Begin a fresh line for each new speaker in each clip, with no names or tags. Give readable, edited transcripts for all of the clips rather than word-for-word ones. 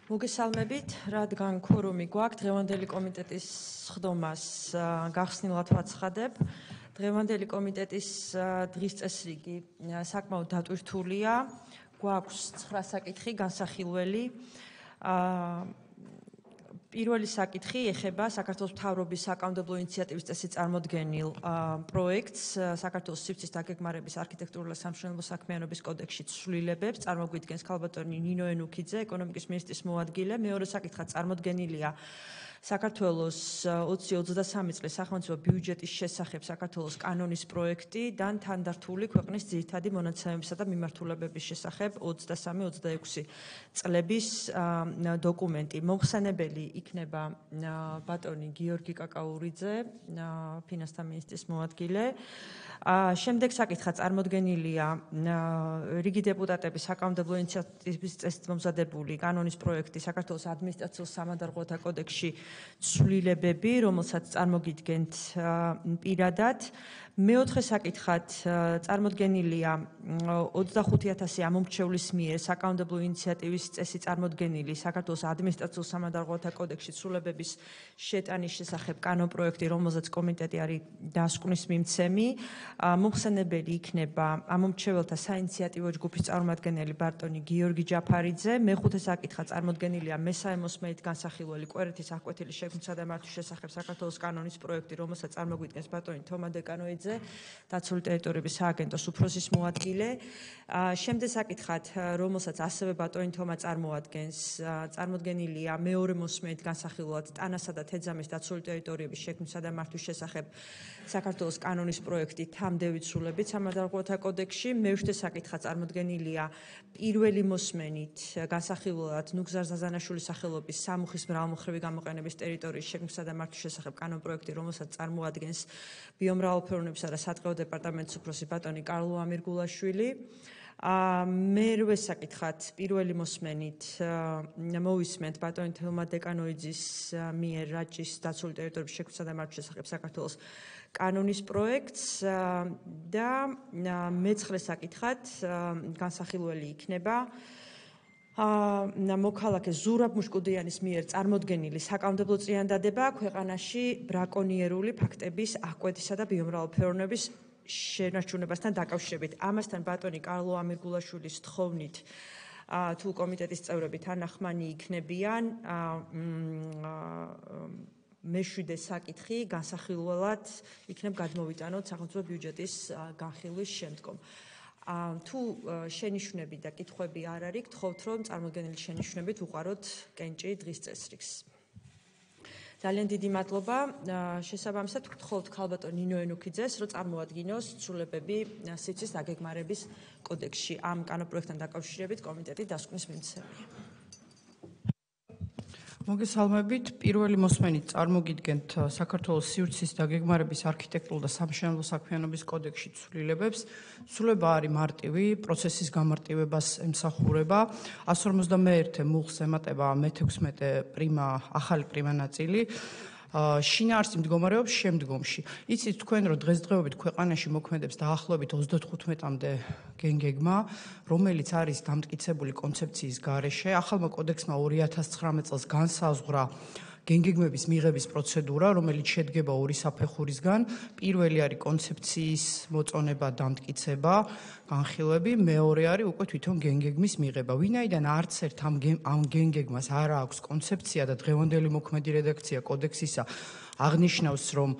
მოგესალმებით, რადგან ქორუმი გვაქვს, დღევანდელი კომიტეტის სხდომას გახსნილად ვაცხადებ. დღევანდელი კომიტეტის დღის წესრიგი საკმაოდ დატვირთულია. გვაქვს 9 საკითხი განსახილველი. პირველი საკითხი ეხება საქართველოს მთავრობის საკანონმდებლო ინიციატივის წესით წარმოდგენილ პროექტს საქართველოს სივრცის დაგეგმარების არქიტექტურული და სამშენებლო საქმიანობის კოდექსში ცვლილებებს წარმოგვიდგენს ქალბატონი ნინო ენუქიძე, ეკონომიკის მინისტრის მოადგილე. მეორე საკითხად წარმოდგენილია საქართველოს 2023 წლის სახელმწიფო ბიუჯეტის შესახებ საქართველოს კანონის პროექტი და თანდართული ქვეყნის ძირითადი მონაცემებისა და მიმართულებების შესახებ 23-26 წლების დოკუმენტი. მომხსენებელი იქნება ბატონი გიორგი კაკაურიძე, ფინანსთა მინისტრის მოადგილე. შემდეგ საკითხად წარმოდგენილია რიგი დეპუტატების საკანონმდებლო ინიციატივის წესით მომზადებული კანონის პროექტი საქართველოს ადმინისტრაციულ სამადარღოთა კოდექსში ცვლილებები, რომელსაც წარმოგიდგენთ პირადად. მეოთხე საკითხად წარმოდგენილია 25,000 ამომრჩევლის მიერ საკანონმდებლო ინიციატივის წესით წარმოდგენილი საქართველოს ადმინისტრაციულ სამადარღოთა კოდექსში ცვლილებების შეტანის შესახებ კანონპროექტი, რომელზეც კომიტეტი არის დასკვნის მიმცემი. მომხსენებელი იქნება ამომრჩეველთა საინიციატივო ჯგუფის წარმომადგენელი ბატონი გიორგი ჯაფარიძე. მეხუთე საკითხად წარმოდგენილია მესამე მოსმენით განსახილველი კვერეთის აღკვეთილის შექმნისა და მართვის შესახებ საქართველოს კანონის პროექტი, რომელსაც წარმოგვიდგენს ბატონი თომა დეკანოიძე, დაცული ტერიტორიების სააგენტოს უფროსის მოადგილე. შემდეგ საკითხად, რომელსაც ასევე ბატონი თომა წარმოადგენს, წარმოდგენილია მეორე მოსმენით განსახილველად ტანასა და თეძამის დაცული ტერიტორიების შექმნისა და მართვის შესახებ საქართველოს კანონის პროექტი თამდევი ცვლილებით სამადარღოთა კოდექსში. მეშვიდე საკითხად წარმოდგენილია პირველი მოსმენით განსახილველად ნუგზარ ზაზანაშვილის სახელობის სამუხის მრავალმხრივი გამოყენების ტერიტორიის შექმნისა და მართვის შესახებ კანონპროექტი, რომელსაც წარმოადგენს ბიომრავალფეროვნებისა და სატყეო დეპარტამენტის უფროსი ბატონი კარლო ამირგულაშვილი. მერვე საკითხად პირველი მოსმენით მოვისმენთ ბატონი თელმა დეკანოიძის მიერ რაჭის დაცული ტერიტორიების შექმნისა და მართვის შესახებ საქართველოს კანონის პროექტს და მეცხრე საკითხად განსახილველი იქნება მოქალაქე ზურაბ მუშკუდიანის მიერ წარმოდგენილი საკანონმდებლო წინადადება ქვეყანაში ბრაკონიერული ფაქტების აღკვეთისა და ბიომრავალფეროვნების შენარჩუნებასთან დაკავშირებით. ამასთან ბატონი კარლო ამირგულაშვილის თხოვნით თუ კომიტეტის წევრები თანახმანი იქნებიან, მეშვიდე საკითხი განსახილველად იქნებ გადმოვიტანოთ სახელმწიფო ბიუჯეტის განხილვის შემდგომ. თუ შენიშვნები და კითხვები არ არის, გთხოვთ რომ წარმოდგენილი შენიშვნებით უყაროთ კენჭი დღის წესრიგს. ძალიან დიდი მადლობა. შესაბამისად გთხოვთ ქალბატონ ნინო ენუქიძეს, რომ წარმოადგინოს ცვლილებები სივრცის დაგეგმარების კოდექსში. ამ კანონპროექტთან დაკავშირებით კომიტეტი დასკვნის მიმცემია.
მოგესალმებით. პირველი მოსმენით წარმოგიდგენთ საქართველოს სივრცის დაგეგმარების არქიტექტურული და სამშენებლო საქმიანობის კოდექსში ცვლილებებს. ცვლილება არის მარტივი, პროცესის გამარტივებას ემსახურება. 151 მუხლს ემატება მე-16 პრიმა, ახალი პრიმა ნაწილი. შინაარსი მდგომარეობს შემდგომში. იცით თქვენ, რომ დღესდღეობით ქვეყანაში მოქმედებს დაახლოებით 35-მდე გენგეგმა, რომელიც არის დამტკიცებული კონცეფციის გარეშე. ახალმა კოდექსმა 2019 წელს განსაზღვრა გენგეგმების მიღების პროცედურა, რომელიც შედგება ორი საფეხურისგან. პირველი არის კონცეფციის მოწონება, დამტკიცება, განხილვები, მეორე არის უკვე თვითონ გენგეგმის მიღება. ვინაიდან არც ერთ ამ გენგეგმას არ აქვს კონცეფცია და დღევანდელი მოქმედი რედაქცია კოდექსისა აღნიშნავს, რომ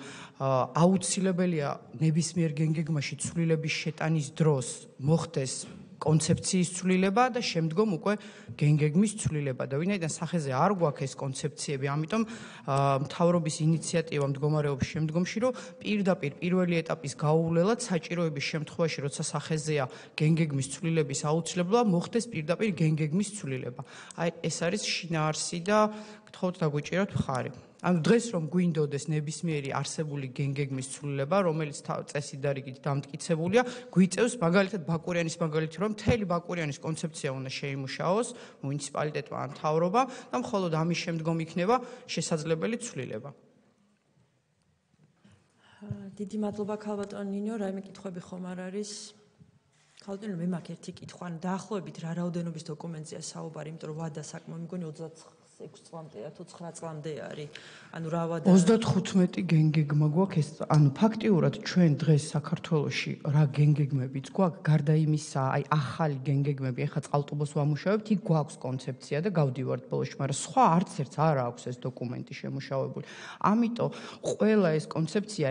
აუცილებელია ნებისმიერ გენგეგმაში ცვლილების შეტანის დროს მოხდეს კონცეფციის ცვლილება და შემდგომ უკვე გენგეგმის ცვლილება და ვინაიდან სახეზე არ გვაქვს ეს კონცეფციები, ამიტომ მთავრობის ინიციატივა მდგომარეობს შემდგომში, რომ პირდაპირ პირველი ეტაპის გაუვლელად საჭიროების შემთხვევაში, როცა სახეზეა გენგეგმის ცვლილების აუცილებლობა, მოხდეს პირდაპირ გენგეგმის ცვლილება. აი ეს არის შინაარსი და გთხოვთ დაგვიჭიროთ მხარი. ანუ დღეს რომ გვინდოდეს ნებისმიერი არსებული გენგეგმის ცვლილება, რომელიც წესით და რიგით დამტკიცებულია, გვიწევს მაგალითად ბაკურიანის მაგალითი, რომ მთელი ბაკურიანის კონცეფცია უნდა შეიმუშაოს მუნიციპალიტეტმა ან მთავრობა და მხოლოდ ამის შემდგომ იქნება შესაძლებელი ცვლილება.
დიდი მადლობა ქალბატონ ნინო, რაიმე კითხვები ხომ არ არის? ხალხო, მე მაქვს ერთი კითხვა, ანუ დაახლოებით რა რაოდენობის დოკუმენტია საუბარი, იმიტომ რომ ვადა საკმაოდ მგონი 26 წლამდეა თუ 9 წლამდე არის. ანუ რა ვადა
35 გენგეგმა გვაქვს ეს, ანუ ფაქტიურად ჩვენ დღეს საქართველოში რა გენგეგმებიც გვაქვს, გარდა იმისა, აი ახალი გენგეგმები, ეხლა წყალტუბოს ვამუშავებთ, იქ გვაქვს კონცეფცია და გავდივართ ბოლოში, მაგრამ სხვა არც ერთს არ აქვს ეს დოკუმენტი შემუშავებული. ამიტომ ყველა ეს კონცეფცია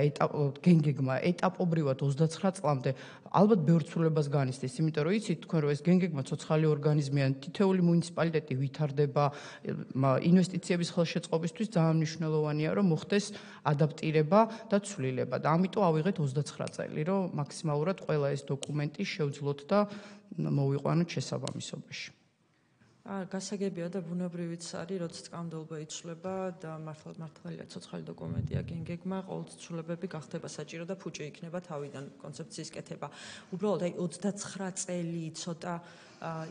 გენგეგმა ეტაპობრივად 29 წლამდე ალბათ ბევრ ცვლილებას განიცდის, იმიტომ რომ იცით თქვენ რომ ეს გენგეგმა ცოცხალი ორგანიზმია, თითოეული მუნიციპალიტეტი ვითარდება, ინვესტიციების ხელშეწყობისთვის ძალიან მნიშვნელოვანია რომ მოხდეს ადაპტირება და ცვლილება და ამიტომ ავიღეთ 29 წელი რომ მაქსიმალურად ყველა ეს დოკუმენტი შევძლოთ და მოვიყვანოთ შესაბამისობაში.
გასაგებია და ბუნებრივიც არის, როცა სკანდალობა იცვლება და მართალია ცოცხალი დოკუმენტია გენგეგმა, ყოველთვის ცვლილებები გახდება საჭირო და ფუჭი იქნება თავიდან კონცეფციის კეთება. უბრალოდ აი 29 წელი ცოტა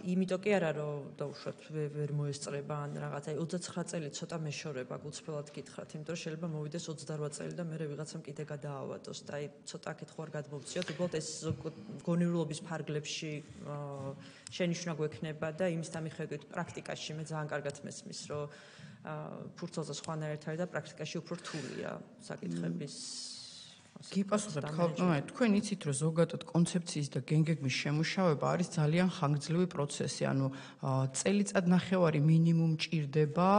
იმიტომ კი არა რომ დაუშვათ ვერ მოესწრება ან რაღაც, აი 29 წელი ცოტა მეშორება, გულწრფელად გითხრათ, იმიტომ რომ შეიძლება მოვიდეს 28 წელი და მე ვიღაცამ კიდე გადაავადოს და აი ცოტა აქეთ ხوار გადმოვწიოთ, უბრალოდ ეს გონივრილობის ფარგლებში შენიშვნა გვექნება და იმის დამიხედვით პრაქტიკაში მე ძალიან კარგად მესმის, რომ ფურცელზე სხვანაირად არის და პრაქტიკაში უფრო რთულია საკითხების
გიპასუხებთ ხალხო, თქვენ იცით რომ ზოგადად კონცეფციის და გენგეგმის შემუშავება არის ძალიან ხანგრძლივი პროცესი, ანუ წელიწად ნახევარი მინიმუმ ჭირდება,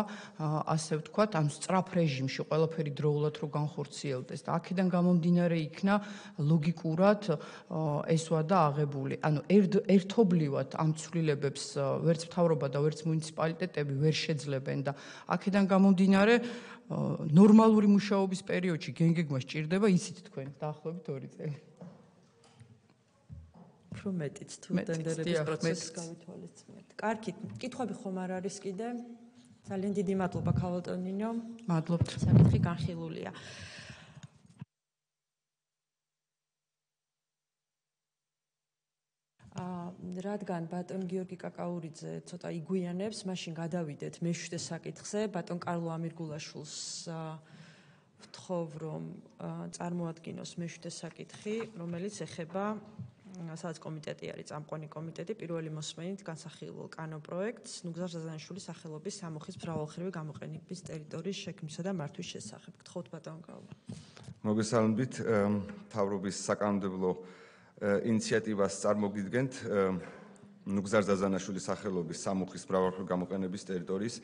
ასე ვთქვათ, ამ სწრაფ რეჟიმში ყველაფერი დროულად რო განხორციელდეს და აქედან გამომდინარე იქნა ლოგიკურად ეს ვადა აღებული. ანუ ერთობლივად ამ ცვლილებებს ვერც მთავრობა და ვერც მუნიციპალიტეტები ვერ შეძლებენ და აქედან გამომდინარე ნორმალური მუშაობის პერიოდში გენგეგმა სჭირდება, იცით თქვენ, დაახლოებით 2 წელი.
უფრო მეტიც თუ ტენდერების პროცესს გავითვალისწინებთ. კარგი, კითხვები ხომ არ არის კიდე? ძალიან დიდი მადლობა ქალბატონინო.
მადლობთ.
საკითხი განხილულია. რადგან ბატონ გიორგი კაკაურიძე ცოტა იგვიანებს, მაშინ გადავიდეთ მე-7 საკითხზე. ბატონ კარლო ამირგულაშვილს ვთხოვ, რომ წარმოადგინოს მე-7 საკითხი, რომელიც ეხება სადაც კომიტეტი არის, წამყვანი კომიტეტი, პირველი მოსმენით განსახილულ კანონპროექტს ნუგზარ ზაზანიშვილის სახელობის სამუხის მრავალხრივი გამოყენების ტერიტორიის შექმნისა და მართვის შესახებ. გთხოვთ ბატონ კარლო.
მოგესალმებით, მთავრობის საკანონმდებლო ინიციატივას წარმოგიდგენთ ნუგზარ ზაზანაშვილის სახელობის სამუხის მრავალხრივი გამოყენების ტერიტორიის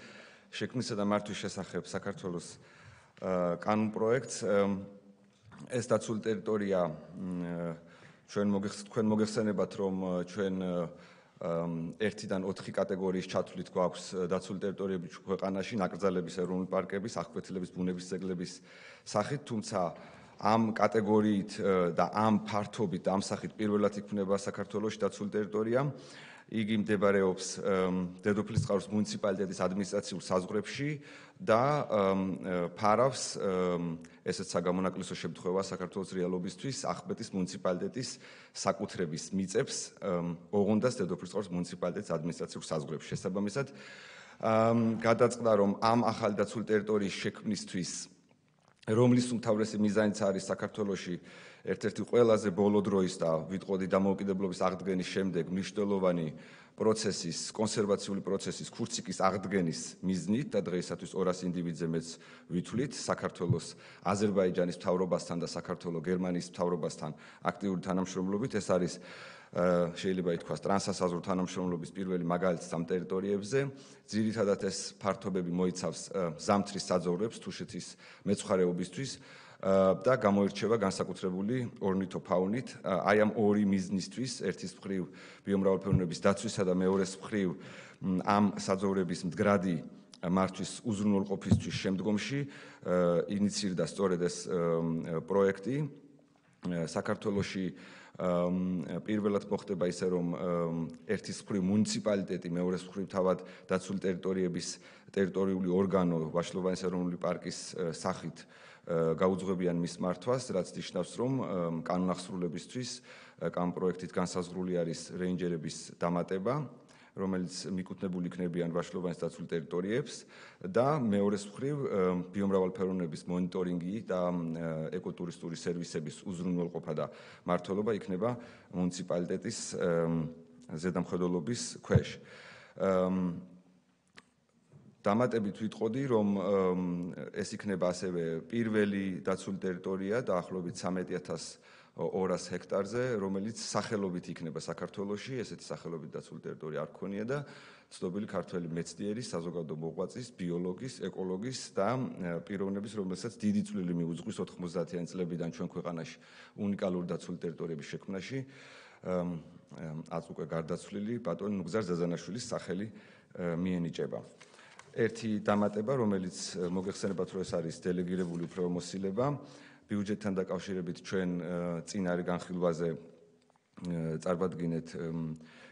შექმნისა და მართვის შესახებ საქართველოს კანონპროექტს. ეს დაცული ტერიტორია თქვენ მოგეხსენებათ, რომ ჩვენ 1-დან 4 კატეგორიის ჩათვლით გვაქვს დაცული ტერიტორიები ქვეყანაში, ნაკრძალების, ეროვნული პარკების, აღკვეთილების, ბუნების ძეგლების სახით, თუმცა ამ კატეგორიით და ამ ფართობით, ამ სახით პირველად იქმნება საქართველოში დაცული ტერიტორია. იგი მდებარეობს დედოფლის წყაროს მუნიციპალიტეტის ადმინისტრაციულ საზღვრებში და ფარავს ესეც საგამონაკლისო შემთხვევა საქართველოს რეალობისთვის ახმეტის მუნიციპალიტეტის საკუთრების მიწებს ოღონდას დედოფლის წყაროს მუნიციპალიტეტის ადმინისტრაციულ საზღვრებში. შესაბამისად, გადაწყდა, რომ ამ ახალი დაცული ტერიტორიის შექმნისთვის რომლის უმთავრესი მიზანიც არის საქართველოში ერთ-ერთი ყველაზე ბოლო დროის და ვიტყოდი დამოუკიდებლობის აღდგენის შემდეგ მნიშვნელოვანი პროცესის, კონსერვაციული პროცესის ქურციკის აღდგენის მიზნით და დღეისათვის 200 ინდივიდზე მეც ვითვლით საქართველოს აზერბაიჯანის მთავრობასთან და საქართველოს გერმანიის მთავრობასთან აქტიური თანამშრომლობით. ეს არის შეიძლება ითქვას ტრანსასაზღვრო თანამშრომლობის პირველი მაგალითი ამ ტერიტორიებზე. ძირითადად ეს ფართობები მოიცავს ზამთრის საძოვრებს თუშეთის მეცხვარეობისთვის და გამოირჩევა განსაკუთრებული ორნითოფაუნით. აი ამ ორი მიზნისთვის, ერთის მხრივ ბიომრავალფეროვნების დაცვისა და მეორეს მხრივ ამ საძოვრების მდგრადი მართვის უზრუნველყოფისთვის შემდგომში ინიცირდა სწორედ ეს პროექტი. საქართველოში პირველად მოხდება ისე, რომ ერთის მხრივ მუნიციპალიტეტი, მეორეს მხრივ თავად დაცული ტერიტორიების ტერიტორიული ორგანო ვაშლოვანის ეროვნული პარკის სახით გაუძღვებიან მის მართვას, რაც ნიშნავს, რომ კანონახსრულებისთვის კანონპროექტით განსაზღვრული არის რეინჯერების დამატება რომელიც მიკუთვნებული იქნებიან ვაშლოვანის დაცულ ტერიტორიებს და მეორეს მხრივ ბიომრავალფეროვნების მონიტორინგი და ეკოტურისტული სერვისების უზრუნველყოფა და მმართველობა იქნება მუნიციპალიტეტის ზედამხედველობის ქვეშ. დამატებით ვიტყოდი, რომ ეს იქნება ასევე პირველი დაცული ტერიტორია დაახლოებით 13,200 ჰექტარზე, რომელიც სახელობით იქნება საქართველოში, ესეთი სახელობით დაცული ტერიტორია არ ქონია და ცნობილი ქართველი მეცნიერის, საზოგადო მოღვაწის, ბიოლოგის, ეკოლოგის და პიროვნების, რომელსაც დიდი წვლილი მიუძღვის 90-იანი წლებიდან ჩვენ ქვეყანაში უნიკალური დაცული ტერიტორიების შექმნაში, აც უკვე გარდაცვლილი ბატონი ნუგზარ ზაზანაშვილის სახელი მიენიჭება. ერთი დამატება, რომელიც მოგეხსენებათ, რომ ეს არის დელეგირებული უფლებამოსილება, ბიუჯეტთან დაკავშირებით ჩვენ წინარე განხილვაზე წარვადგინეთ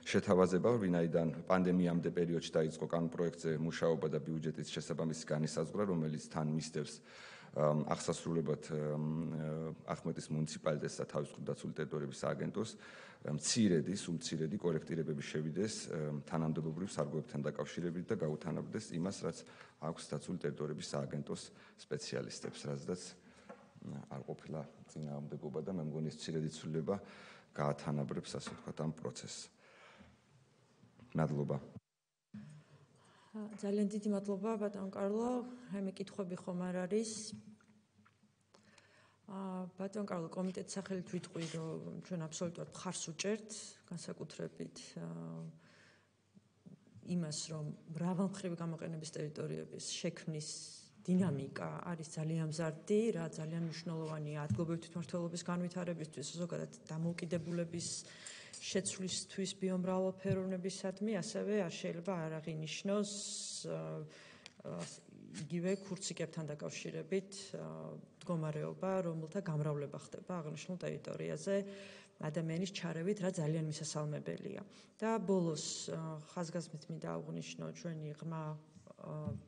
შეთავაზება, ვინაიდან პანდემიამდე პერიოდში დაიწყო კანონპროექტზე მუშაობა და ბიუჯეტის შესაბამისი განისაზღვრა, რომელიც თან მისდევს აღსასრულებლად ახმეტის მუნიციპალიტეტს და თავისუფლად დაცული ტერიტორიების სააგენტოს სულ მცირედი კორექტირებები შევიდეს თანამდებობრივ სარგოებთან დაკავშირებით და გაუთანაბრდეს იმას, რაც აქვს დაცული ტერიტორიების სააგენტოს სპეციალისტებს, რაზედაც არ ყოფილა წინააღმდეგობა და მე მგონი ეს მცირედი ცვლილება გაათანაბრებს, ასე ვთქვათ, ამ პროცესს. მადლობა.
ძალიან დიდი მადლობა ბატონ კარლო. მე კითხვები ხომ არ არის? ბატონ კარლო, კომიტეტის სახელით ვიტყვი, რომ ჩვენ აბსოლუტურად მხარს უჭერთ განსაკუთრებით იმას, რომ მრავალმხრივი გამოყენების ტერიტორიების შექმნის დინამიკა არის ძალიან მზარდი, რა ძალიან მნიშვნელოვანია ადგილობრივი თვითმმართველობის განვითარებისთვის, ზოგადად დამოუკიდებულების შეცვლისთვის ბიომრავალფეროვნებისადმი, ასევე არ შეიძლება არ აღინიშნოს იგივე ქურციკებთან დაკავშირებით მდგომარეობა, რომელთა გამრავლება ხდება აღნიშნულ ტერიტორიაზე ადამიანის ჩარევით, რა ძალიან მისასალმებელია. და ბოლოს ხაზგასმით მინდა აღვნიშნო ჩვენი ღრმა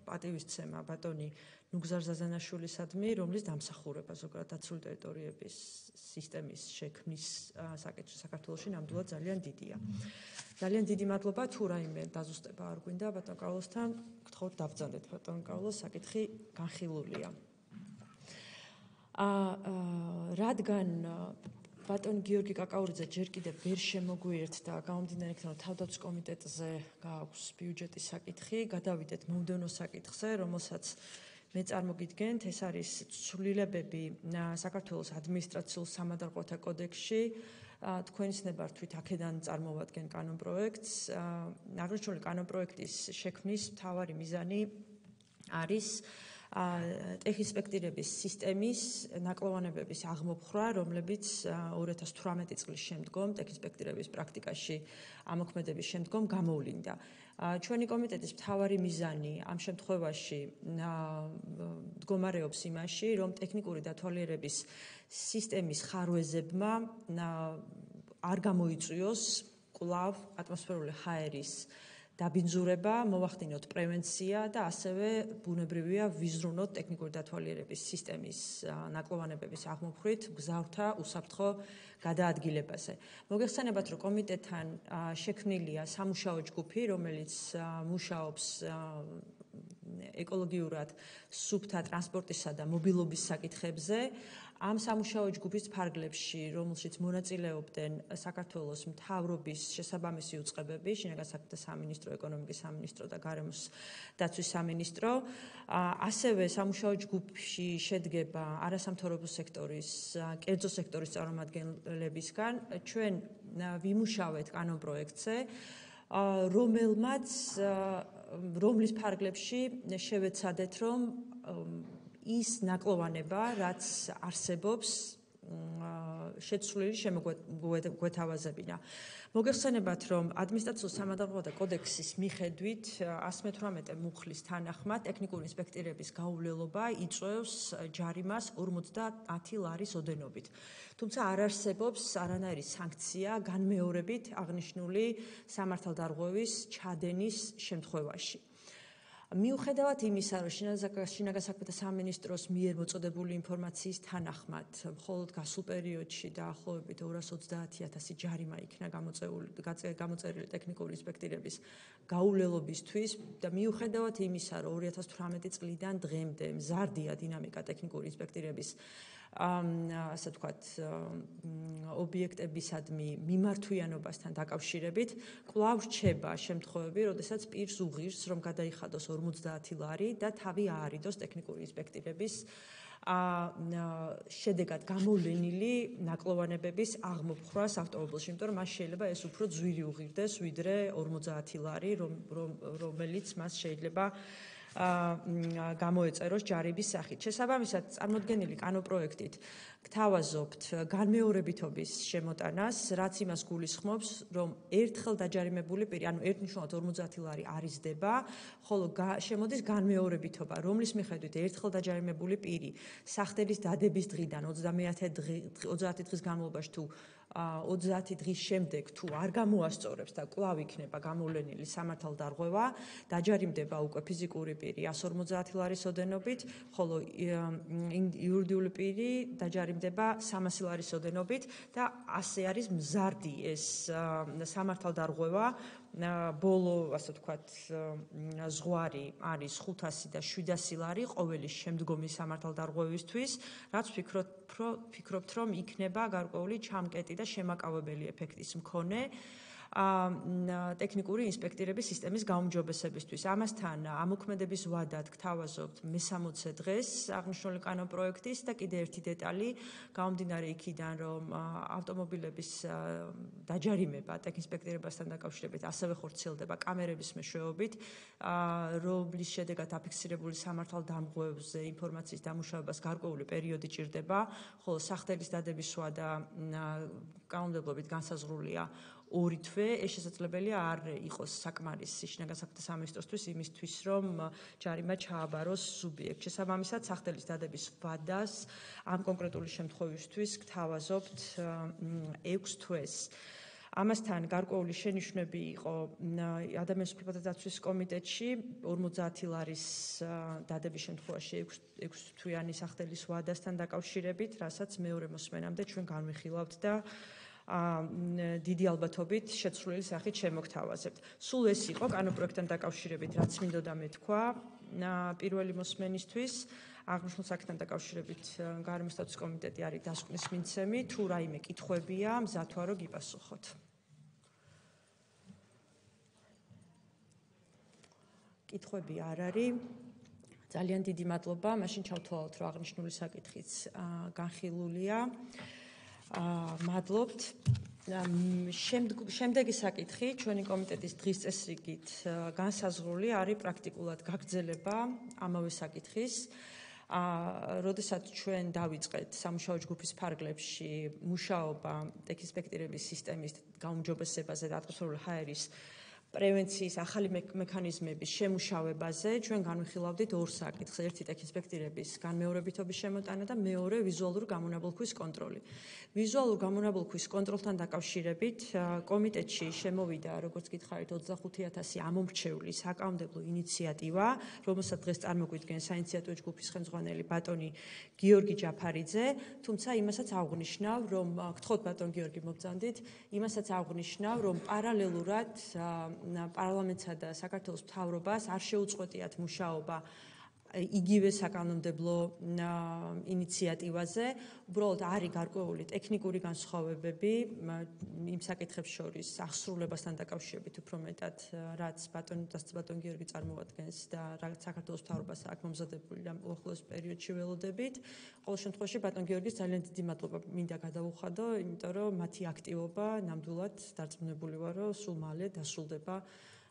პატივისცემა ბატონი ნუგზარ ზაზანაშვილისადმი, რომლის დამსახურება ზოგადად დაცული ტერიტორიების სისტემის შექმნის საკითხში საქართველოში ნამდვილად ძალიან დიდია. ძალიან დიდი მადლობა, თუ რაიმე დაზუსტება არ გვინდა ბატონ კარლოსთან, გთხოვთ დავბრძანდეთ ბატონ კარლოს, საკითხი განხილულია. რადგან ბატონ გიორგი კაკაურიძე ჯერ კიდევ ვერ შემოგვიერთდა გამომდინარე იქიდან, რომ თავდაცვის კომიტეტზე გააქვს ბიუჯეტის საკითხი, გადავიდეთ მომდევნო საკითხზე, რომელსაც მე წარმოგიდგენთ, ეს არის ცვლილებები საქართველოს ადმინისტრაციულ სამადარყოფოთა კოდექსში. თქვენი ცნებართვით აქედან წარმოვადგენ კანონპროექტს. აღნიშნული კანონპროექტის შექმნის მთავარი მიზანი არის ტექინსპექტირების სისტემის ნაკლოვანებების აღმოფხვრა, რომლებიც 2018 წლის შემდგომ ტექინსპექტირების პრაქტიკაში ამოქმედების შემდგომ გამოვლინდა. ჩვენი კომიტეტის მთავარი მიზანი ამ შემთხვევაში მდგომარეობს იმაში, რომ ტექნიკური დათვალიერების სისტემის ხარვეზებმა არ გამოიწვიოს კვლავ ატმოსფერული ჰაერის დაბინძურება, მოვახდინოთ პრევენცია და ასევე ბუნებრივია ვიზრუნოთ ტექნიკური დათვალიერების სისტემის ნაკლოვანებების აღმოფხვით გზავრთა უსაფრთხო გადაადგილებაზე. მოგეხსენებათ, რომ კომიტეტთან შექმნილია სამუშაო ჯგუფი, რომელიც მუშაობს ეკოლოგიურად სუფთა ტრანსპორტისა და მობილობის საკითხებზე. ამ სამუშაო ჯგუფის ფარგლებში, რომელშიც მონაწილეობდნენ საქართველოს მთავრობის შესაბამისი უწყებები, შინაგან საქმეთა სამინისტრო, ეკონომიკის სამინისტრო და გარემოს დაცვის სამინისტრო, ასევე სამუშაო ჯგუფში შედგება არასამთავრობო სექტორის, კერძო სექტორის წარმომადგენლებისგან. ჩვენ ვიმუშავეთ კანონპროექტზე, რომლის ფარგლებში შევეცადეთ, რომ ის ნაკლოვანება, რაც არსებობს, შეცვლილი შემოგვეთავაზებინა. მოგეხსენებათ, რომ ადმინისტრაციულ სამადარყოფოთა კოდექსის მიხედვით 118 მუხლის თანახმად ტექნიკური ინსპექტირების გაუვლელობა იწვევს ჯარიმას 50 ლარის ოდენობით. თუმცა არ არსებობს არანაირი სანქცია განმეორებით აღნიშნული სამართალდარღვევის ჩადენის შემთხვევაში. მიუხედავად იმისა, რომ შინაგან საქმეთა სამინისტროს მიერ მოწოდებული ინფორმაციის თანახმად, მხოლოდ გასულ პერიოდში დაახლოებით 230,000 ჯარიმა იქნა გამოწერილი ტექნიკური ინსპექტირების გაუვლელობისთვის და მიუხედავად იმისა, რომ 2018 წლიდან დღემდე მზარდია დინამიკა ტექნიკური ინსპექტირების ასე ვთქვათ, ობიექტებისადმი მიმართვიანობასთან დაკავშირებით, კვლავ რჩება შემთხვევები, როდესაც პირს უღირს, რომ გადაიხადოს 50 ლარი და თავი აარიდოს ტექნიკური ინსპექტირების შედეგად გამოვლენილი ნაკლოვანებების აღმოფხვრას ავტომობილში, იმიტომ რომ მას შეიძლება ეს უფრო ძვირი უღირდეს, ვიდრე 50 ლარი, რომელიც მას შეიძლება გამოეწეროს ჯარების სახით. შესაბამისად, წარმოდგენილი კანონპროექტით გთავაზობთ განმეორებითობის შემოტანას, რაც იმას გულისხმობს, რომ ერთხელ დაჯარიმებული პირი, ანუ ერთნიშნულად 50 ლარი არიზდება, ხოლო შემოდის განმეორებითობა, რომლის მიხედვით ერთხელ დაჯარიმებული პირი სახდელის დადების დღიდან 30 დღის განმავლობაში თუ 30 დღის შემდეგ თუ არ გამოასწორებს და კვლავ იქნება გამოვლენილი სამართალდარღვევა, დაჯარიმდება უკვე ფიზიკური პირი 150 ლარის ოდენობით, ხოლო იურიდიული პირი დაჯარიმდება 300 ლარის ოდენობით და ასე არის მზარდი ეს სამართალდარღვევა. ბოლო, ასე ვთქვათ, ზღვარი არის 500 და 700 ლარი ყოველი შემდგომი სამართალდარღვევისთვის, რაც ვფიქრობთ, რომ იქნება გარკვეული ჩამკეტი და შემაკავებელი ეფექტის მქონე ტექნიკური ინსპექტირების სისტემის გაუმჯობესებისთვის. ამასთან ამოქმედების ვადად გთავაზობთ მე-60 დღეს აღნიშნული კანონპროექტის და კიდე ერთი დეტალი, გამომდინარე იქიდან, რომ ავტომობილების დაჯარიმება ტექინსპექტირებასთან დაკავშირებით ასევე ხორციელდება კამერების მეშვეობით, რომლის შედეგად აფიქსირებული სამართალდამღვევზე ინფორმაციის დამუშავებას გარკვეული პერიოდი ჭირდება, ხოლო სახდელის დადების ვადა კანონმდებლობით განსაზღვრულია 2 თვე. ეს შესაძლებელია არ იყოს საკმარისი შინაგან საქმეთა სამინისტროსთვის იმისთვის, რომ ჯარიმა ჩააბაროს სუბიექტს. შესაბამისად, სახდელის დადების ვადას ამ კონკრეტული შემთხვევისთვის გთავაზობთ 6 თვეს. ამასთან გარკვეული შენიშვნები იყო ადამიანის უფლებათა დაცვის კომიტეტში 50 ლარის დადების შემთხვევაში 6 თვიანი სახდელის ვადასთან დაკავშირებით, რასაც მეორე მოსმენამდე ჩვენ განვიხილავთ და დიდი ალბათობით შეცვლილი სახით შემოგთავაზებთ. სულ ეს იყო კანონპროექტთან დაკავშირებით, რაც მინდოდა მეთქვა პირველი მოსმენისთვის. აღნიშნულ საკითხთან დაკავშირებით გარემო სტატუსის კომიტეტი არის დასკვნის მიმცემი, თუ რაიმე კითხვებია, მზად ვარ, რომ გიპასუხოთ. კითხვები არ არის. ძალიან დიდი მადლობა. მაშინ ჩავთვალოთ, რომ აღნიშნული საკითხიც განხილულია. მადლობთ. შემდეგი საკითხი ჩვენი კომიტეტის დღის წესრიგით განსაზღვრული არის პრაქტიკულად გაგრძელება ამავე საკითხის. როდესაც ჩვენ დავიწყეთ სამუშაო ჯგუფის ფარგლებში მუშაობა ტექინსპექტირების სისტემის გაუმჯობესებაზე და ატმოსფერული ჰაერის პრევენციის ახალი მექანიზმების შემუშავებაზე, ჩვენ განვიხილავდით ორ საკითხს. ერთი ტექინსპექტირების განმეორებითობის შემოტანა და მეორე ვიზუალური გამონაბოლქვის კონტროლი. ვიზუალურ გამონაბოლქვის კონტროლთან დაკავშირებით კომიტეტში შემოვიდა, როგორც გითხარით, 25,000 ამომრჩევლის საკანონმდებლო ინიციატივა, რომელსაც დღეს წარმოგვიდგენს საინიციატივო ჯგუფის ხელმძღვანელი ბატონი გიორგი ჯაფარიძე, თუმცა იმასაც აღვნიშნავ, რომ გთხოვთ ბატონ გიორგი მობრძანდით, იმასაც აღვნიშნავ, რომ პარალელურად პარლამენტსა და საქართველოს მთავრობას არ შეუწყვეტიათ მუშაობა იგივე საკანონმდებლო ინიციატივაზე, უბრალოდ არის გარკვეული ტექნიკური განსხვავებები იმ საკითხებს შორის აღსრულებასთან დაკავშირებით უფრო მეტად, რაც ბატონ გიორგი წარმოადგენს და რაც საქართველოს მთავრობას აქვს მომზადებული ამ უახლოეს პერიოდში ველოდებით. ყოველ შემთხვევაში ბატონ გიორგის ძალიან დიდი მადლობა მინდა გადავუხადო, იმიტომ რომ მათი აქტივობა ნამდვილად დარწმუნებული ვარ, რომ სულ მალე დასრულდება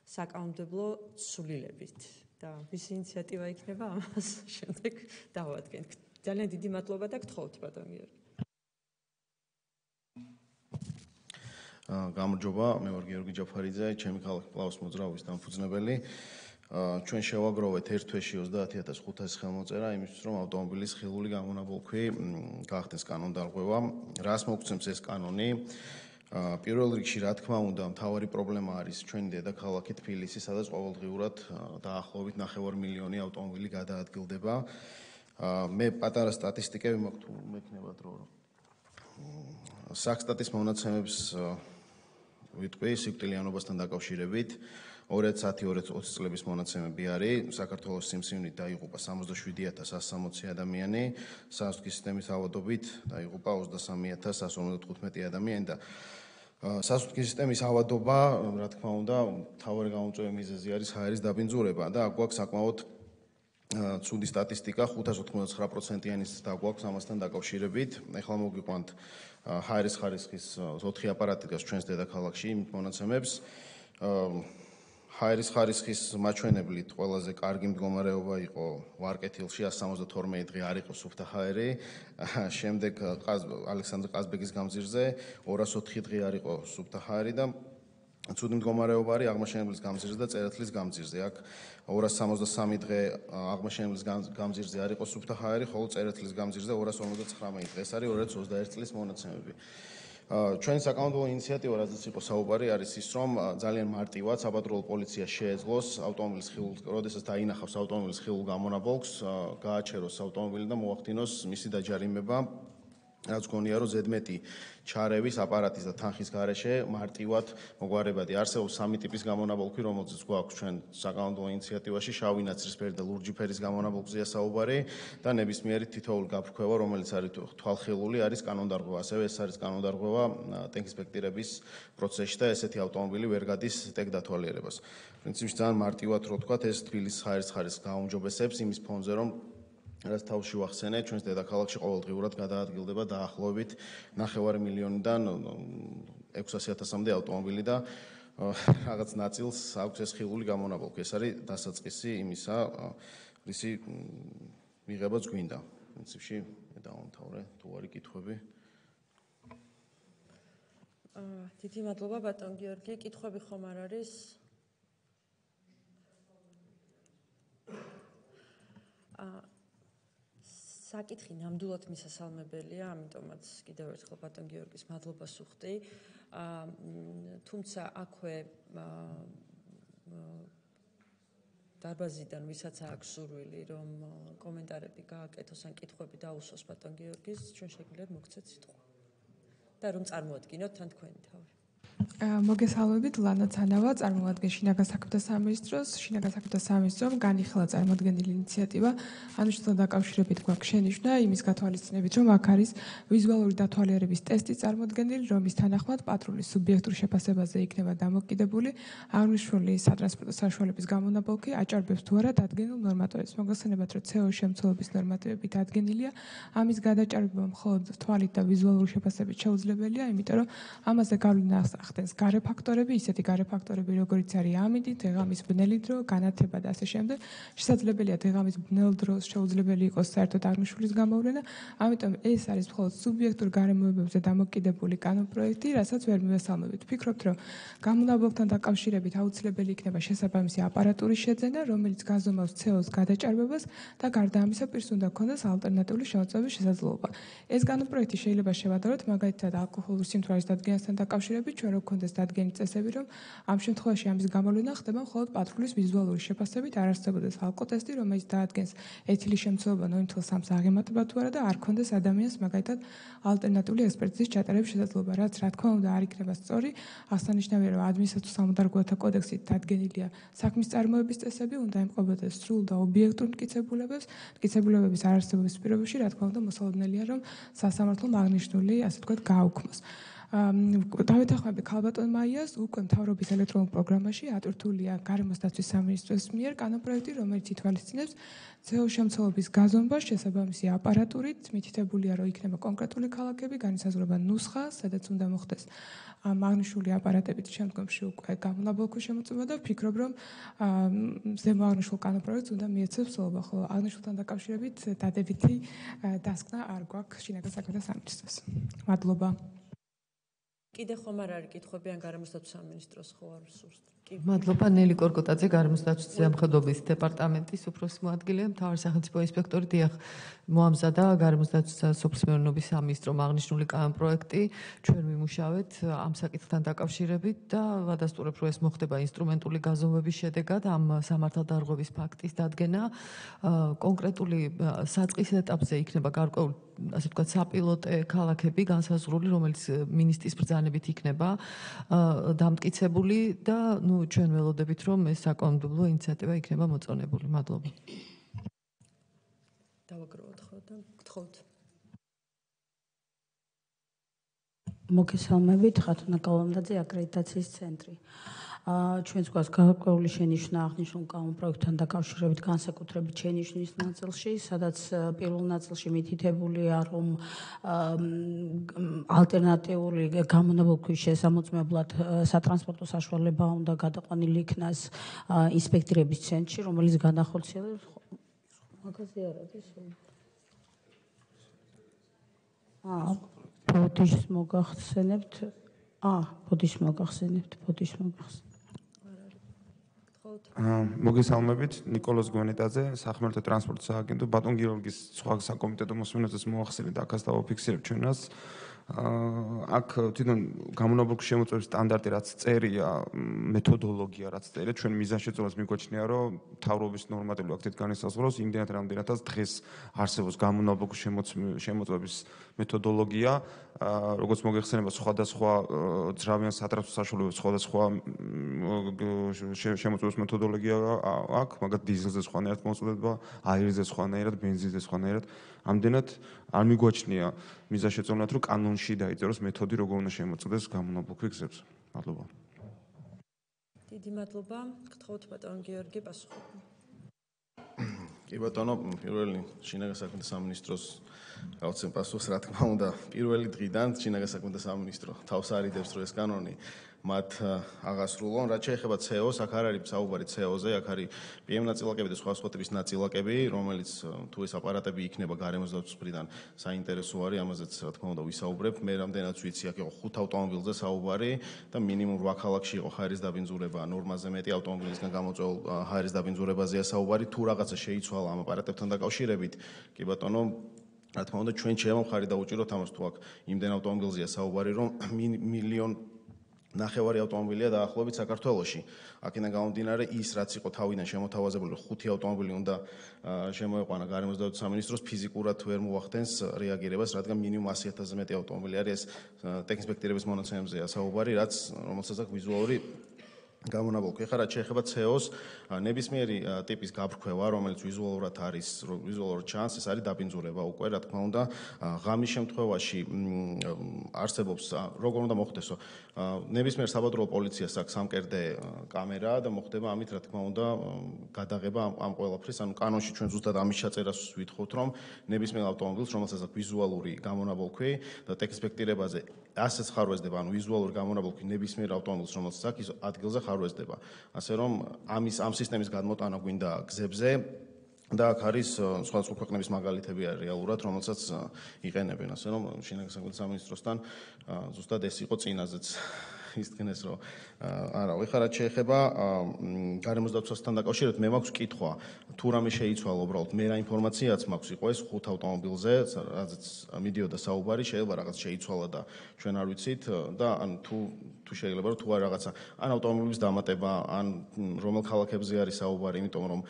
საკანონმდებლო ცვლილებით. და ვის ინიციატივა იქნება ამას შემდეგ დავადგენ. ძალიან დიდი მადლობა და გთხოვთ ბატონ გიორგი.
გამარჯობა, მე ვარ გიორგი ჯაფარიძე, ჩემი ქალაქი პლაუს მოძრაობის დამფუძნებელი. ჩვენ შევაგროვეთ ერთ თვეში 30,500 ხელმოწერა იმისთვის, რომ ავტომობილის ხილული გამონაბოლქვი გახდეს კანონდარღვევა. რას მოგცემს ეს კანონი? პირველ რიგში რა თქმა უნდა მთავარი პრობლემა არის ჩვენი დედაქალაქი თბილისი, სადაც ყოველდღიურად დაახლოებით 9 მილიონი ავტომობილი გადაადგილდება. მე პატარა სტატისტიკები მაქვს თუ მექნება დრო. საქსტატის მონაცემებს ვიტყვი სიკვდილიანობასთან დაკავშირებით 2010-2020 წლების მონაცემები არის. საქართველოს სიმსივნით დაიღუპა 67160 ადამიანი, სასუქის სისტემის ავადობით დაიღუპა 23155 ადამიანი და სასუქის სისტემის ავადობა, რა თქმა უნდა, მთავარი გამომწვევი მიზეზი არის ჰაერის დაბინძურება და გვაქვს საკმაოდ ცუდი სტატისტიკა 589%-იანიც დაგვაქვს ამასთან დაკავშირებით. ეხლა მოგიყვანთ ჰაერის ხარისხის 4 აპარატი დგას ჩვენს დედაქალაქში იმით მონაცემებს. ჰაერის ხარისხის მაჩვენებლით ყველაზე კარგი მდგომარეობა იყო ვარკეთილში 172 დღე არ იყო სუფთა ჰაერი, შემდეგ ალექსანდრე ყაზბეგის გამზირზე 204 დღე არ იყო სუფთა ჰაერი და ცუდი მდგომარეობა არის აღმაშენებლის გამზირზე და წერეთლის გამზირზე. აქ 263 დღე აღმაშენებლის გამზირზე არ იყო სუფთა ჰაერი, ხოლო წერეთლის გამზირზე 259 დღე. ეს არის 2021 წლის მონაცემები. ჩვენი საკანონმდებლო ინიციატივა, რაზეც იყო საუბარი, არის ის, რომ ძალიან მარტივად საპატრულო პოლიცია შეეძლოს ავტომობილის ხილულ, როდესაც დაინახავს ავტომობილის ხილულ გამონაბოლქს, გააჩეროს ავტომობილი და მოახდინოს მისი დაჯარიმება. რაც გონია, რომ ზედმეტი ჩარევის აპარატის და თანხის გარეშე მარტივად მოგვარებადი. არსებობს 3 ტიპის გამონაბოლქვი, რომელზეც გვაქვს ჩვენ საკანონმდებლო ინიციატივაში, შავი, ნაცრისფერი და ლურჯი ფერის გამონაბოლქვზეა საუბარი და ნებისმიერი თითოეული გაფრქვევა, რომელიც არის თვალხილული, არის კანონდარღვევა. ასევე ეს არის კანონდარღვევა ტექინსპექტირების პროცესში და ესეთი ავტომობილი ვერ გადის ტექდათვალიერებას. პრინციპში ძალიან მარტივად რო ვთქვათ, ეს თბილისის ჰაერის ხარისხს გააუმჯობესებს იმის ფონზე, რომ რაც თავში ვახსენე, ჩვენს დედაქალაქში ყოველდღიურად გადაადგილდება დაახლოებით 9 მილიონიდან 600,000-მდე ავტომობილი და რაღაც ნაწილს აქვს ეს ხილული გამონაბოლქვი. ეს არის დასაწყისი იმისა, რისი მიღებაც გვინდა. პრინციპში მე დავამთავრე, თუ არის კითხვები.
დიდი მადლობა ბატონ გიორგი, კითხვები ხომ არ არის? საკითხი ნამდვილად მისასალმებელია, ამიტომაც კიდევ ერთხელ ბატონ გიორგის მადლობას ვუხდი. თუმცა აქვე დარბაზიდან ვისაც აქვს სურვილი, რომ კომენტარები გააკეთოს ან კითხვები დაუსვოს ბატონ გიორგის, ჩვენ შეგვიძლია მოგცეთ სიტყვა. და რომ წარმოადგინოთ თან თქვენი თავი.
მოგესალმებით, ლანა ცანავა, წარმოადგენს შინაგან საქმეთა სამინისტროს. შინაგან საქმეთა სამინისტრომ განიხილა წარმოადგენელი ინიციატივა, ანიშნულთან დაკავშირებით გვაქვს შენიშვნა იმის გათვალისწინებით, რომ აქ არის ვიზუალური დათვალიერების ტესტი წარმოადგენელი, რომლის თანახმად პატრულის სუბიექტურ შეფასებაზე იქნება დამოკიდებული აღნიშნული სატრანსპორტო საშუალების გამონაბოლქვი აჭარბებს თუ არა დადგენილ ნორმატივებს. მოგესალმებით, რომ CO შემცველობის ნორმატივები დადგენილია, ამის გადაჭარბება მხოლოდ თვალით და ვიზუალური შეფასებით შეუძლებელია, იმიტომ რომ ამაზე გავლენა ახდენს გარე ფაქტორები, ისეთი გარე ფაქტორები, როგორიც არის ამინდი, დღეღამის ბნელი დრო, განათება და ასე შემდეგ. შესაძლებელია დღეღამის ბნელ დროს შეუძლებელი იყოს საერთოდ აღნიშნულის გამოვლენა, ამიტომ ეს არის მხოლოდ სუბიექტურ გარემოებებზე დამოკიდებული კანონპროექტი, რასაც ვერ მივესალმებით. ვფიქრობთ, რომ გამონაბოლქვთან დაკავშირებით აუცილებელი იქნება შესაბამისი აპარატურის შეძენა, რომელიც გაზომავს CO-ს გადაჭარბებას და გარდა ამისა პირს უნდა ჰქონდეს ალტერნატიული შემოწმების შესაძლებლობა. ეს კანონპროექტი შეიძლება შევადაროთ მაგალითად ალკოჰოლური სიმთვრალის დადგენასთან დაკავშირებით, ჩვენ რო გქონდეს დადგენილი წესები, რომ ამ შემთხვევაში ამის გამოვლენა ხდება მხოლოდ პატრულის ვიზუალური შეფასებით, არ არსებობდეს ალკოტესტი, რომელიც დაადგენს ეთილის შემცველობა 0.3-ს აღემატება თუ არა და არ ქონდეს ადამიანს მაგალითად ალტერნატიული ექსპერტიზის ჩატარების შესაძლებლობა, რაც რა თქმა უნდა არ იქნება სწორი. აღსანიშნავია, რომ ადმინისტრაციულ სამოდარგოთა კოდექსით დადგენილია საქმის წარმოების წესები, უნდა ემყობოდეს სრულ და ობიექტურ მტკიცებულებების არარსებობის პირობებში, რა თქმა უნდა, მოსალოდნელია, რომ სასამართლომ აღნიშნული, ასე ვთქვათ, გააუქმოს. დავეთანხმები ქალბატონ მაიას, უკვე მთავრობის ელექტრონულ პროგრამაში ატვირთულია გარემოს დაცვის სამინისტროს მიერ კანონპროექტი, რომელიც ითვალისწინებს CO შემცველობის გაზომვას შესაბამისი აპარატურით, მითითებულია, რომ იქნება კონკრეტული ქალაქები, განისაზღვრება ნუსხა, სადაც უნდა მოხდეს აღნიშნული აპარატებით შემდგომში უკვე გამონაბოლქვის შემოწმება და ვფიქრობ, რომ ზემო აღნიშნულ კანონპროექტს უნდა მიეცებს სულობა, ხოლო აღნიშნულთან დაკავშირებით დადებითი დასკვნა არ გვაქვს შინაგან საქმეთა სამინისტროს. მადლობა.
კიდე ხომ არ არის კითხვები ან გარემოს დაცვის სამინისტროს ხო არ სურს?
მადლობა ნელი კორკოტაძე გარემოს დაცვის ზემოქმედობის დეპარტამენტის უფროსი მოადგილე მთავარი სახელმწიფო ინსპექტორი დიახ მოამზადა გარემოს დაცვის სოფლის მეურნეობის სამინისტრომ აღნიშნული კანონპროექტი ჩვენ ვიმუშავეთ ამ საკითხთან დაკავშირებით და ვადასტურებ რომ ეს მოხდება ინსტრუმენტული გაზომვების შედეგად ამ სამართალდარღვევის ფაქტის დადგენა კონკრეტული საწყის ეტაპზე იქნება გარკვეული ასე ვთქვათ საპილოტე ქალაქები განსაზღვრული რომელიც მინისტრის ბრძანებით იქნება დამტკიცებული და ჩვენ ველოდებით რომ ეს საკანონმდებლო ინიციატივა იქნება მოწონებული. მადლობა.
დავაგროვოთ ხო და გთხოვთ.
მოგესალმებით, ხათუნა კალამდაძე, აკრედიტაციის ცენტრი. ჩვენს გვაქვს გარკვეული შენიშვნა აღნიშნულ კანონპროექტთან დაკავშირებით განსაკუთრებით შენიშვნის ნაწილში, სადაც პირველ ნაწილში მითითებულია, რომ ალტერნატიული გამონაბოლქვის შესამოწმებლად სატრანსპორტო საშუალება უნდა გადაყვანილი იქნას ინსპექტირების ცენტრში, რომელიც განახორციელებს მაგაზე არ არის. ბოდიშს მოგახსენებთ. ბოდიშს მოგახსენებთ.
მოგესალმებით, ნიკოლოზ გვენეტაძე, სახმელეთო ტრანსპორტის სააგენტო, ბატონ გიორგის სხვა საკომიტეტო მოსმენებს მოახსენეთ, აქაც დავაფიქსირებ ჩვენას. აქ თვითონ გამონაბოლქვის შემოწმების სტანდარტი რაც წერია, მეთოდოლოგია რაც წერია, ჩვენ მიზანშეწონებას მიგვაჩნია, რომ მთავრობის ნორმატიული აქტით განისაზღვროს იმდენად რამდენადაც დღეს არსებობს გამონაბოლქვის შემოწმების მეთოდოლოგია, როგორც მოგეხსენება სხვადასხვა ძრავიან სატრანსპორტო საშუალებებს სხვადასხვა შემოწმების მეთოდოლოგია აქვს, მაგათ დიზელზე სხვანაირად მოწოდება, აირზე სხვანაირად, ბენზინზე სხვანაირად. ამდენად არ მიგვაჩნია მიზანშეწონად, რომ კანონში დაიწეროს მეთოდი, როგორ უნდა შემოწმდეს გამონაბოლქვი გზებს. მადლობა.
დიდი მადლობა. გთხოვთ ბატონ გიორგი პასუხობ.
კი ბატონო, პირველი შინაგან საქმეთა სამინისტროს გავცემ პასუხს, რა თქმა უნდა, პირველი დღიდან შინაგან საქმეთა სამინისტრო თავს არიდებს, რომ ეს კანონი მათ აღასრულონ. რაც შეეხება CO-ს, აქ არ არის საუბარი CO-ზე, აქ არის PM ნაწილაკები და სხვა ტიპის ნაწილაკები, რომელიც თუ ეს აპარატები იქნება გარემოს დაცვის მხრიდან საინტერესო არის, ამაზეც რა თქმა უნდა ვისაუბრებ. მე რამდენად ვიცი, აქ იყო 5 ავტომობილზე საუბარი და მინიმუმ 8 ქალაქში იყო ჰაერის დაბინძურება, ნორმაზე მეტი ავტომობილისგან გამოწვეულ ჰაერის დაბინძურებაზეა საუბარი. თუ რაღაცა შეიცვალა ამ აპარატებთან დაკავშირებით, კი ბატონო, რა თქმა უნდა ჩვენ შემოვხარი დაუჭიროთ ამას, თუ აქ იმდენ ავტომობილზეა საუბარი, რომ მილიონ ნახევარი ავტომობილია დაახლოებით საქართველოში. აქედან გამომდინარე ის რაც იყო თავიდან შემოთავაზებული 5 ავტომობილი უნდა შემოეყვანა გარემოს დაცვის სამინისტროს ფიზიკურად ვერ მოახდენს რეაგირებას, რადგან მინიმუმ 100,000-ზე მეტი ავტომობილი არის ეს ტექინსპექტირების მონაცემებზეა საუბარი, რომელსაც აქვს ვიზუალური გამონაბოლქვი. ეხლა რაც შეეხება CO-ს, ნებისმიერი ტიპის გაფრქვევა, რომელიც ვიზუალურად არის, ვიზუალურად ჩანს, ეს არის დაბინძურება უკვე, რა თქმა უნდა, ღამის შემთხვევაში არსებობს, როგორ უნდა მოხდესო, ნებისმიერ საბადრო პოლიციას აქვს სამკერდე კამერა და მოხდება ამით, რა თქმა უნდა, გადაღება ამ ყველაფრის, ანუ კანონში ჩვენ ზუსტად ამის ჩაწერას ვითხოვთ, რომ ნებისმიერ ავტომობილს, რომელსაც აქვს ვიზუალური გამონაბოლქვი და ტექინსპექტირებაზე ასეც ხარვეზდება, ანუ ვიზუალური გამონაბოლქვი ნებისმიერ ავტომობილს, რომელსაც აქვს, ის ადგილზე ხარვეზდება. ასე რომ ამ სისტემის გადმოტანა გვინდა გზებზე და აქ არის სხვადასხვა ქვეყნების მაგალითები არის რეალურად, რომელსაც იყენებენ. ასე რომ შინაგან საქმეთა სამინისტროსთან ზუსტად ეს იყო წინაზეც ისდგენეს, რომ არა, ეხლა რაც შეეხება გარემოს დაცვასთან დაკავშირებით, მე მაქვს კითხვა, თუ რამე შეიცვალა უბრალოდ, მე რა ინფორმაციაც მაქვს, იყო ეს 5 ავტომობილზე, რაზეც მიდიოდა საუბარი, შეიძლება რაღაც შეიცვალა და ჩვენ არ ვიცით და ან თუ შეიძლება რომ თუ არ რაღაცა ან ავტომობილების დამატება, ან რომელ ქალაქებზე არის საუბარი, იმიტომ რომ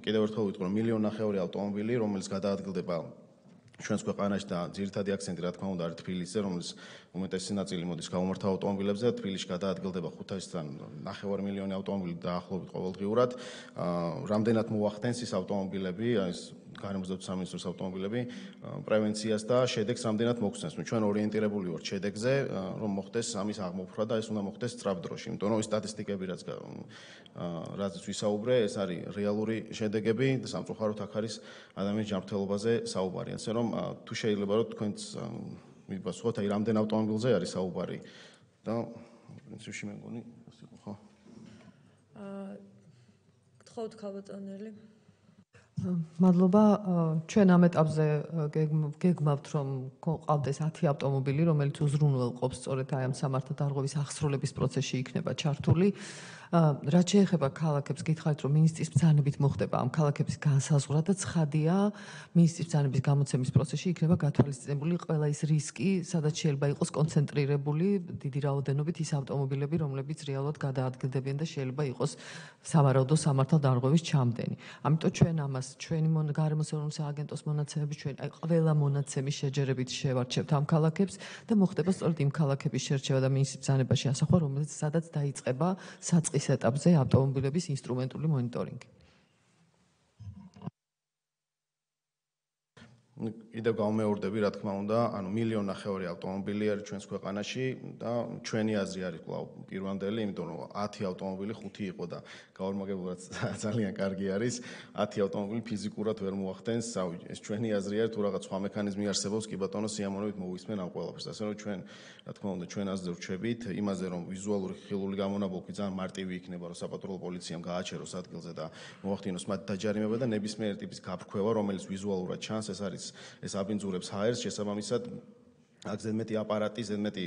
კიდევ ერთხელ ვიტყვი, რომ 1,5 მილიონი ავტომობილი, რომელიც გადაადგილდება ჩვენს ქვეყანაში და ძირითადი აქცენტი რა თქმა უნდა არის თბილისზე, რომელიც უმეტესი ნაწილი მოდის გაუმართა ავტომობილებზე და თბილისში გადაადგილდება 500-დან 9 მილიონი ავტომობილი დაახლოებით ყოველდღიურად. რამდენად მოახდენს ის ავტომობილები, ეს გარემოს დაცვის სამინისტროს ავტომობილები პრევენციას და შედეგს რამდენად მოგხსნეს. ჩვენ ორიენტირებული ვართ შედეგზე, რომ მოხდეს ამის აღმოფხვრა და ეს უნდა მოხდეს სწრაფ დროში, იმიტომ რომ სტატისტიკები რაც ვისაუბრე, ეს არის რეალური შედეგები და სამწუხაროდ აქ არის ადამიანის ჯანმრთელობაზე საუბარი. ასე რომ თუ შეიძლება რომ თქვენც მიპასუხოთ, აი რამდენ ავტომობილზე არის საუბარი და პრინციპში მე მგონი ეს იყო, ხო?
გთხოვთ ქალბატონელი.
მადლობა. ჩვენ ამ ეტაპზე გეგმავთ, რომ ყავდეს 10 ავტომობილი, რომელიც უზრუნველყოფს სწორედ აი ამ სამართალდარღვევის აღსრულების პროცესში იქნება ჩართული. რაც შეეხება ქალაქებს, გითხარით, რომ მინისტრის ბრძანებით მოხდება ამ ქალაქების განსაზღვრა და ცხადია, მინისტრის ბრძანების გამოცემის პროცესში იქნება გათვალისწინებული ყველა ის რისკი, სადაც შეიძლება იყოს კონცენტრირებული დიდი რაოდენობით ის ავტომობილები, რომლებიც რეალურად გადაადგილდებიან და შეიძლება იყოს სავარაუდო სამართალდარღვევის ჩამდენი. ამიტომ ჩვენ ამას ჩვენი გარემოს ეროვნული სააგენტოს მონაცემები ჩვენ ყველა მონაცემის შეჯერებით შევარჩევთ ამ ქალაქებს და მოხდება სწორედ იმ ქალაქების შერჩევა და მინისტრის ბრძანებაში ასახვა, რომელიც სადაც დაიწყება საწყის ეტაპზე ავტომობილების ინსტრუმენტული მონიტორინგი.
კიდევ გამეორდები, რა თქმა უნდა, ანუ 1.5 მილიონი ავტომობილი არის ჩვენს ქვეყანაში და ჩვენი აზრი არის კვლავ პირვანდელი, იმიტომ რომ 10 ავტომობილი 5 იყო და გაორმაგებულად ძალიან კარგი არის. 10 ავტომობილი ფიზიკურად ვერ მოახდენს, ეს ჩვენი აზრი არის, თუ რაღაც სხვა მექანიზმი არსებობს, კი ბატონო, სიამოვნებით მოვისმენ ამ ყველაფერს. ასე რომ ჩვენ, რა თქმა უნდა, ჩვენ აზრზე ვრჩებით იმაზე, რომ ვიზუალური ხილული გამონაბოლქვი ძალიან მარტივი იქნება, რომ საპატრულო პოლიციამ გააჩეროს ადგილზე და მოახდინოს მათ დაჯარიმება და ნებისმიერ ტიპის გაფრქვევა, რომელიც ვიზუალურად ჩანს, ეს არის ეს აბინძურებს ჰაერს, შესაბამისად აქ ზედმეტი აპარატი, ზედმეტი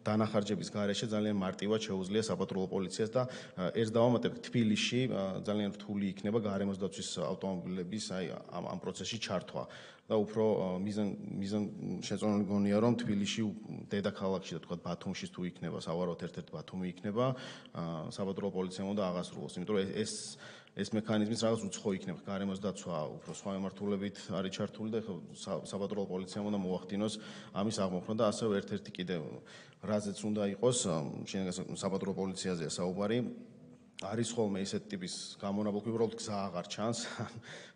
დანახარჯების გარეშე ძალიან მარტივად შეუძლია საპატრულო პოლიციას და ერთ დავამატებ, თბილისში ძალიან რთული იქნება გარემოს დაცვის ავტომობილების ამ პროცესში ჩართვა. და უფრო მიზან შეწონილი გონია, რომ თბილისში დედაქალაქში და თქვა ბათუმში თუ იქნება, სავარაუდოდ ერთ-ერთი ბათუმი იქნება, საპატრულო პოლიციამ უნდა აღასრულოს, იმიტომ რომ ეს მექანიზმიც რაღაც უცხო იქნება, გარემოს დაცვა უფრო სხვა მიმართულებით არის ჩართული და საპატრულო პოლიციამ უნდა მოახდინოს ამის აღმოხსნა და ასევე ერთ-ერთი კიდევ რაზეც უნდა იყოს, საპატრულო პოლიციაზეა საუბარი, არის ხოლმე ისეთ ტიპის გამონაბოლქვი, უბრალოდ გზა აღარ ჩანს,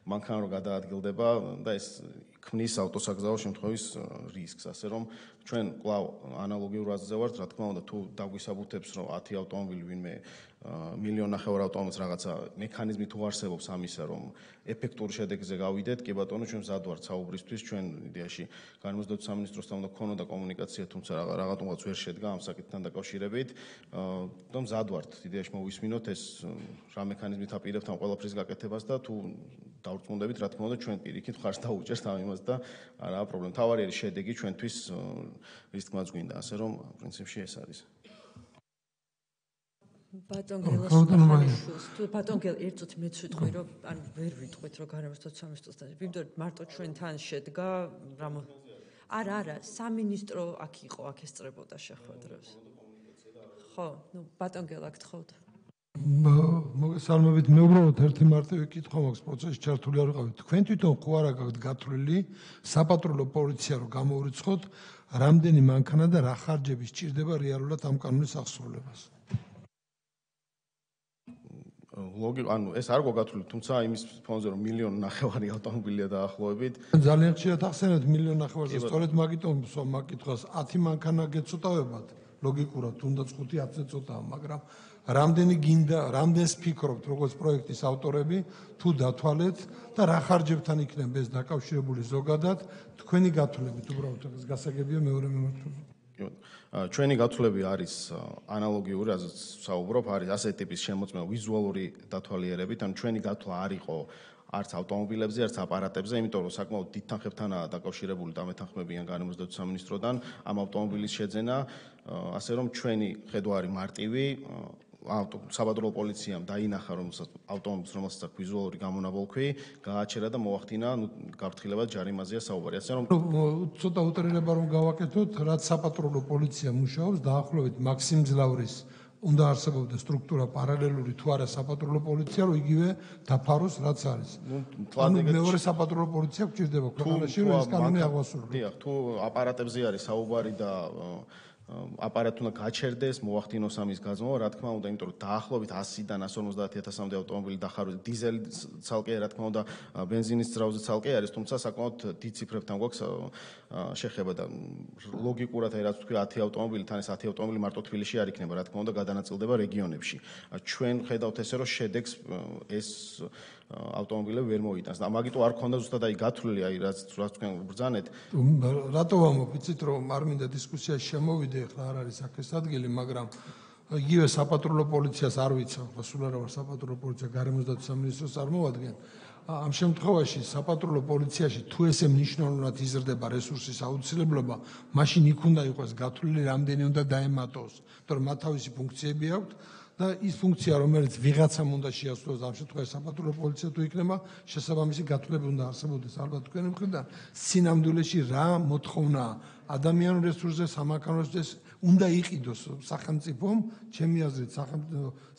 მანქანა რო გადაადგილდება და ეს ქმნის ავტოსაგზაო შემთხვევის რისკს, ასე რომ ჩვენ კვლავ ანალოგიურ აზრზე ვართ, რა თქმა უნდა, თუ დაგვისაბუთებს, რომ 10 ავტომობილი ვინმე 1.5 მილიონი ავტომობილს რაღაცა მექანიზმი თუ არსებობს ამისა, რომ ეფექტურ შედეგზე გავიდეთ, კი ბატონო, ჩვენ მზად ვართ საუბრისთვის, ჩვენ იდეაში გარემოს დაცვის სამინისტროსთან უნდა გქონოდა კომუნიკაცია, თუმცა რაღაცნაირად ვერ შედგა ამ საკითხთან დაკავშირებით და მზად ვართ იდეაში მოვისმინოთ ეს რა მექანიზმით აპირებთ ამ ყველაფრის გაკეთებას და თუ დავრწმუნდებით, რა თქმა უნდა, ჩვენ პირიქით ხარს დაუჭერთ ამ იმას და არაა პრობლემა. თავარი არის შედეგი ჩვენთვის რის თქმაც გვინდა, ასე რომ პრინციპში ეს არის.
ბატონგელ ერთ წუთი მეც ვიტყვი, რომ ანუ ვერ ვიტყვით, რომ გარემოს დაცვის სამინისტროსთან. ვიმდორ მარტო ჩვენთან შედგა არა, სამინისტრო აქ იყო, აქ ესწრებოდა შეხვედრებს. ხო, ბატონგელ აქ თხოვთ.
მოგესალმებით, მე უბრალოდ ერთი მარტივი კითხვა მაქვს პროცესში ჩართული არ ვიყავით. თქვენ თვითონ ხო არა გაქვთ გათვლილი საპატრულო პოლიცია რომ გამოურიცხოთ, რამდენი მანქანა და რა ხარჯები სჭირდება რეალურად ამ კანონის აღსრულებას?
ანუ ეს არ გოგათვლილი, თუმცა იმის ფონზე რომ 1.5 მილიონი ავტომობილია დაახლოებით.
ძალიან ხშირად ახსენებთ 1.5 მილიონს, სწორედ მაგიტომ მაგითხვას 10 მანქანა გეცოტავებათ, ლოგიკურად თუნდაც 5-10-ზე ცოტაა, მაგრამ რამდენი გინდა, რამდენს ფიქრობთ, როგორც პროექტის ავტორები, თუ დათვალეთ და რა ხარჯებთან იქნება ეს დაკავშირებული ზოგადად, თქვენი გათვლებით უბრალოდ ეს გასაგებია მეორე მიმართულებით.
ჩვენი გათვლები არის ანალოგიური, რაზეც საუბრობ, არის ასეთი ტიპის შემოწმება ვიზუალური დათვალიერებით, ანუ ჩვენი გათვლა არ იყო არც ავტომობილებზე, არც აპარატებზე, იმიტომ რომ საკმაოდ დიდ თანხებთანაა დაკავშირებული და მეთანხმებიან გარემოს დაცვის სამინისტროდან ამ ავტომობილის შეძენა, ასე რომ ჩვენი ხედვა არის მარტივი, საპატრულო პოლიციამ დაინახა, რომ ავტომობილს, რომელსაც აქვს ვიზუალური გამონაბოლქვი, გააჩერა და მოახდინა გაფრთხილებად ჯარიმაზეა საუბარი. ასე რომ
ცოტა უტრირება რომ გავაკეთოთ, რაც საპატრულო პოლიცია მუშაობს, დაახლოებით მაქსიმ ძლავრის უნდა არსებობდა სტრუქტურა პარალელური თუ არა საპატრულო პოლიცია, რომ იგივე დაფაროს, რაც არის. ანუ მეორე საპატრულო პოლიცია გვჭირდება ქვეყანაში, რომ ეს კანონი აღვასრულოს.
დიახ, თუ აპარატებზე არის საუბარი და აპარატი უნდა გაჩერდეს, მოახდინოს ამის გაზმობა, რა თქმა უნდა, იმიტომ რომ დაახლოებით 100-დან 150.000-მდე ავტომობილი დახარული, დიზელი ცალკე, რა თქმა უნდა, ბენზინის ძრავზე ცალკე არის, თუმცა საკმაოდ დიდ ციფრებთან გვაქვს შეხება და ლოგიკურად აი რაც თქვი 10 ავტომობილი, თან ეს 10 ავტომობილი მარტო თბილისში არ იქნება, რა თქმა უნდა, გადანაწილდება რეგიონებში. ჩვენ ხედავთ ესე, რომ შედეგს ეს ავტომობილები ვერ მოიტანს. და მაგიტო არ ქონდა ზუსტად აი გათვლილი, აი რაც თქვენ ბრძანეთ.
რატო ვამოფიცით, რომ არ მინდა დისკუსიაში შემოვიდე, ახლა არ არის აქ ეს ადგილი, მაგრამ იგივე საპატრულო პოლიციას არ ვიცავ, ხო სულ არა ვარ საპატრულო პოლიცია, გარემოს დაცვის სამინისტროს წარმოვადგენ. ამ შემთხვევაში საპატრულო პოლიციაში თუ ესე მნიშვნელოვნად იზრდება რესურსის აუცილებლობა, მაშინ იქ უნდა იყოს გათვლილი, რამდენი უნდა დაემატოს, იმიტომ რომ მათ თავისი ფუნქციები აქვთ. და ის ფუნქცია, რომელიც ვიღაცამ უნდა შეასრულოს ამ შემთხვევაში საპატრულო პოლიცია თუ იქნება, შესაბამისი გათვლები უნდა არსებობდეს ალბათ თქვენი მხრიდან. სინამდვილეში რა მოთხოვნაა ადამიანურ რესურსზე, სამანქანო რესურსზე უნდა იყიდოს სახელმწიფომ, ჩემი აზრით,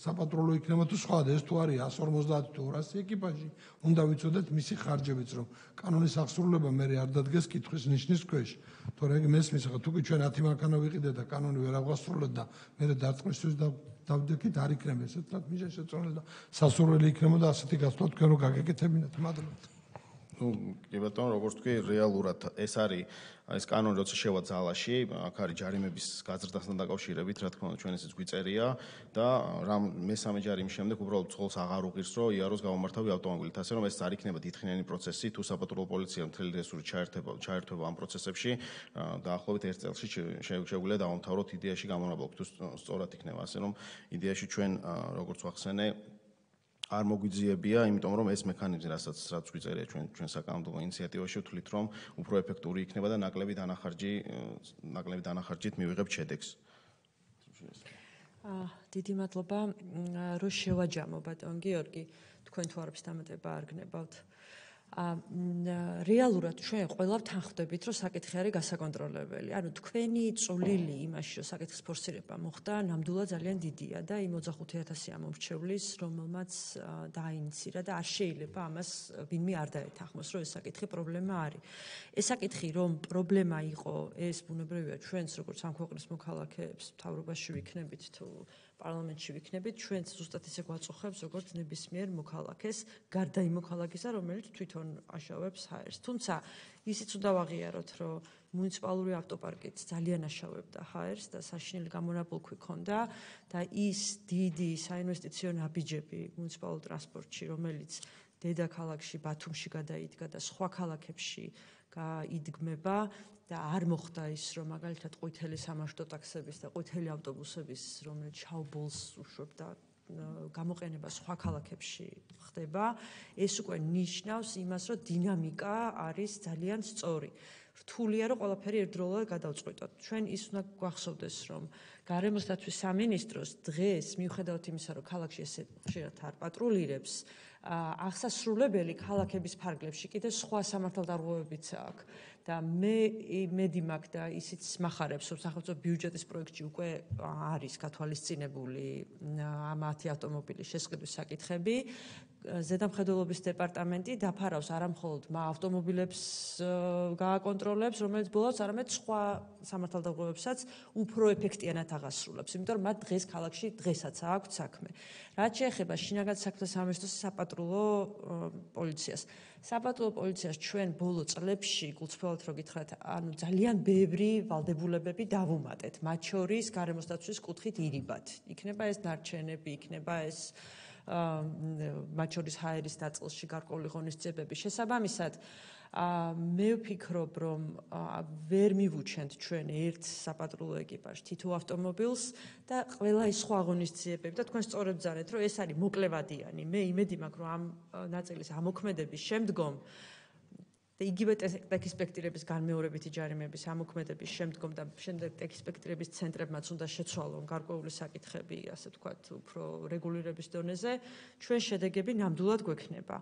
საპატრულო იქნება თუ სხვა და ეს თუ არის 150 თუ 200 ეკიპაჟი, უნდა ვიცოდეთ მისი ხარჯებიც, რომ კანონის აღსრულება მე არ დადგეს კითხვის ნიშნის ქვეშ. თორე მესმის, თუ კი ჩვენ 10 მანქანა ვიყიდეთ და კანონი ვერ ავღასრულოთ და მე დარტყმისთვის დავდექით, არ იქნება ესეთად მიზეზი შეწონილი და სასურველი იქნება და ასეთი გასვლა თქვენ რო გაგეკეთებინათ. მადლობთ.
კი ბატონო, როგორც თქვი, რეალურად ეს არის ეს კანონი, როცა შევა ძალაში, აქ არის ჯარიმების გაზრდასთან დაკავშირებით, რა თქმა უნდა, ჩვენ ესეც გვიწერია და რამ მესამე ჯარიმის შემდეგ უბრალოდ წყოლს აღარ უღირს, რომ იაროს გამომართავი ავტომობილით, ასე რომ ეს არ იქნება დიდხნიანი პროცესი, თუ საპატრულო პოლიცია მთელი რესურსი ჩაერთვება ამ პროცესებში, დაახლოებით 1 წელში შეგვიძლია დავამთავროთ იდეაში გამონაბოლქვი, თუ სწორად იქნება, ასე რომ იდეაში ჩვენ როგორც ვახსენე არ მოგვიძიებია, იმიტომ რომ ეს მექანიზმი, რასაც გვიწერია ჩვენ საკანონმდებლო ინიციატივაში, ვთვლით, რომ უფრო ეფექტური იქნება და ნაკლები დანახარჯით მივიღებთ შედეგს.
დიდი მადლობა, რომ შევაჯამო ბატონ გიორგი, თქვენ თუ არაფერს დამატება არ გნებავთ. რეალურად ჩვენ ყველა ვთანხმდებით, რომ საკითხი არის გასაკონტროლებელი. ანუ თქვენი წვლილი იმაში, რომ საკითხის ფორსირება მოხდა, ნამდვილად ძალიან დიდია და იმ 25,000 ამომრჩევლის, რომელმაც დაინიცირა და არ შეიძლება ამას ვინმე არ დაეთანხმოს, რომ ეს საკითხი პრობლემა არის. ეს საკითხი რომ პრობლემა იყო, ეს ბუნებრივია ჩვენც როგორც ამ ქვეყნის მოქალაქეებს, მთავრობაში ვიქნებით თუ პარლამენტში ვიქნებით, ჩვენც ზუსტად ისე გვაწუხებს, როგორც ნებისმიერ მოქალაქეს, გარდა იმ მოქალაქისა, რომელიც თვითონ აშავებს ჰაერს. თუმცა ისიც უნდა ვაღიაროთ, რომ მუნიციპალური ავტოპარკიც ძალიან აშავებდა ჰაერს და საშინელი გამონაბოლქვი ჰქონდა და ის დიდი საინვესტიციო ნაბიჯები მუნიციპალურ ტრანსპორტში, რომელიც დედაქალაქში, ბათუმში გადაიდგა და სხვა ქალაქებში გაიდგმება და არ მოხდა ის, რომ მაგალითად ყვითელი სამარშრუტო ტაქსების და ყვითელი ავტობუსების, რომელიც შავ-ბოლს უშვებდა გამოყენება სხვა ქალაქებში ხდება, ეს უკვე ნიშნავს იმას, რომ დინამიკა არის ძალიან სწორი. რთულია, რომ ყველაფერი ერთდროულად გადავწყვიტოთ. ჩვენ ის უნდა გვახსოვდეს, რომ გარემოს დაცვის სამინისტროს დღეს, მიუხედავად იმისა, რომ ქალაქში ესე ხშირად არ პატრულირებს, აღსასრულებელი ქალაქების ფარგლებში კიდე სხვა სამართალდარღვევებიც აქვს. და მედი მაქვს და ისიც მახარებს, რომ სახელმწიფო ბიუჯეტის პროექტში უკვე არის გათვალისწინებული ამ 10 ავტომობილის შესყიდვის საკითხები. ზედამხედველობის დეპარტამენტი დაფარავს არა მხოლოდ ავტომობილებს გააკონტროლებს, რომელიც ბოლოს არამედ სხვა სამართალდარღვევებსაც უფრო ეფექტიანად აღასრულებს, იმიტომ რომ მათ დღეს ქალაქში დღესაც აქვთ საქმე. რაც შეეხება შინაგან საქმეთა სამინისტროს საპატრულო პოლიციას. საპატრულო პოლიციას ჩვენ ბოლო წლებში, გულწრფელად რო გითხრათ, ანუ ძალიან ბევრი ვალდებულებები დავუმატეთ, მათ შორის გარემოს დაცვის კუთხით ირიბად. იქნება ეს ნარჩენები, იქნება ეს მათ შორის ჰაერის ნაწილში გარკვეული ღონისძიებები. შესაბამისად, მე ვფიქრობ, რომ ვერ მივუჩენთ ჩვენ ერთ საპატრულო ეკიპაჟს, თითო ავტომობილს და ყველა ის სხვა ღონისძიებები და თქვენ სწორედ ბრძანეთ, რომ ეს არის მოკლევადიანი. მე იმედი მაქვს, რომ ამ ნაწილის ამოქმედების შემდგომ და იგივე ტექისპექტირების განმეორებითი ჯარიმების ამოქმედების შემდგომ და შემდეგ ტექისპექტირების ცენტრებმაც უნდა შეცვალონ გარკვეული საკითხები, ასე ვთქვათ, უფრო რეგულირების დონეზე, ჩვენ შედეგები ნამდვილად გვექნება.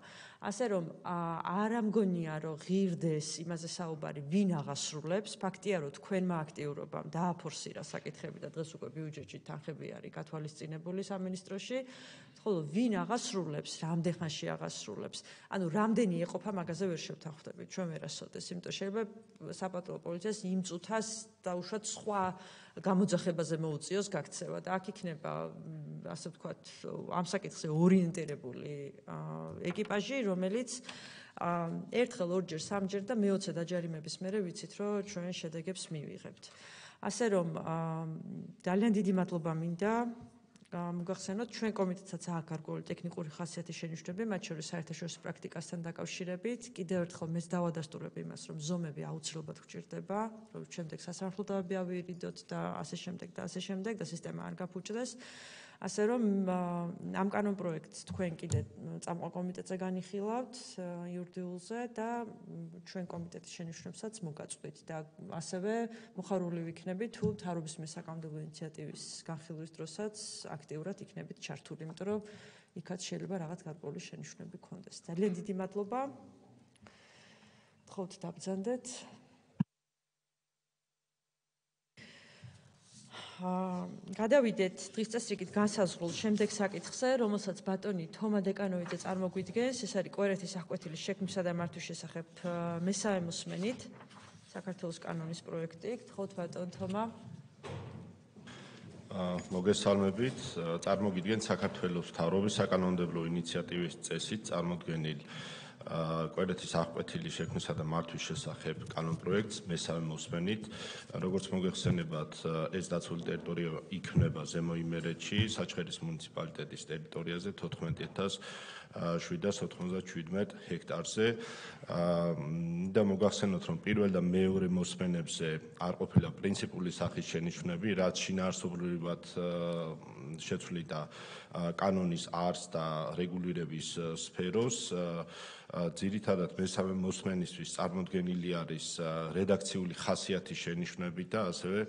ასე რომ არ ამგონია, რომ ღირდეს იმაზე საუბარი, ვინ აღასრულებს, ფაქტია, რომ თქვენმა აქტიურობამ დააფორსირა საკითხები და დღეს უკვე ბიუჯეტში თანხები არის გათვალისწინებული სამინისტროში, ხოლო ვინ აღასრულებს, რამდენ ხანში აღასრულებს, ანუ რამდენი ეყოფა მაგაზე ვერ შევთანხმდებით. ჩვენ ვერასოდეს, იმიტომ შეიძლება საპატრულო პოლიციას იმ წუთას დაუშვათ სხვა გამოძახებაზე მოუწიოს გაქცევა და აქ იქნება, ასე ვთქვათ, ამ საკითხზე ორიენტირებული ეკიპაჟი, რომელიც ერთხელ, ორჯერ, სამჯერ და მე-20 დაჯარიმების მერე ვიცით, რომ ჩვენ შედეგებს მივიღებთ. ასე რომ ძალიან დიდი მადლობა მინდა მოგახსენოთ, ჩვენ კომიტეტსაც აქვს გარკვეული ტექნიკური ხასიათის შენიშვნები, მათ შორის საერთაშორისო პრაქტიკასთან დაკავშირებით. კიდევ ერთხელ მეც დავადასტურებ იმას, რომ ზომები აუცილებლად გვჭირდება, რომ შემდეგ სასამართლო დავები ავირიდოთ და ასე შემდეგ და სისტემა არ გაფუჭდეს. ასე რომ ამ კანონ პროექტს თქვენ კიდე წამყვან კომიტეტზე განიხილავთ იურიდიულზე და ჩვენ კომიტეტის შენიშვნებსაც მოგაწყვით და ასევე მოხარული ვიქნებით თუ მთავრობის საკანონმდებლო ინიციატივის განხილვის დროსაც აქტიურად იქნებით ჩართული, იმიტომ რომ იქაც შეიძლება რაღაც გარკვეული შენიშვნები გქონდეს. ძალიან დიდი მადლობა. გთხოვთ დაბრძანდეთ. გადავიდეთ დღის წესრიგით განსაზღვრულ შემდეგ საკითხზე, რომელსაც ბატონი თომა დეკანოვიძე წარმოგვიდგენს. ეს არის კვერეთის აღკვეთილის შექმნისა და მართვის შესახებ მესამე მოსმენით საქართველოს კანონის პროექტი. გთხოვთ ბატონ თომა.
მოგესალმებით. წარმოგიდგენთ საქართველოს მთავრობის საკანონმდებლო ინიციატივის წესით წარმოდგენილ კვერეთის აღკვეთილის შექმნისა და მართვის შესახებ კანონ პროექტს მესამე მოსმენით. როგორც მოგეხსენებათ, ეს დაცული ტერიტორია იქნება ზემო იმერეთში, საჩხერის მუნიციპალიტეტის ტერიტორიაზე 14797 ჰექტარზე. და მოგახსენოთ, რომ პირველ და მეორე მოსმენებზე არ ყოფილა პრინციპული სახის შენიშვნები, რაც შინაარსობრივად შეცვლიდა კანონის არსს და რეგულირების სფეროს. ძირითადად მესამე მოსმენისთვის წარმოდგენილი არის რედაქციული ხასიათის შენიშვნები და ასევე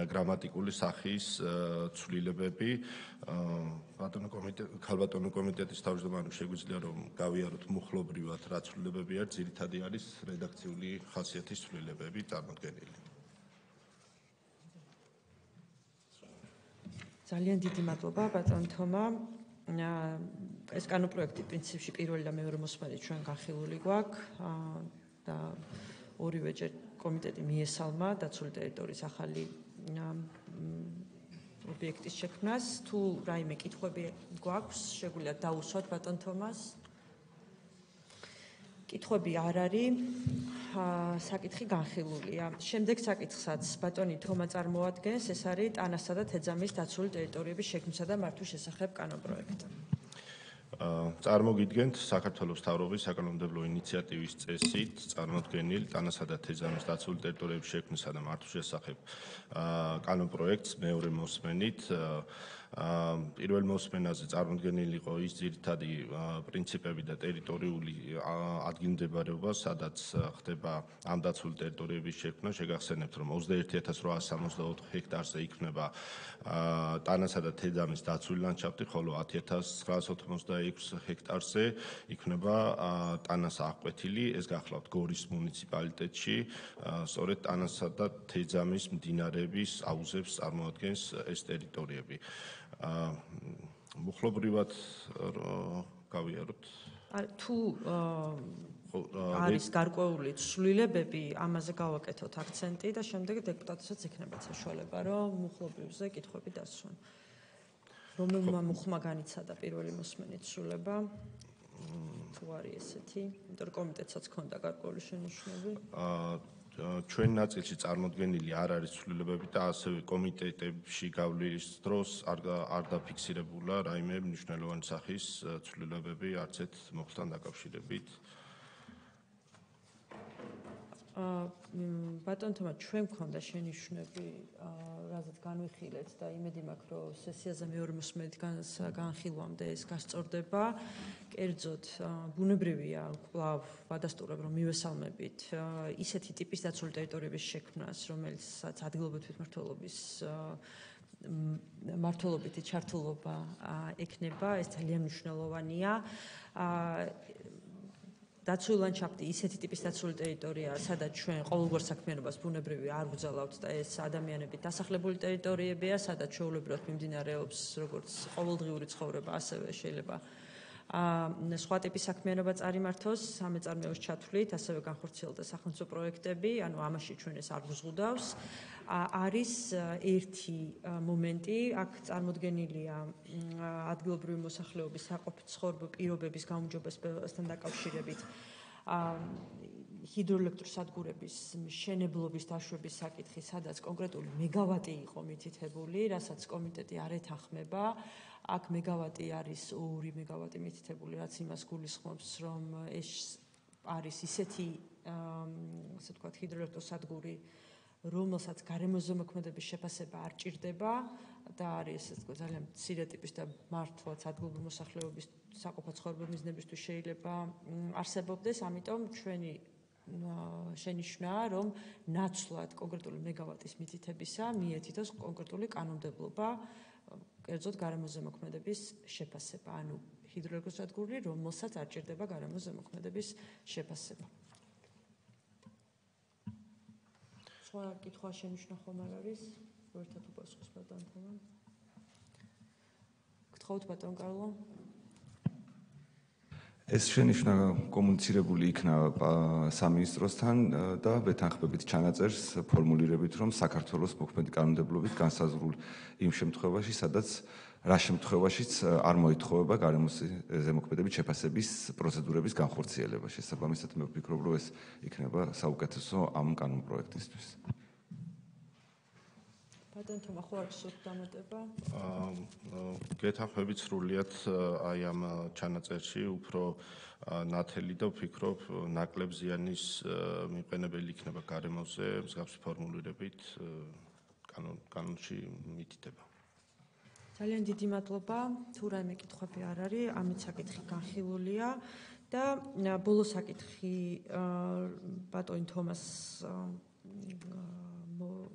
გრამატიკული სახის ცვლილებები. ქალბატონო კომიტეტის თავმჯდომარემ შეგვიძლია რომ გავიაროთ მუხლობრივად რა ცვლილებები არის, ძირითადი არის რედაქციული ხასიათის ცვლილებები წარმოდგენილი.
ძალიან დიდი მადლობა ბატონ თომა. ეს კანონ პროექტი პრინციპში პირველი და მეორე მოსმენით ჩვენ განხილული გვაქვს და ორივეჯერ კომიტეტი მიესალმა დაცული ტერიტორიის ახალი ობიექტის შექმნას. თუ რაიმე კითხვები გვაქვს, შეგვიძლია დაუსვათ ბატონ თომას. კითხვები არ არის. საკითხი განხილულია. შემდეგ საკითხსაც ბატონი თომა წარმოადგენს, ეს არის ტანასა და თეძამის დაცული ტერიტორიების შექმნისა და მართვის შესახებ კანონ პროექტი.
წარმოგიდგენთ საქართველოს მთავრობის საკანონმდებლო ინიციატივის წესით წარმოდგენილ ტანასა და თეძამის დაცული ტერიტორიების შექმნისა და მართვის შესახებ კანონ პროექტს მეორე მოსმენით. პირველ მოსმენაზე წარმოდგენილი იყო ის ძირითადი პრინციპები და ტერიტორიული ადგილმდებარეობა, სადაც ხდება ამ დაცული ტერიტორიების შექმნა. შეგახსენებთ, რომ 21864 ჰექტარზე იქნება ტანასა და თეძამის დაცული ლანდშაფტი, ხოლო 10986 ჰექტარზე იქნება ტანას აღკვეთილი. ეს გახლავთ გორის მუნიციპალიტეტში, სწორედ ტანასა და თეძამის მდინარეების აუზებს წარმოადგენს ეს ტერიტორიები. მუხლობრივად გავიაროთ.
თუ არის გარკვეული ცვლილებები, ამაზე გავაკეთოთ აქცენტი და შემდეგ დეპუტატებსაც იქნება საშუალება, რომ მუხლობრივზე კითხვები დასვან. რომელმა მუხმა განიცადა პირველი მოსმენით ცვლილება? თუ არის ესეთი, იმიტომ რომ კომიტეტსაც ჰქონდა გარკვეული შენიშვნები.
ჩვენ ნაწილში წარმოდგენილი არ არის ცვლილებები და ასევე კომიტეტებში გავლის დროს არ დაფიქსირებულა რაიმე მნიშვნელოვანი სახის ცვლილებები არც ერთ მოხსთან დაკავშირებით.
ბატონ თომა, ჩვენ გქონდა შენიშვნები, რაზეც განვიხილეთ და იმედი მაქვს, რომ სესიაზე მეორე მოსმენით განხილვამდე ეს გასწორდება. კერძოდ, ბუნებრივია კვლავ ვადასტურებ, რომ მივესალმებით ისეთი ტიპის დაცული ტერიტორიების შექმნას, რომელსაც ადგილობრივი თვითმმართველობის მმართველობითი ჩართულობა ექნება, ეს ძალიან მნიშვნელოვანია. დაცული ლანდშაფტი ისეთი ტიპის დაცული ტერიტორიაა, სადაც ჩვენ ყოველგვარ საქმიანობას ბუნებრივი არ ვგზავნავთ და ეს ადამიანებით დასახლებული ტერიტორიებია, სადაც ჩვეულებრივად მიმდინარეობს როგორც ყოველდღიური ცხოვრება, ასევე შეიძლება სხვა ტიპის საქმიანობა წარიმართოს სამეწარმეოს ჩათვლით, ასევე განხორციელდეს სახელმწიფო პროექტები, ანუ ამაში ჩვენ ეს არ გვზღუდავს. არის ერთი მომენტი, აქ წარმოდგენილია ადგილობრივი მოსახლეობის საყოფაცხოვრებო პირობების გაუმჯობესებასთან დაკავშირებით ჰიდროელექტროსადგურების მშენებლობის დაშვების საკითხი, სადაც კონკრეტული მეგავატი იყო მითითებული, რასაც კომიტეტი არ ეთანხმება. აქ მეგავატი არის 2 მეგავატი მითითებული, რაც იმას გულისხმობს, რომ ეს არის ისეთი, ასე ვთქვათ, ჰიდროელექტროსადგური, რომელსაც გარემოზემოქმედების შეფასება არ ჭირდება და არის ესე ვთქვათ ძალიან მცირე ტიპის და მართლაც ადგილობრივი მოსახლეობის საყოფო ცხოვრების მიზნებისთვის შეიძლება არსებობდეს, ამიტომ ჩვენი შენიშვნაა, რომ ნაცვლად კონკრეტული მეგავატის მითითებისა მიეთითოს კონკრეტული კანონმდებლობა, კერძოდ გარემოზემოქმედების შეფასება, ანუ ჰიდროელექტროსადგური, რომელსაც არ ჭირდება გარემოზემოქმედების შეფასება. სხვა კითხვა შენიშვნა ხომ არ არის? ერთად უპასუხოს ბატონ თომა. გთხოვთ ბატონ კარლო.
ეს შენიშვნა კომუნიცირებული იქნა სამინისტროსთან და ვეთანხმებით ჩანაწერს ფორმულირებით, რომ საქართველოს მოქმედი კანონმდებლობით განსაზღვრულ იმ შემთხვევაში, სადაც რა შემთხვევაშიც არ მოითხოვება გარემოზემოქმედების შეფასების პროცედურების განხორციელება. შესაბამისად, მე ვფიქრობ, რომ ეს იქნება საუკეთესო ამ კანონპროექტისთვის.
ბატონ თომა, ხო არის სულ დამატება?
გეთანხმებით სრულიად აი ამ ჩანაწერში უფრო ნათელი და ვფიქრობ ნაკლებ ზიანის მიყენებელი იქნება გარემოზე მსგავსი ფორმულირებით კანონში მითითება.
ძალიან დიდი მადლობა. თუ რაიმე კითხვები არ არის, ამით საკითხი განხილულია და ბოლო საკითხი ბატონ თომას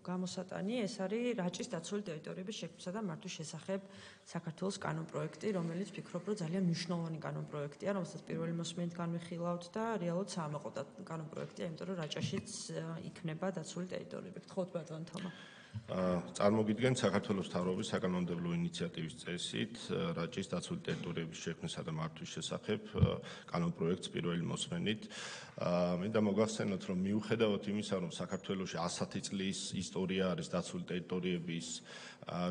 გამოსატანი ეს არის რაჭის დაცული ტერიტორიების შექმნისა და მართვის შესახებ საქართველოს კანონპროექტი, რომელიც ვფიქრობ, რომ ძალიან მნიშვნელოვანი კანონპროექტია, რომელსაც პირველი მოსმენით განვიხილავთ და რეალურად საამაყო კანონპროექტია, იმიტომ რომ რაჭაშიც იქნება დაცული ტერიტორიები. გთხოვთ ბატონ თომა.
წარმოგიდგენთ საქართველოს მთავრობის საკანონმდებლო ინიციატივის წესით რაჭის დაცული ტერიტორიების შექმნისა და მართვის შესახებ კანონპროექტს პირველი მოსმენით. მინდა მოგახსენოთ, რომ მიუხედავად იმისა, რომ საქართველოში 100 წლის ისტორია არის დაცული ტერიტორიების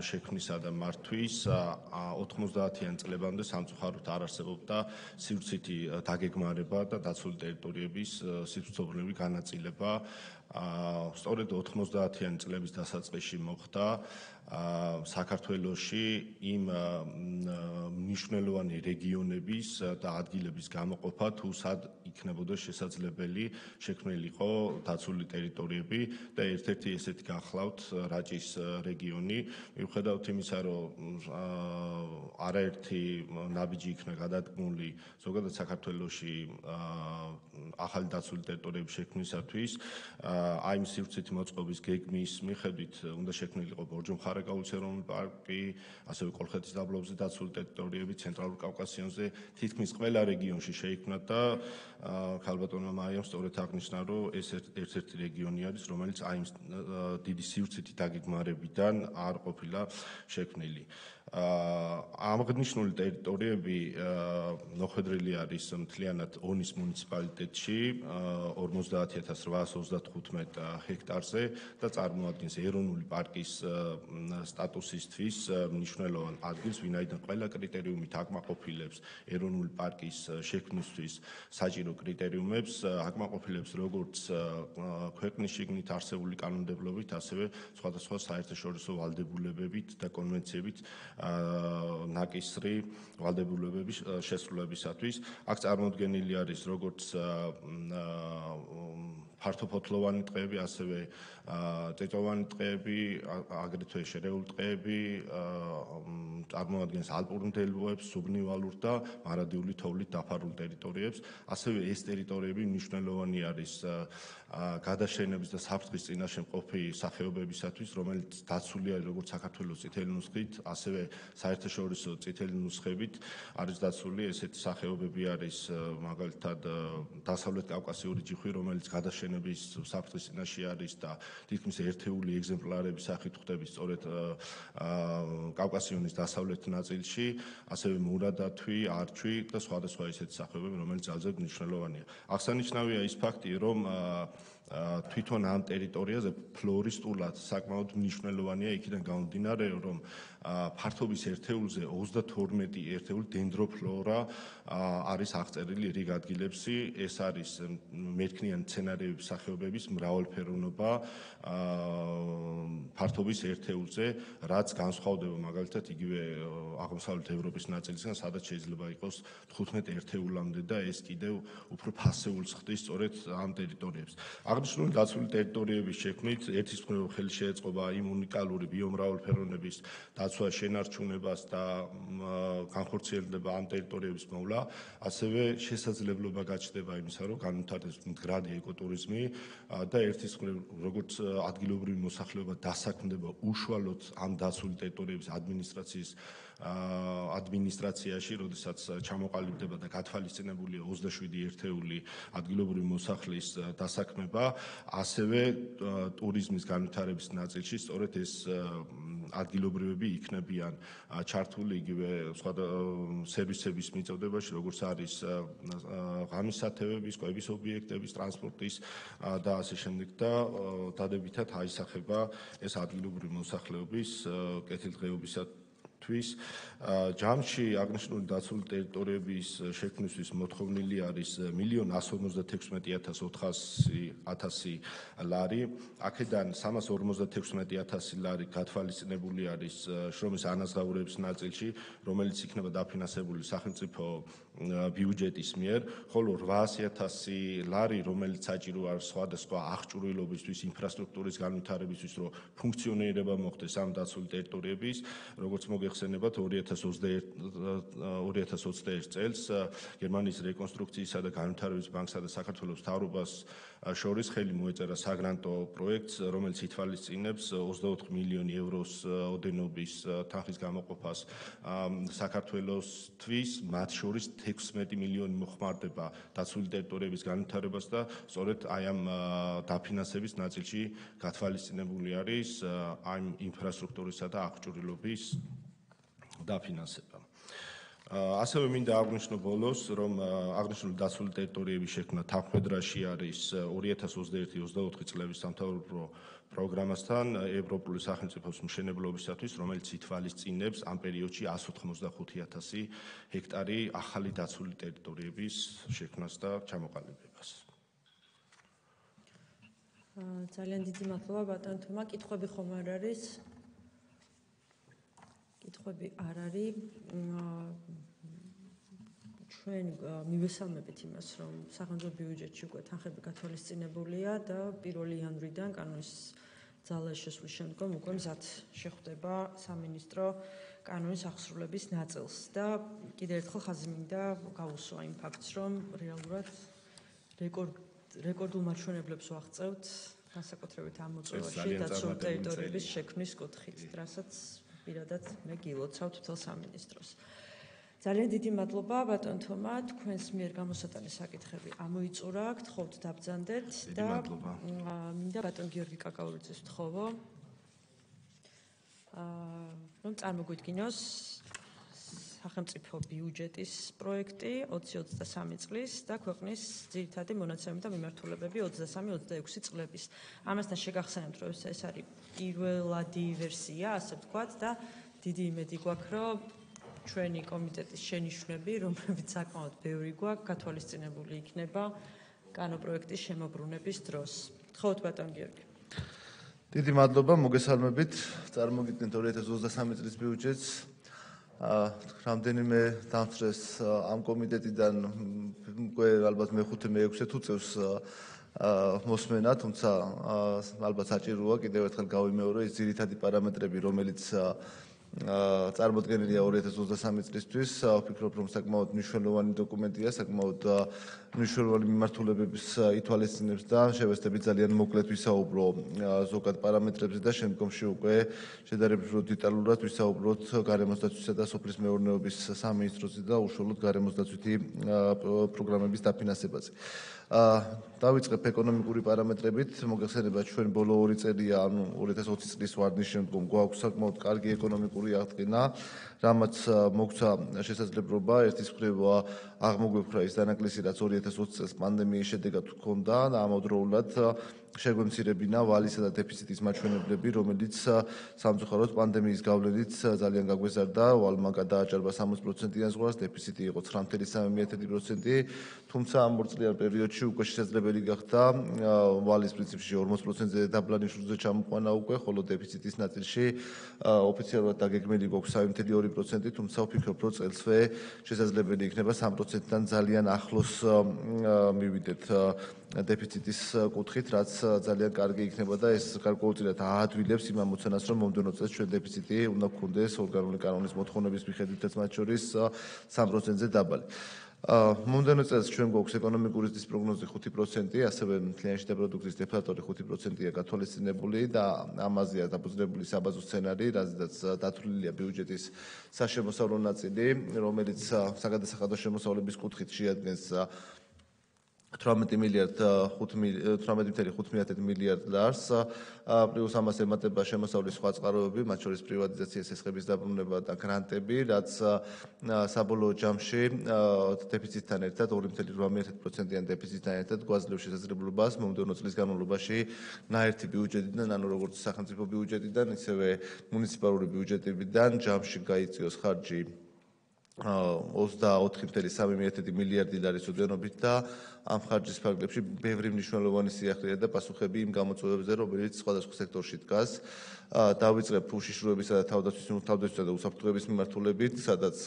შექმნისა და მართვის, 90-იან წლებამდე სამწუხაროდ არ არსებობდა სივრცითი დაგეგმარება და დაცული ტერიტორიების სივრცობრივი განაწილება. სწორედ 90-იან წლების დასაწყისში მოხდა საქართველოში იმ მნიშვნელოვანი რეგიონების და ადგილების გამოყოფა, თუ სად იქნებოდა შესაძლებელი შექმნილიყო დაცული ტერიტორიები და ერთ-ერთი ესეთი გახლავთ რაჭის რეგიონი. მიუხედავად იმისა, რომ არაერთი ნაბიჯი იქნა გადადგმული ზოგადად საქართველოში ახალი დაცული ტერიტორიების შექმნისათვის, აი ამ სივრცითი მოწყობის გეგმის მიხედვით უნდა შექმნილიყო ბორჯომხარაკაულის ეროვნული პარკი, ასევე კოლხეთის დაბლობზე დაცული ტერიტორიები, ცენტრალურ კავკასიონზე, თითქმის ყველა რეგიონში შეიქმნა და ქალბატონმა მაიამ სწორედ აღნიშნა, რომ ეს ერთ-ერთი რეგიონი არის, რომელიც აი ამ დიდი სივრცითი დაგეგმარებიდან არ ყოფილა შექმნილი. აღნიშნული ტერიტორიები მოხვედრილი არის მთლიანად ონის მუნიციპალიტეტში 50835 ჰექტარზე და წარმოადგენს ეროვნული პარკის სტატუსისთვის მნიშვნელოვან ადგილს, ვინაიდან ყველა კრიტერიუმით აკმაყოფილებს ეროვნული პარკის შექმნისთვის საჭირო კრიტერიუმებს, აკმაყოფილებს როგორც ქვეყნის შიგნით არსებული კანონმდებლობით, ასევე სხვადასხვა საერთაშორისო ვალდებულებებით და კონვენციებით ნაკისრი ვალდებულებების შესრულებისათვის. აქ წარმოდგენილი არის როგორც ფართოფოთლოვანი ტყეები, ასევე წიწვოვანი ტყეები, აგრეთვე შერეული ტყეები, წარმოადგენს ალპურ მდელოებს, სუბნივალურ და მარადიული თოვლით დაფარულ ტერიტორიებს. ასევე ეს ტერიტორიები მნიშვნელოვანი არის გადაშენების და საფრთხის წინაშე მყოფი სახეობებისათვის, რომელიც დაცულია როგორც საქართველოს წითელი ნუსხით, ასევე საერთაშორისო წითელი ნუსხებით არის დაცული. ესეთი სახეობები არის მაგალითად დასავლეთ კავკასიური ჯიხვი, რომელიც გადაშენების საფრთხის წინაშე არის და თითქმის ერთეული ეგზემპლარების სახით ხვდებით სწორედ კავკასიონის დასავლეთ ნაწილში, ასევე მურა დათვი, არჩვი და სხვადასხვა ისეთი სახეობები, რომელიც ძალზედ მნიშვნელოვანია. აღსანიშნავია ის ფაქტი, რომ თვითონ ამ ტერიტორიაზე ფლორისტულად საკმაოდ მნიშვნელოვანია იქიდან გამომდინარე, რომ ფართობის ერთეულზე 32 ერთეული დენდროფლორა არის აღწერილი რიგ ადგილებში. ეს არის მერქნიანი მცენარეების განვითარების სახეობების მრავალფეროვნობა ფართობის ერთეულზე, რაც განსხვავდება მაგალითად იგივე აღმოსავლეთ ევროპის ნაწილისგან, სადაც შეიძლება იყოს 15 ერთეულამდე და ეს კიდევ უფრო ფასეულს ხდის სწორედ ამ ტერიტორიებს. აღნიშნული დაცული ტერიტორიების შექმნით ერთის მხრივ ხელი შეეწყობა იმ უნიკალური ბიომრავალფეროვნების დაცვა, შენარჩუნებას და განხორციელება ამ ტერიტორიების მოვლა, ასევე შესაძლებლობა გაჩნდება იმისა, რომ განვითარდეს მდგრადი ეკოტურიზმი და ერთის მხრივ როგორც ადგილობრივი მოსახლეობა დასაქმდება უშუალოდ ამ დაცული ტერიტორიების ადმინისტრაციაში, როდესაც ჩამოყალიბდება და გათვალისწინებულია 27 ერთეული ადგილობრივი მოსახლის დასაქმება, ასევე ტურიზმის განვითარების ნაწილში სწორედ ეს ადგილობრივები იქნებიან ჩართული იგივე სხვა სერვისების მიწოდებაში, როგორც არის ღამის სათევების, კვების ობიექტების, ტრანსპორტის და ასე შემდეგ და დადებითად აისახება ეს ადგილობრივი მოსახლეობის კეთილდღეობისათვის. ჯამში აღნიშნული დაცული ტერიტორიების შექმნისთვის მოთხოვნილი არის 1.156.400 ლარი. აქედან 356.000 ლარი გათვალისწინებული არის შრომის ანაზღაურების ნაწილში, რომელიც იქნება დაფინანსებული სახელმწიფო ბიუჯეტის მიერ, ხოლო 800.000 ლარი, რომელიც საჭირო არის სხვადასხვა აღჭურვილობისთვის, ინფრასტრუქტურის განვითარებისთვის, რომ ფუნქციონირება მოხდეს ამ დაცული ტერიტორიების, როგორც მოგეხსენებათ 2021 წელს გერმანიის რეკონსტრუქციისა და განვითარების ბანკსა და საქართველოს მთავრობას შორის ხელი მოეწერა საგრანტო პროექტს, რომელიც ითვალისწინებს 24 მილიონი ევროს ოდენობის თანხის გამოყოფას საქართველოსთვის, მათ შორის 16 მილიონი მოხმარდება დაცული ტერიტორიების განვითარებას და სწორედ აი ამ დაფინანსების ნაწილში გათვალისწინებული არის ამ ინფრასტრუქტურისა და აღჭურვილობის დაფინანსება. ასევე მინდა აღვნიშნო ბოლოს, რომ აღნიშნული დაცული ტერიტორიების შექმნა თანხმედრაში არის 2021-24 წლების სამთავრობო პროგრამასთან ევროპული სახელმწიფოს მშენებლობისათვის, რომელიც ითვალისწინებს ამ პერიოდში 185.000 ჰექტარი ახალი დაცული ტერიტორიების შექმნას და ჩამოყალიბებას.
ძალიან დიდი მადლობა ბატონ თომა. კითხვები ხომ არ არის? კითხვები არ არის. ჩვენ მივესალმებით იმას, რომ სახელმწიფო ბიუჯეტში უკვე თანხები გათვალისწინებულია და 1 იანვრიდან კანონის ძალაში შესვლის შემდგომ უკვე მზად შეხვდება სამინისტრო კანონის აღსრულების ნაწილს და კიდევ ერთხელ ხაზი მინდა გავუსვა იმ ფაქტს, რომ რეალურად რეკორდულ მაჩვენებლებს ვაღწევთ განსაკუთრებით ამ მოწვევაში დაცული ტერიტორიების შექმნის კუთხით, რასაც პირადად მე გილოცავთ მთელ სამინისტროს. ძალიან დიდი მადლობა ბატონ თომა, თქვენს მიერ გამოსატანის საკითხები ამოიწურა, გთხოვთ დაბრძანდეთ და მინდა ბატონ გიორგი კაკაურიძეს ვთხოვო, რომ წარმოგვიდგინოს სახელმწიფო ბიუჯეტის პროექტი 2023 წლის და ქვეყნის ძირითადი მონაცემები და მიმართულებები 23-26 წლების. ამასთან შეგახსენებთ, რომ ეს არის პირველადი ვერსია, ასე ვთქვათ და დიდი იმედი გვაქვს, რომ ჩვენი კომიტეტის შენიშვნები, რომლებიც საკმაოდ ბევრი გვაქვს, გათვალისწინებული იქნება კანონპროექტის შემოbrunების დროს. გთხოვთ ბატონ გიორგი.
დიდი მადლობა, მოგესალმებით. წარმოგიდგენთ 2023 წლის ბიუჯეტს. რამდენიმე დამწრეს ამ კომიტეტიდან უკვე ალბათ მე-5 მე-6 თუ წევს მოსმენა, თუმცა ალბათ საჭიროა კიდევ ერთხელ გავიმეორო ის ძირითადი პარამეტრები, რომელიც წარმოდგენილია 2023 წლისთვის. ვფიქრობ, რომ საკმაოდ მნიშვნელოვანი დოკუმენტია, საკმაოდ მნიშვნელოვანი მიმართულებების ითვალისწინებს და შევეცდებით ძალიან მოკლედ ვისაუბრო ზოგად პარამეტრებზე და შემდგომში უკვე შედარებით დეტალურად ვისაუბროთ გარემოსდაცვისა და სოფლის მეურნეობის სამინისტროზე და უშუალოდ გარემოსდაცვითი პროგრამების დაფინანსებაზე. დავიწყებ ეკონომიკური პარამეტრებით. მოგეხსენებათ, ჩვენ ბოლო 2 წელია, ანუ 2020 წლის ვარდნის შემდგომ გვაქვს საკმაოდ კარგი ეკონომიკური პატიმრობური აღდგენა, რამაც მოგცა შესაძლებლობა ერთის მხრივ აღმოგვეფხვრა ის დანაკლისი, რაც 2020 წელს პანდემიის შედეგად ჰქონდა და ამავდროულად შეგვემცირებინა ვალისა და დეფიციტის მაჩვენებლები, რომელიც სამწუხაროდ პანდემიის გავლენით ძალიან გაგვეზარდა, ვალმა გადააჭარბა 60%-იან ზღვას, დეფიციტი იყო 9.3%, თუმცა ამ ორწლიან პერიოდში უკვე შესაძლებელი გახდა ვალის პრინციპში 40%-ზე დაბლა ნიშნულზე ჩამოყვანა უკვე, ხოლო დეფიციტის ნაწილში ოფიციალურად დაგეგმილი გვაქვს 3.2%, თუმცა ვფიქრობ, რომ წელსვე შესაძლებელი იქნება 3%-დან ძალიან ახლოს მივიდეთ დეფიციტის კუთხით, რაც ძალიან კარგი იქნება და ეს გარკვეულწილად აადვილებს იმ ამოცანას, რომ მომდევნო წელს ჩვენ დეფიციტი უნდა გქონდეს ორგანული კანონის მოთხოვნების მიხედვითაც მათ შორის 3%-ზე დაბალი. მომდევნო წელს ჩვენ გვაქვს ეკონომიკური ზრდის პროგნოზი 5%, ასევე მთლიანი შიდა პროდუქტის დეფლატორი 5%-ია გათვალისწინებული და ამაზეა დაფუძნებული საბაზო სცენარი, რაზედაც დათვლილია ბიუჯეტის საშემოსავლო ნაწილი, რომელიც საგადასახადო შემოსავლების კუთხით შეადგენს 18.5 მილიარდ ლარს, პლუს ამას ემატება შემოსავლის სხვა წყაროები, მათ შორის პრივატიზაცია, სესხების დაბრუნება და გრანტები, რაც საბოლოო ჯამში დეფიციტთან ერთად 2.8%-იან დეფიციტთან ერთად გვაძლევს შესაძლებლობას მომდევნო წლის განმავლობაში ნაერთი ბიუჯეტიდან, ანუ როგორც სახელმწიფო ბიუჯეტიდან, ისევე მუნიციპალური ბიუჯეტებიდან ჯამში გაიწიოს ხარჯი 24.3 მილიარდი ლარის ოდენობით და ამ ხარჯის ფარგლებში ბევრი მნიშვნელოვანი სიახლეა და პასუხები იმ გამოწვევებზე, რომელიც სხვადასხვა სექტორში დგას. დავიწყებ უშიშროებისა და თავდაცვისა და უსაფრთხოების მიმართულებით, სადაც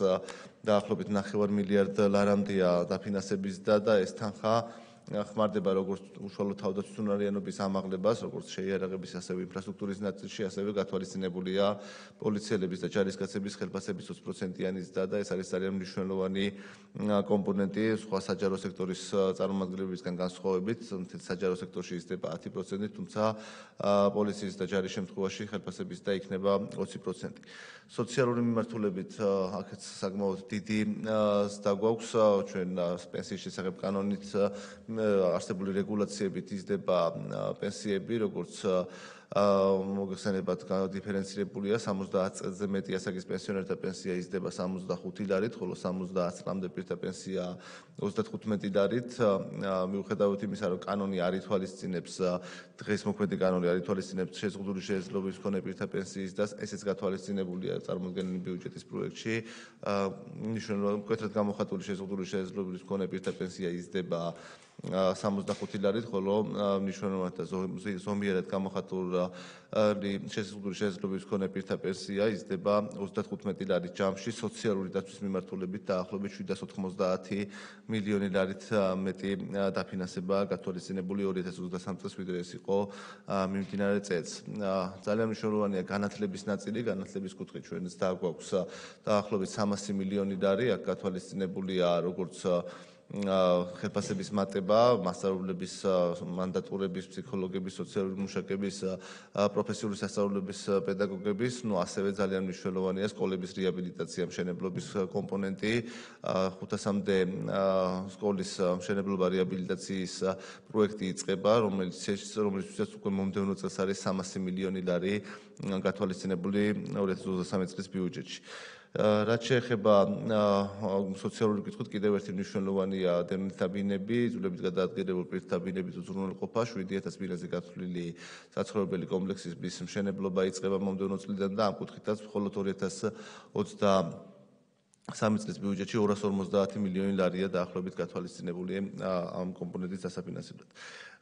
დაახლოებით 9 მილიარდ ლარამდეა დაფინანსების და ეს თანხა ხმარდება როგორც უშუალო თავდაცვისუნარიანობის ამაღლებას, როგორც შეიარაღების, ასევე ინფრასტრუქტურის ნაწილში, ასევე გათვალისწინებულია პოლიციელების და ჯარისკაცების ხელფასების 20%-იანი ზრდა და ეს არის ძალიან მნიშვნელოვანი კომპონენტი სხვა საჯარო სექტორის წარმომადგენლებისგან განსხვავებით, საჯარო სექტორში იზრდება 10%, თუმცა პოლიციის და ჯარის შემთხვევაში ხელფასების ზრდა იქნება 20%. სოციალური მიმართულებით აქაც საკმაოდ დიდი ზრდა გვაქვს, ჩვენ პენსიის შესახებ კანონით არსებული რეგულაციებით იზრდება პენსიები, როგორც მოგეხსენებათ, დიფერენცირებულია 70 წელზე მეტი ასაკის პენსიონერთა პენსია იზრდება 65 ლარით, ხოლო 70 წლამდე პირთა პენსია 35 ლარით. მიუხედავად იმისა, რომ კანონი არ ითვალისწინებს დღეს მოქმედი კანონი არ ითვალისწინებს შეზღუდული შესაძლებლობის მქონე პირთა პენსიის ზრდას, ესეც გათვალისწინებულია წარმოდგენილი ბიუჯეტის პროექტში. მნიშვნელოვნად მკვეთრად გამოხატული შეზღუდული შესაძლებლობის მქონე პირთა პენსია იზრდება 65 ლარით, ხოლო მნიშვნელოვნად და ზომიერად გამოხატული შეზღუდული შესაძლებლობის მქონე პირთა პენსია იზრდება 35 ლარით ჯამში, სოციალური დაცვის მიმართულებით დაახლოებით 790 მილიონი ლარით მეტი დაფინანსება გათვალისწინებული 2023 წელს, ვიდრე ეს იყო მიმდინარე წელს. ძალიან მნიშვნელოვანია განათლების ნაწილი, განათლების კუთხით ჩვენ ზრდა გვაქვს დაახლოებით 300 მილიონი ლარი, აქ გათვალისწინებულია როგორც ხელფასების მატება, მასწავლებლების მანდატურების, ფსიქოლოგების, სოციალური მუშაკების, პროფესიული სასწავლებლების, პედაგოგების, ასევე ძალიან მნიშვნელოვანია სკოლების რეაბილიტაცია, მშენებლობის კომპონენტი, 500-მდე სკოლის მშენებლობა რეაბილიტაციის პროექტი იწყება, რომელიცაც უკვე მომდევნო წელს არის 300 მილიონი ლარი გათვალისწინებული 2023 წლის ბიუჯეტში. რაც შეეხება სოციალური კითხვით, კიდევ ერთი მნიშვნელოვანია დევნილთა ბინები, იძულებით გადაადგილებული პირთა ბინების უზრუნველყოფა, 7000 ბინაზე გათვლილი საცხოვრებელი კომპლექსის მშენებლობა იწყება მომდევნო წლიდან და ამ კუთხითაც მხოლოდ 2023 წლის ბიუჯეტში 250 მილიონი ლარია დაახლოებით გათვალისწინებული ამ კომპონენტის დასაფინანსებლად.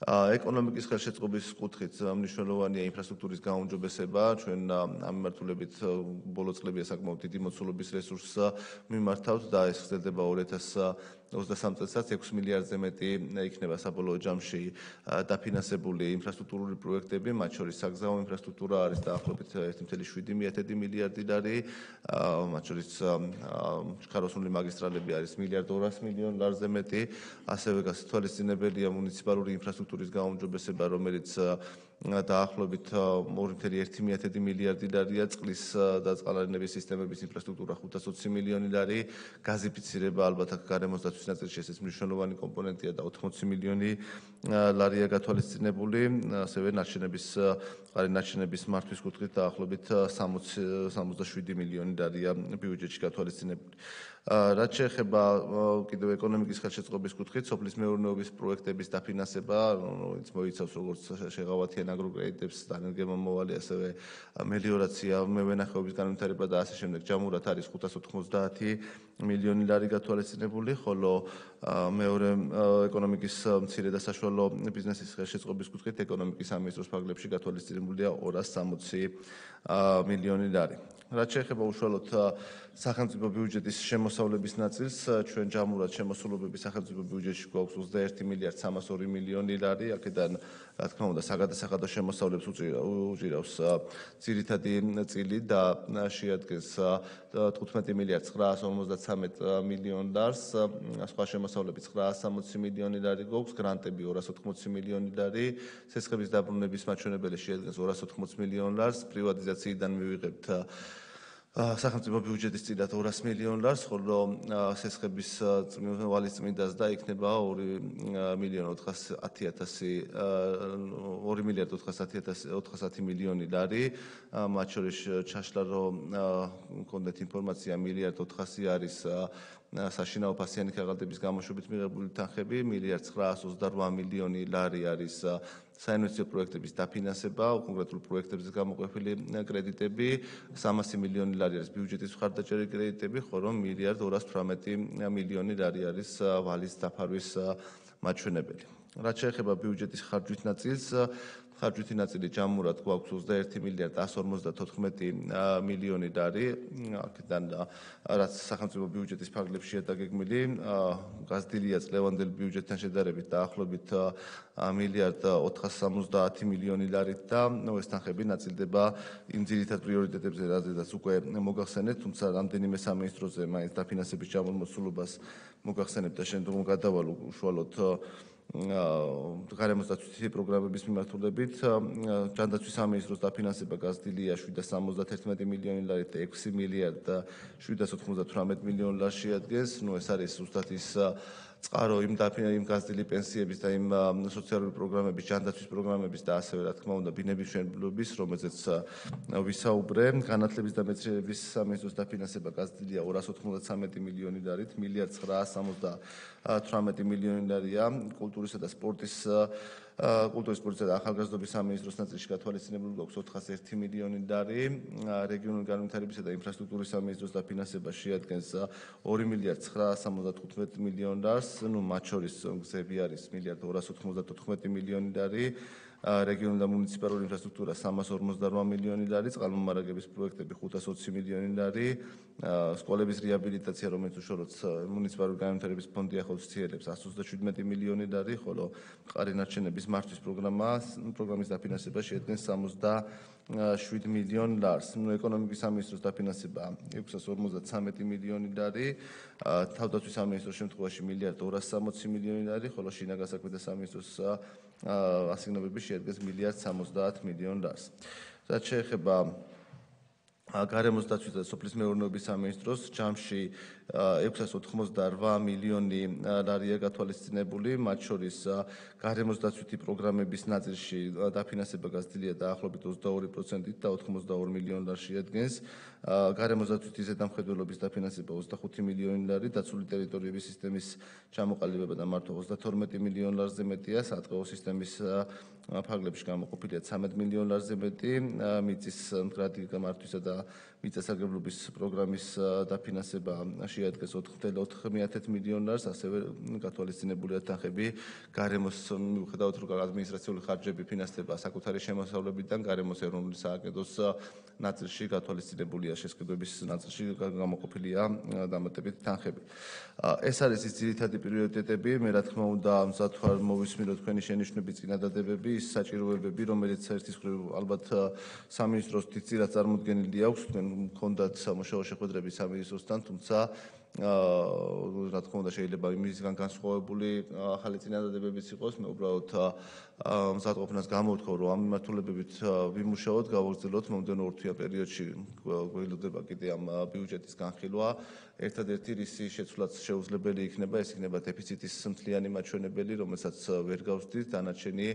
ეკონომიკის ხელშეწყობის კუთხით მნიშვნელოვანია ინფრასტრუქტურის გაუმჯობესება, ჩვენ ამ მიმართულებით ბოლო წლებია საკმაოდ დიდი მოცულობის რესურსს მიმართავთ და ეს ხდება 2023 წელსაც 6 მილიარდზე მეტი იქნება საბოლოო ჯამში დაფინანსებული ინფრასტრუქტურული პროექტები, მათ შორის საგზაო ინფრასტრუქტურა არის დაახლოებით 1.7 მილიარდი ლარი, მათ შორის ჩქაროსნული მაგისტრალები არის 1.2 მილიარდ ლარზე მეტი, ასევე გასათვალისწინებელია მუნიციპალური ინფრასტრუქტურის გაუმჯობესება, რომელიც დაახლოებით 2.1 მილიარდი ლარია, წყლის და წყალარინების სისტემების ინფრასტრუქტურა 520 მილიონი ლარი, გაზიფიცირება ალბათ აქ გარემოს დაცვის ნაწილში ეს მნიშვნელოვანი კომპონენტია და 80 მილიონი ლარია გათვალისწინებული, ასევე ნარჩენების მართვის კუთხით დაახლოებით 67 მილიონი ლარია ბიუჯეტში გათვალისწინებული. რაც შეეხება კიდევ ეკონომიკის ხელშეწყობის კუთხით, სოფლის მეურნეობის პროექტების დაფინანსება, რომელიც მოიცავს როგორც შეღავათიან აგროკრედიტებს, დანერგემომავალი, ასევე მელიორაცია, მევენახეობის განვითარება და ასე შემდეგ. ჯამურად არის 590 მილიონი ლარი გათვალისწინებული, ხოლო მეორე ეკონომიკის მცირე და საშუალო ბიზნესის ხელშეწყობის კუთხით ეკონომიკის სამინისტროს ფარგლებში გათვალისწინებულია 260 მილიონი ლარი. რაც შეეხება უშუალოდ სახელმწიფო ბიუჯეტის შემოსავლების ნაწილს, ჩვენ ჯამურად შემოსულობები სახელმწიფო ბიუჯეტში გვაქვს 21 მილიარდ 302 მილიონი ლარი, აქედან რა თქმა უნდა საგადასახადო შემოსავლებს უჭირავს ძირითადი წილი და შეადგენს 15 მილიარდ 953 მილიონ ლარს, სხვა შემოსავლები 960 მილიონი ლარი გვაქვს, გრანტები 280 მილიონი ლარი, სესხების დაბრუნების მაჩვენებელი შეადგენს 280 მილიონ ლარს, პრივატიზაციიდან მივიღებთ სახელმწიფო ბიუჯეტის წილად 200 მილიონ ლარს, ხოლო სესხების ვალის წმინდას და იქნება 2 მილიარდ 410 მილიონი ლარი, მათ შორის ჩაშლა რომ მქონდეთ ინფორმაცია მილიარდ 400 არის საშინაო ფასიანი ქაღალდების გამოშვებით მიღებული თანხები, მილიარდ 928 მილიონი ლარი არის საინვესტიციო პროექტების დაფინანსება, კონკრეტულ პროექტებზე გამოყოფილი კრედიტები, 300 მილიონი ლარი არის ბიუჯეტის მხარდაჭერილი კრედიტები, ხოლო მილიარდ 218 მილიონი ლარი არის ვალის დაფარვის მაჩვენებელი. რაც შეეხება ბიუჯეტის ხარჯვით ნაწილს, ხარჯვითი ნაწილი ჯამურად გვაქვს 21 მილიარდ 154 მილიონი ლარი, აქედან რაც სახელმწიფო ბიუჯეტის ფარგლებშია დაგეგმილი, გაზრდილია წლევანდელი ბიუჯეტთან შედარებით დაახლოებით მილიარდ 470 მილიონი ლარით და ეს თანხები ნაწილდება იმ ძირითად პრიორიტეტებზე, რადგან უკვე მოგახსენეთ, თუმცა რამდენიმე სამინისტროზე მაინც დაფინანსების ჩამომოცულობას მოგახსენებთ და შემდგომ გადავალ უშუალოდ გარემოს დაცვის პროგრამების მიმართულებით, ჯანდაცვის სამინისტროს დაფინანსება გაზრდილია 771 მილიონი ლარით და 6 მილიარდ 798 მილიონი ლარს შეადგენს. ეს არის ზუსტად ის წყარო იმ გაზრდილი პენსიების და იმ სოციალური პროგრამების, ჯანდაცვის პროგრამების და ასევე რა თქმა უნდა ბინების მშენებლობის, რომელზეც ვისაუბრე. განათლების და მეცნიერების სამინისტროს დაფინანსება გაზრდილია 293 მილიონი ლარით, მილიარდ 978 მილიონი ლარია, კულტურისა და სპორტის და ახალგაზრდობის სამინისტროს ნაწილში გათვალისწინებული გვაქვს 401 მილიონი ლარი, რეგიონული განვითარებისა და ინფრასტრუქტურის სამინისტროს დაფინანსება შეადგენს 2 მილიარდ 975 მილიონ ლარს, მათ შორის გზები არის მილიარდ 294 მილიონი ლარი, რეგიონული და მუნიციპალური ინფრასტრუქტურა 358 მილიონი ლარი, წყალმომარაგების პროექტები 520 მილიონი ლარი, სკოლების რეაბილიტაცია, რომელიც უშუალოდ მუნიციპალური განვითარების ფონდი ახორციელებს 127 მილიონი ლარი, ხოლო მყარი ნარჩენების მართვის პროგრამის დაფინანსება შეადგენს 67 მილიონ ლარს. ეკონომიკის სამინისტროს დაფინანსება 653 მილიონი ლარი, თავდაცვის სამინისტროს შემთხვევაში მილიარდ 260 მილიონი ლარი, ხოლო შინაგან საქმეთა სამინისტროს ასიგნებები შეადგენს მილიარდ 70 მილიონ ლარს. რაც შეეხება გარემოს დაცვის და სოფლის მეურნეობის სამინისტროს ჯამში 688 მილიონი ლარია გათვალისწინებული, მათ შორის გარემოს დაცვითი პროგრამების ნაწილში დაფინანსება გაზრდილია დაახლოებით 22%-ით და 82 მილიონ ლარს შეადგენს. გარემოს დაცვითი ზედამხედველობის დაფინანსება 25 მილიონი ლარი, დაცული ტერიტორიების სისტემის ჩამოყალიბება და მართვა 32 მილიონ ლარზე მეტია, სატყეო სისტემის ფარგლებში გამოყოფილია 13 მილიონ ლარზე მეტი, მიწის მდგრადი გამართვისა და მიწასაგრებლობის პროგრამის დაფინანსება შეადგენს 4.4 მილიონ ლარს, ასევე გათვალისწინებულია თანხები გარემოს მიუხედავად რომ ადმინისტრაციული ხარჯები ფინანსდება საკუთარი შემოსავლებიდან, გარემოს ეროვნული სააგენტოს ნაწილში გათვალისწინებულია შესყიდვების ნაწილში გამოყოფილია დამატებითი თანხები. ეს არის ის ძირითადი პრიორიტეტები, მე რა თქმა უნდა მზად ვარ მოვისმინო თქვენი შენიშვნები, წინადადებები, ის საჭიროებები, რომელიც ერთის მხრივ ალბათ სამინისტროს დიდწილად წარმოდგენილი აქვს, თქვენ მქონდათ სამუშაო შეხვედრები სამინისტროსთან, თუმცა რა თქმა უნდა შეიძლება იმისგან განსხვავებული ახალი წინადადებებიც იყოს, მე უბრალოდ მზადყოფნას გამოვთხოვ, რომ ამ მიმართულებებით ვიმუშაოთ, გავაგრძელოთ მომდევნო ორთვიან პერიოდში გველოდება კიდე ამ ბიუჯეტის განხილვა. ერთადერთი რისი შეცვლაც შეუძლებელი იქნება, ეს იქნება დეფიციტის მთლიანი მაჩვენებელი, რომელსაც ვერ გავსდით, დანარჩენი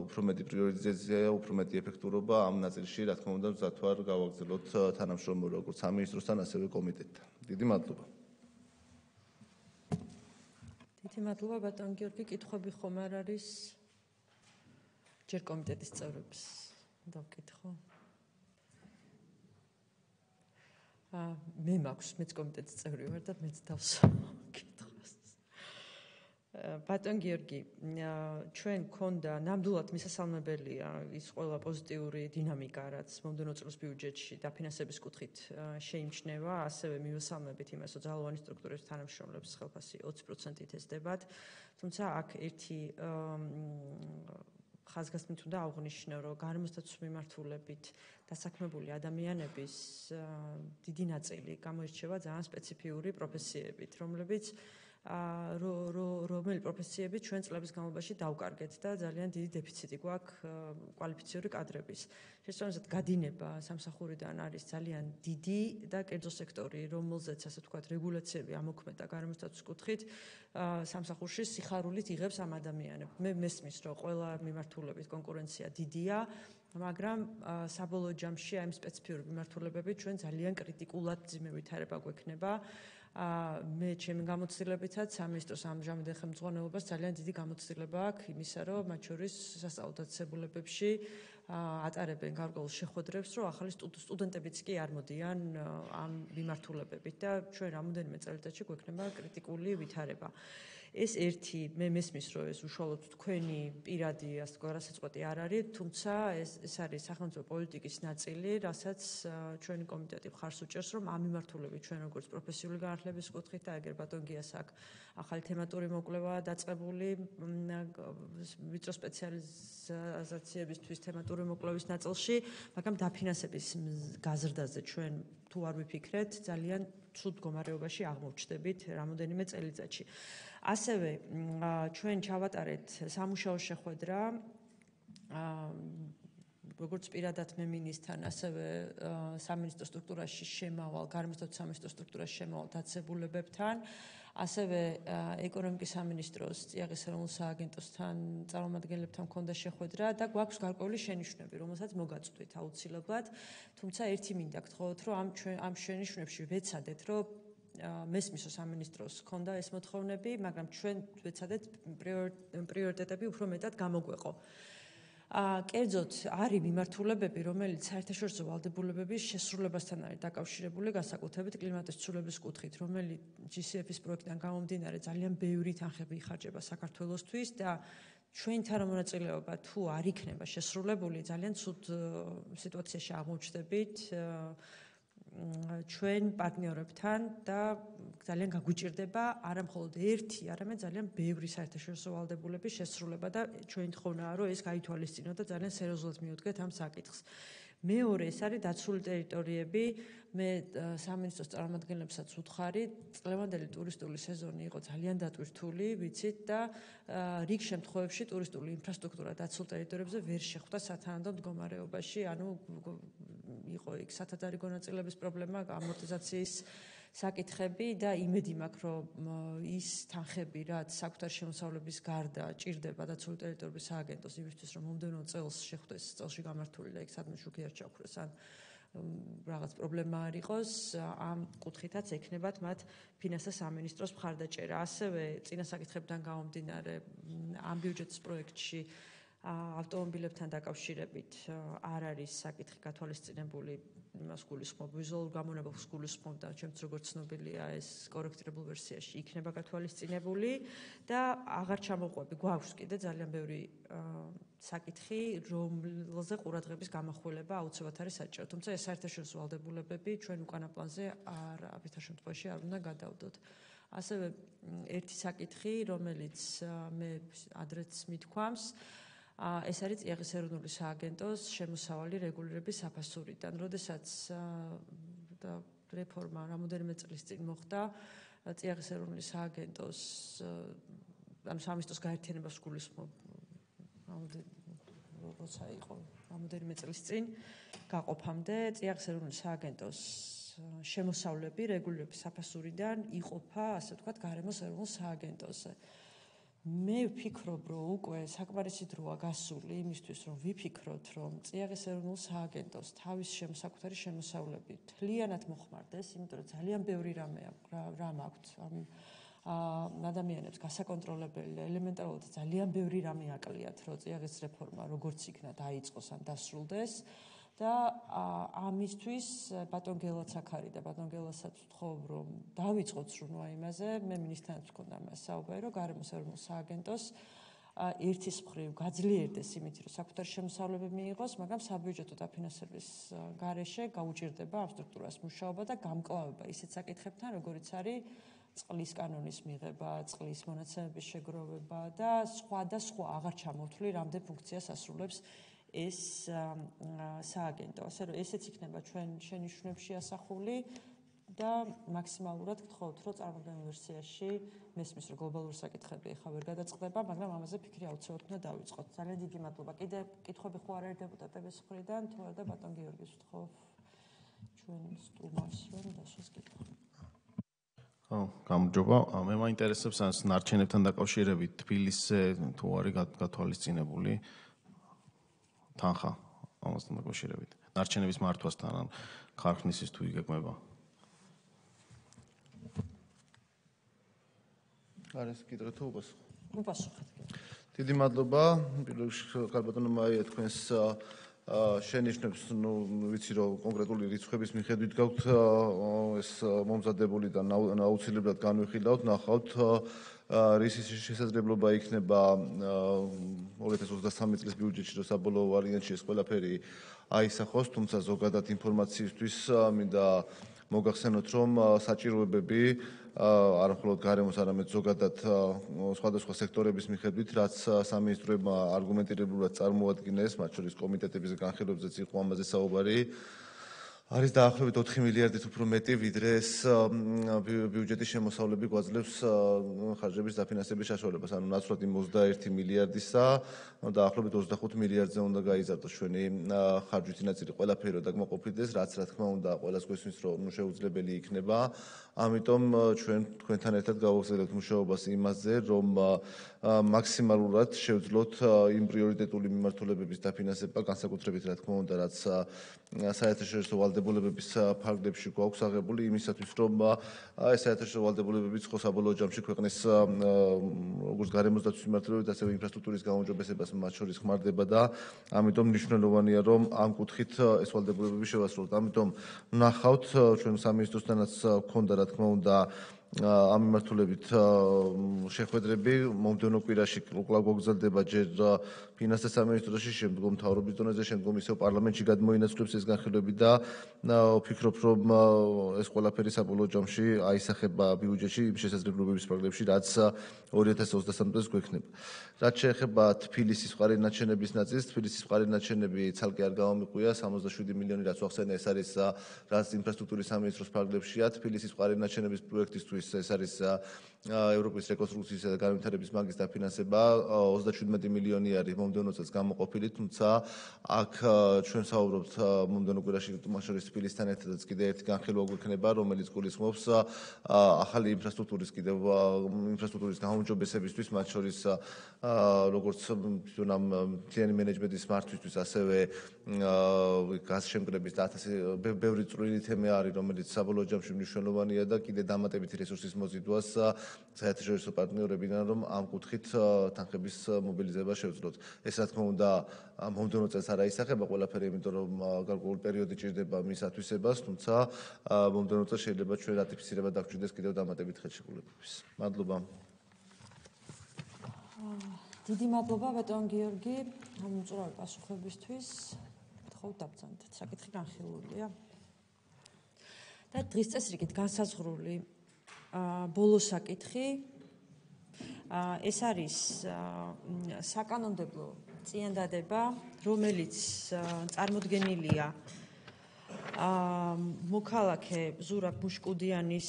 უფრო მეტი პრიორიტიზაცია, უფრო მეტი ეფექტურობა ამ ნაწილში, რა თქმა უნდა, მზად ვარ გავაგრძელოთ თანამშრომლობა როგორც სამინისტროსთან, ასევე კომიტეტთან. დიდი მადლობა.
დიდი მადლობა ბატონ გიორგი, კითხვები ხომ არ არის? ჯერ კომიტეტის წევრებს დავკითხო. მე მაქვს, მეც კომიტეტის წევრი ვარ და მეც დავსკითხოს. ბატონ გიორგი, ჩვენ გქონდა ნამდვილად მისასალმებელია ის ყველა პოზიტიური დინამიკა, რაც მომდევნო წლის ბიუჯეტში დაფინანსების კუთხით შეიმჩნევა, ასევე მივესალმებით იმას, რომ ძალოვანი სტრუქტურების თანამშრომლობის ხელფასი 20%-ით ეზრდებათ, თუმცა აქ ერთი ხაზგასმით უნდა აღვნიშნო, რომ გარემოსდაცვის მიმართულებით დასაქმებული ადამიანების დიდი ნაწილი გამოირჩევა ძალიან სპეციფიური პროფესიებით, რომელი პროფესიები ჩვენ წლების განმავლობაში დავკარგეთ და ძალიან დიდი დეფიციტი გვაქვს კვალიფიციური კადრების. შესაბამისად, გადინება სამსახურიდან არის ძალიან დიდი და კერძო სექტორი, რომელზეც ასე ვთქვათ, რეგულაციები ამოქმედა გარემოსდაცვის კუთხით, სამსახურში სიხარულით იღებს ამ ადამიანებს. მე მესმის, რომ ყველა მიმართულებით კონკურენცია დიდია, მაგრამ საბოლოო ჯამში ამ სპეციფიური მიმართულებებით ჩვენ ძალიან კრიტიკულად ძიმე ვითარება გვექნება. მე ჩემი გამოცდილებითაც სამინისტროს ამჟამად ხელმძღვანელობას ძალიან დიდი გამოცდილება აქვს იმისა, რომ მათ შორის სასწავლო დაწესებულებებში ატარებენ გარკვეულ შეხვედრებს, რომ ახალი სტუდენტებიც კი არ მოდიან ამ მიმართულებებით და ჩვენ რამოდენიმე წელიწადში გვექნება კრიტიკული ვითარება. ეს ერთი, მე მესმის, რომ ეს უშუალოდ თქვენი პირადი ასე თქვა რასაწყოთი არ არის, თუმცა ეს არის სახელმწიფო პოლიტიკის ნაწილი, რასაც ჩვენი კომიტეტი მხარს უჭერს, რომ ამ მიმართულებით ჩვენ როგორც პროფესიული განათლების კუთხით და ეგერ ბატონ გიას აქ ახალი თემატური მოკვლევა დაწყებული ვიწრო სპეციალიზაციებისთვის თემატური მოკვლევის ნაწილში, მაგრამ დაფინანსების გაზრდაზე ჩვენ თუ არ ვიფიქრეთ, ძალიან ცუდ მდგომარეობაში აღმოჩნდებით რამოდენიმე წელიწადში. ასევე ჩვენ ჩავატარეთ სამუშაო შეხვედრა როგორც პირადად მე მინისტრთან, ასევე სამინისტრო სტრუქტურაში შემავალ, გარემოსდაცვის სამინისტრო სტრუქტურაში შემავალ დაწესებულებებთან, ასევე ეკონომიკის სამინისტროს წიაღის ეროვნულ სააგენტოსთან წარმომადგენლებთან მქონდა შეხვედრა და გვაქვს გარკვეული შენიშვნები, რომელსაც მოგაწვდით აუცილებლად, თუმცა ერთი მინდა გთხოვოთ, რომ ამ შენიშვნებში ვეცადეთ, რომ მესმის სამინისტროს ჰქონდა ეს მოთხოვნები, მაგრამ ჩვენ ვეცადეთ პრიორიტეტები უფრო მეტად გამოგვეყო. კერძოდ არის მიმართულებები, რომელიც საერთაშორისო ვალდებულებების შესრულებასთან არის დაკავშირებული, განსაკუთრებით კლიმატის ცვლილების კუთხით, რომელიც GCF-ის პროექტიდან გამომდინარე ძალიან ბევრი თანხები იხარჯება საქართველოსთვის და ჩვენი თანამონაწილეობა თუ არ იქნება შესრულებული, ძალიან ცუდ სიტუაციაში აღმოჩნდებით ჩვენ პარტნიორებთან და ძალიან გაგვიჭირდება არა მხოლოდ ერთი, არამედ ძალიან ბევრი საერთაშორისო ვალდებულების შესრულება და ჩვენი თხოვნაა, რომ ეს გაითვალისწინოთ და ძალიან სერიოზულად მივუდგეთ ამ საკითხს. მეორე, ეს არის დაცული ტერიტორიები. მე სამინისტროს წარმომადგენლებსაც ვუთხარი, წლევანდელი ტურისტული სეზონი იყო ძალიან დატვირთული, ვიცით და რიგ შემთხვევებში ტურისტული ინფრასტრუქტურა დაცულ ტერიტორიებზე ვერ შეხვდა სათანადო მდგომარეობაში, ანუ იყო იქ სათადარი გონაწილების პრობლემა, ამორტიზაციის საკითხები და იმედი მაქვს, რომ ის თანხები, რაც საკუთარი შემოსავლების გარდა ჭირდება დაცული ტერიტორიების სააგენტოს იმისთვის, რომ მომდევნო წელს შეხვდეს წელში გამართული და იქ სადმე შუქი არ ჩაუქრეს ან რაღაც პრობლემა არ იყოს, ამ კუთხითაც ექნებათ მათ ფინანსთა სამინისტროს მხარდაჭერა. ასევე წინა საკითხებიდან გამომდინარე ამ ბიუჯეტის პროექტში ავტომობილებთან დაკავშირებით არ არის საკითხი გათვალისწინებული, იმას გულისხმობ, ვიზუალურ გამონაბოლს გულისხმობ და ჩემს როგორც ცნობილია ეს კორექტირებულ ვერსიაში იქნება გათვალისწინებული და აღარ ჩამოყვები, გვაქვს კიდე ძალიან ბევრი საკითხი, რომელზე ყურადღების გამახვილება აუცილებლად არის საჭირო. თუმცა ეს საერთაშორისო ვალდებულებები ჩვენ უკანა პლანზე არავითარ შემთხვევაში არ უნდა გადავდოთ. ასევე ერთი საკითხი, რომელიც მე ადრეც მithქვამს, ეს არის წიაღის ეროვნული სააგენტოს შემოსავალი რეგულირების საფასურიდან. როდესაც რეფორმა რამოდენიმე წლის წინ მოხდა წიაღის ეროვნული სააგენტოს ანუ სამინისტროს გაერთიანებას გულისხმობ როცა იყო რამოდენიმე წლის წინ გაყოფამდე წიაღის ეროვნული სააგენტოს შემოსავლები რეგულირების საფასურიდან იყოფა ასე ვთქვათ გარემოს ეროვნულ სააგენტოზე. მე ვფიქრობ, რომ უკვე საკმარისი დროა გასული იმისთვის, რომ ვიფიქროთ, რომ წიაღის ეროვნულ სააგენტოს თავის საკუთარი შემოსავლები მთლიანად მოხმარდეს, იმიტომ რომ ძალიან ბევრი რამ აქვთ ადამიანებს გასაკონტროლებელი და ელემენტარულად ძალიან ბევრი რამე აკლიათ, რომ წიაღის რეფორმა როგორც იქნა დაიწყოს ან დასრულდეს. და ამისთვის ბატონ გელაც აქ არის და ბატონ გელასაც ვთხოვ, რომ დავიწყოთ სრუნა იმაზე, მე მინისტრთან ვქონდა მას საუბარი, რომ გარემოს ეროვნულ სააგენტოს ერთის მხრივ გაძლიერდეს იმით, რომ საკუთარი შემოსავლები მიიღოს, მაგრამ საბიუჯეტო დაფინანსების გარეშე გაუჭირდება ამ სტრუქტურას მუშაობა და გამკლავება ისეთ საკითხებთან, როგორიც არის წყლის კანონის მიღება, წყლის მონაცემების შეგროვება და სხვა აღარ ჩამოთვლი, რამდენ ფუნქციას ასრულებს ეს სააგენტო. ასე რომ ესეც იქნება ჩვენ შენიშვნებში ასახული და მაქსიმალურად გთხოვთ, რომ წარმოდგენილ ვერსიაში მესმის, რომ გლობალური საკითხები ახლა ვერ გადაწყდება, მაგრამ ამაზე ფიქრი აუცილებლად უნდა დავიწყოთ. ძალიან დიდი მადლობა. კიდე კითხვები ხო არ არის დეპუტატების მხრიდან, თუ არა და ბატონ გიორგის ვთხოვ ჩვენ სტუმარს, რომ დასვას კითხვა.
გამარჯობა. მე მაინტერესებს ამ ნარჩენებთან დაკავშირებით თბილისზე თუ არის გათვალისწინებული თანხა ამასთან დაკავშირებით. ნარჩენების მართვასთან ან ქარხნისის თუ იგეგმება.
არის კიდევ თუ უპასუხო.
უპასუხეთ.
დიდი მადლობა. პირველ რიგში კარბატონო მაია თქვენს შენიშვნებს, ვიცი რომ კონკრეტული რიცხვების მიხედვით გაქვთ ეს მომზადებული და აუცილებლად განვიხილავთ, ნახავთ რის შესაძლებლობა იქნება 2023 წლის ბიუჯეტში, რომ საბოლოო ვარიანტში ეს ყველაფერი აისახოს, თუმცა ზოგადად ინფორმაციისთვის მინდა მოგახსენოთ, რომ საჭიროებები არა მხოლოდ გარემოს, არამედ ზოგადად სხვადასხვა სექტორების მიხედვით, რაც სამინისტროებმა არგუმენტირებულად წარმოადგინეს, მათ შორის კომიტეტების განხილვებზეც იყო ამაზე საუბარი. არის დაახლოებით 4 მილიარდით უფრო მეტი, ვიდრე ეს ბიუჯეტის შემოსავლები გვაძლევს ხარჯების დაფინანსების საშუალებას. ანუ ნაცვლად იმ 21 მილიარდისა, დაახლოებით 25 მილიარდზე უნდა გაიზარდოს ჩვენი ხარჯვითი ნაწილი ყველაფერი რომ დაკმაყოფილდეს, რაც რა თქმა უნდა ყველას გვესმის, რომ შეუძლებელი იქნება. ამიტომ ჩვენ თქვენთან ერთად გავაგზავნებთ მუშაობას იმაზე, რომ მაქსიმალურად შევძლოთ იმ პრიორიტეტული მიმართულებების დაფინანსება, განსაკუთრებით რა თქმა უნდა, რაც საერთაშორისო ვალდებულებების ფარგლებში გვაქვს აღებული იმისათვის, რომ ეს საერთაშორისო ვალდებულებებიც ხო საბოლოო ჯამში ქვეყნის როგორც გარემოს დაცვის მიმართულებით, ასევე ინფრასტრუქტურის გაუმჯობესებას მათ შორის ხმარდება და ამიტომ მნიშვნელოვანია, რომ ამ კუთხით ეს ვალდებულებები შევასრულოთ. ამიტომ ვნახავთ ჩვენ სამინისტროსთანაც გქონდა რა თქმა უნდა ამ მიმართულებით შეხვედრები მომდევნო კვირაში კვლავ გაგრძელდება ჯერ ფინანსთა სამინისტროში, შემდგომ მთავრობის დონეზე, შემდგომ ისევ პარლამენტში გადმოინაცვლებს ეს განხილვები და ვფიქრობ, რომ ეს ყველაფერი საბოლოო ჯამში აისახება ბიუჯეტში იმ შესაძლებლობების პროგრამებში, რაც 2023 წელს გვექნება. რაც შეეხება თბილისის წყარინაჩენების ნაწილს, თბილისის წყარინაჩენები ცალკე არ გამომიყვია, 67 მილიონი რაც ახსენე, ეს არის რაც ინფრასტრუქტურის სამინისტროს ფარგლებშია, თბილისის წყარინაჩენების პროექტისთვის ეს არის ევროპის რეკონსტრუქციისა და განვითარების ბანკის დაფინანსება 37 მილიონი არის მომდევნო წელს გამოყოფილი, თუმცა აქ ჩვენ საუბრობთ მომდევნო კვირაში მათ შორის თბილისთან ერთადაც კიდე ერთი განხილვა გვექნება, რომელიც გულისხმობს ახალი ინფრასტრუქტურის გაუმჯობესებისთვის, მათ შორის როგორც თვითონ ამ მთლიანი მენეჯმენტის მართვისთვის, ასევე გაზშემკრების და ბევრი წვრილი თემა არის, რომელიც საბოლოო ჯამში მნიშვნელოვანია და კიდე დამატებითი რესურსის მოზიდვას საერთაშორისო პარტნიორებიდან, რომ ამ კუთხით თანხების მობილიზება შევძლოთ. ეს რა თქმა უნდა მომდევნო წელს არ აისახება ყველაფერი, იმიტომ რომ გარკვეული პერიოდი ჭირდება მის ათვისებას, თუმცა მომდევნო წელს შეიძლება ჩვენ რატიფიცირება დაგჭირდეს კიდევ დამატებით ხელშეკრულებების. მადლობა.
დიდი მადლობა ბატონ გიორგი ამ უწურავი პასუხებისთვის. გთხოვთ დაბრძანეთ. საკითხი განხილულია. და დღის წესრიგით განსაზღვრული ბოლო საკითხი ეს არის საკანონმდებლო წინადადება, რომელიც წარმოდგენილია მოქალაქე ზურაბ მუშკუდიანის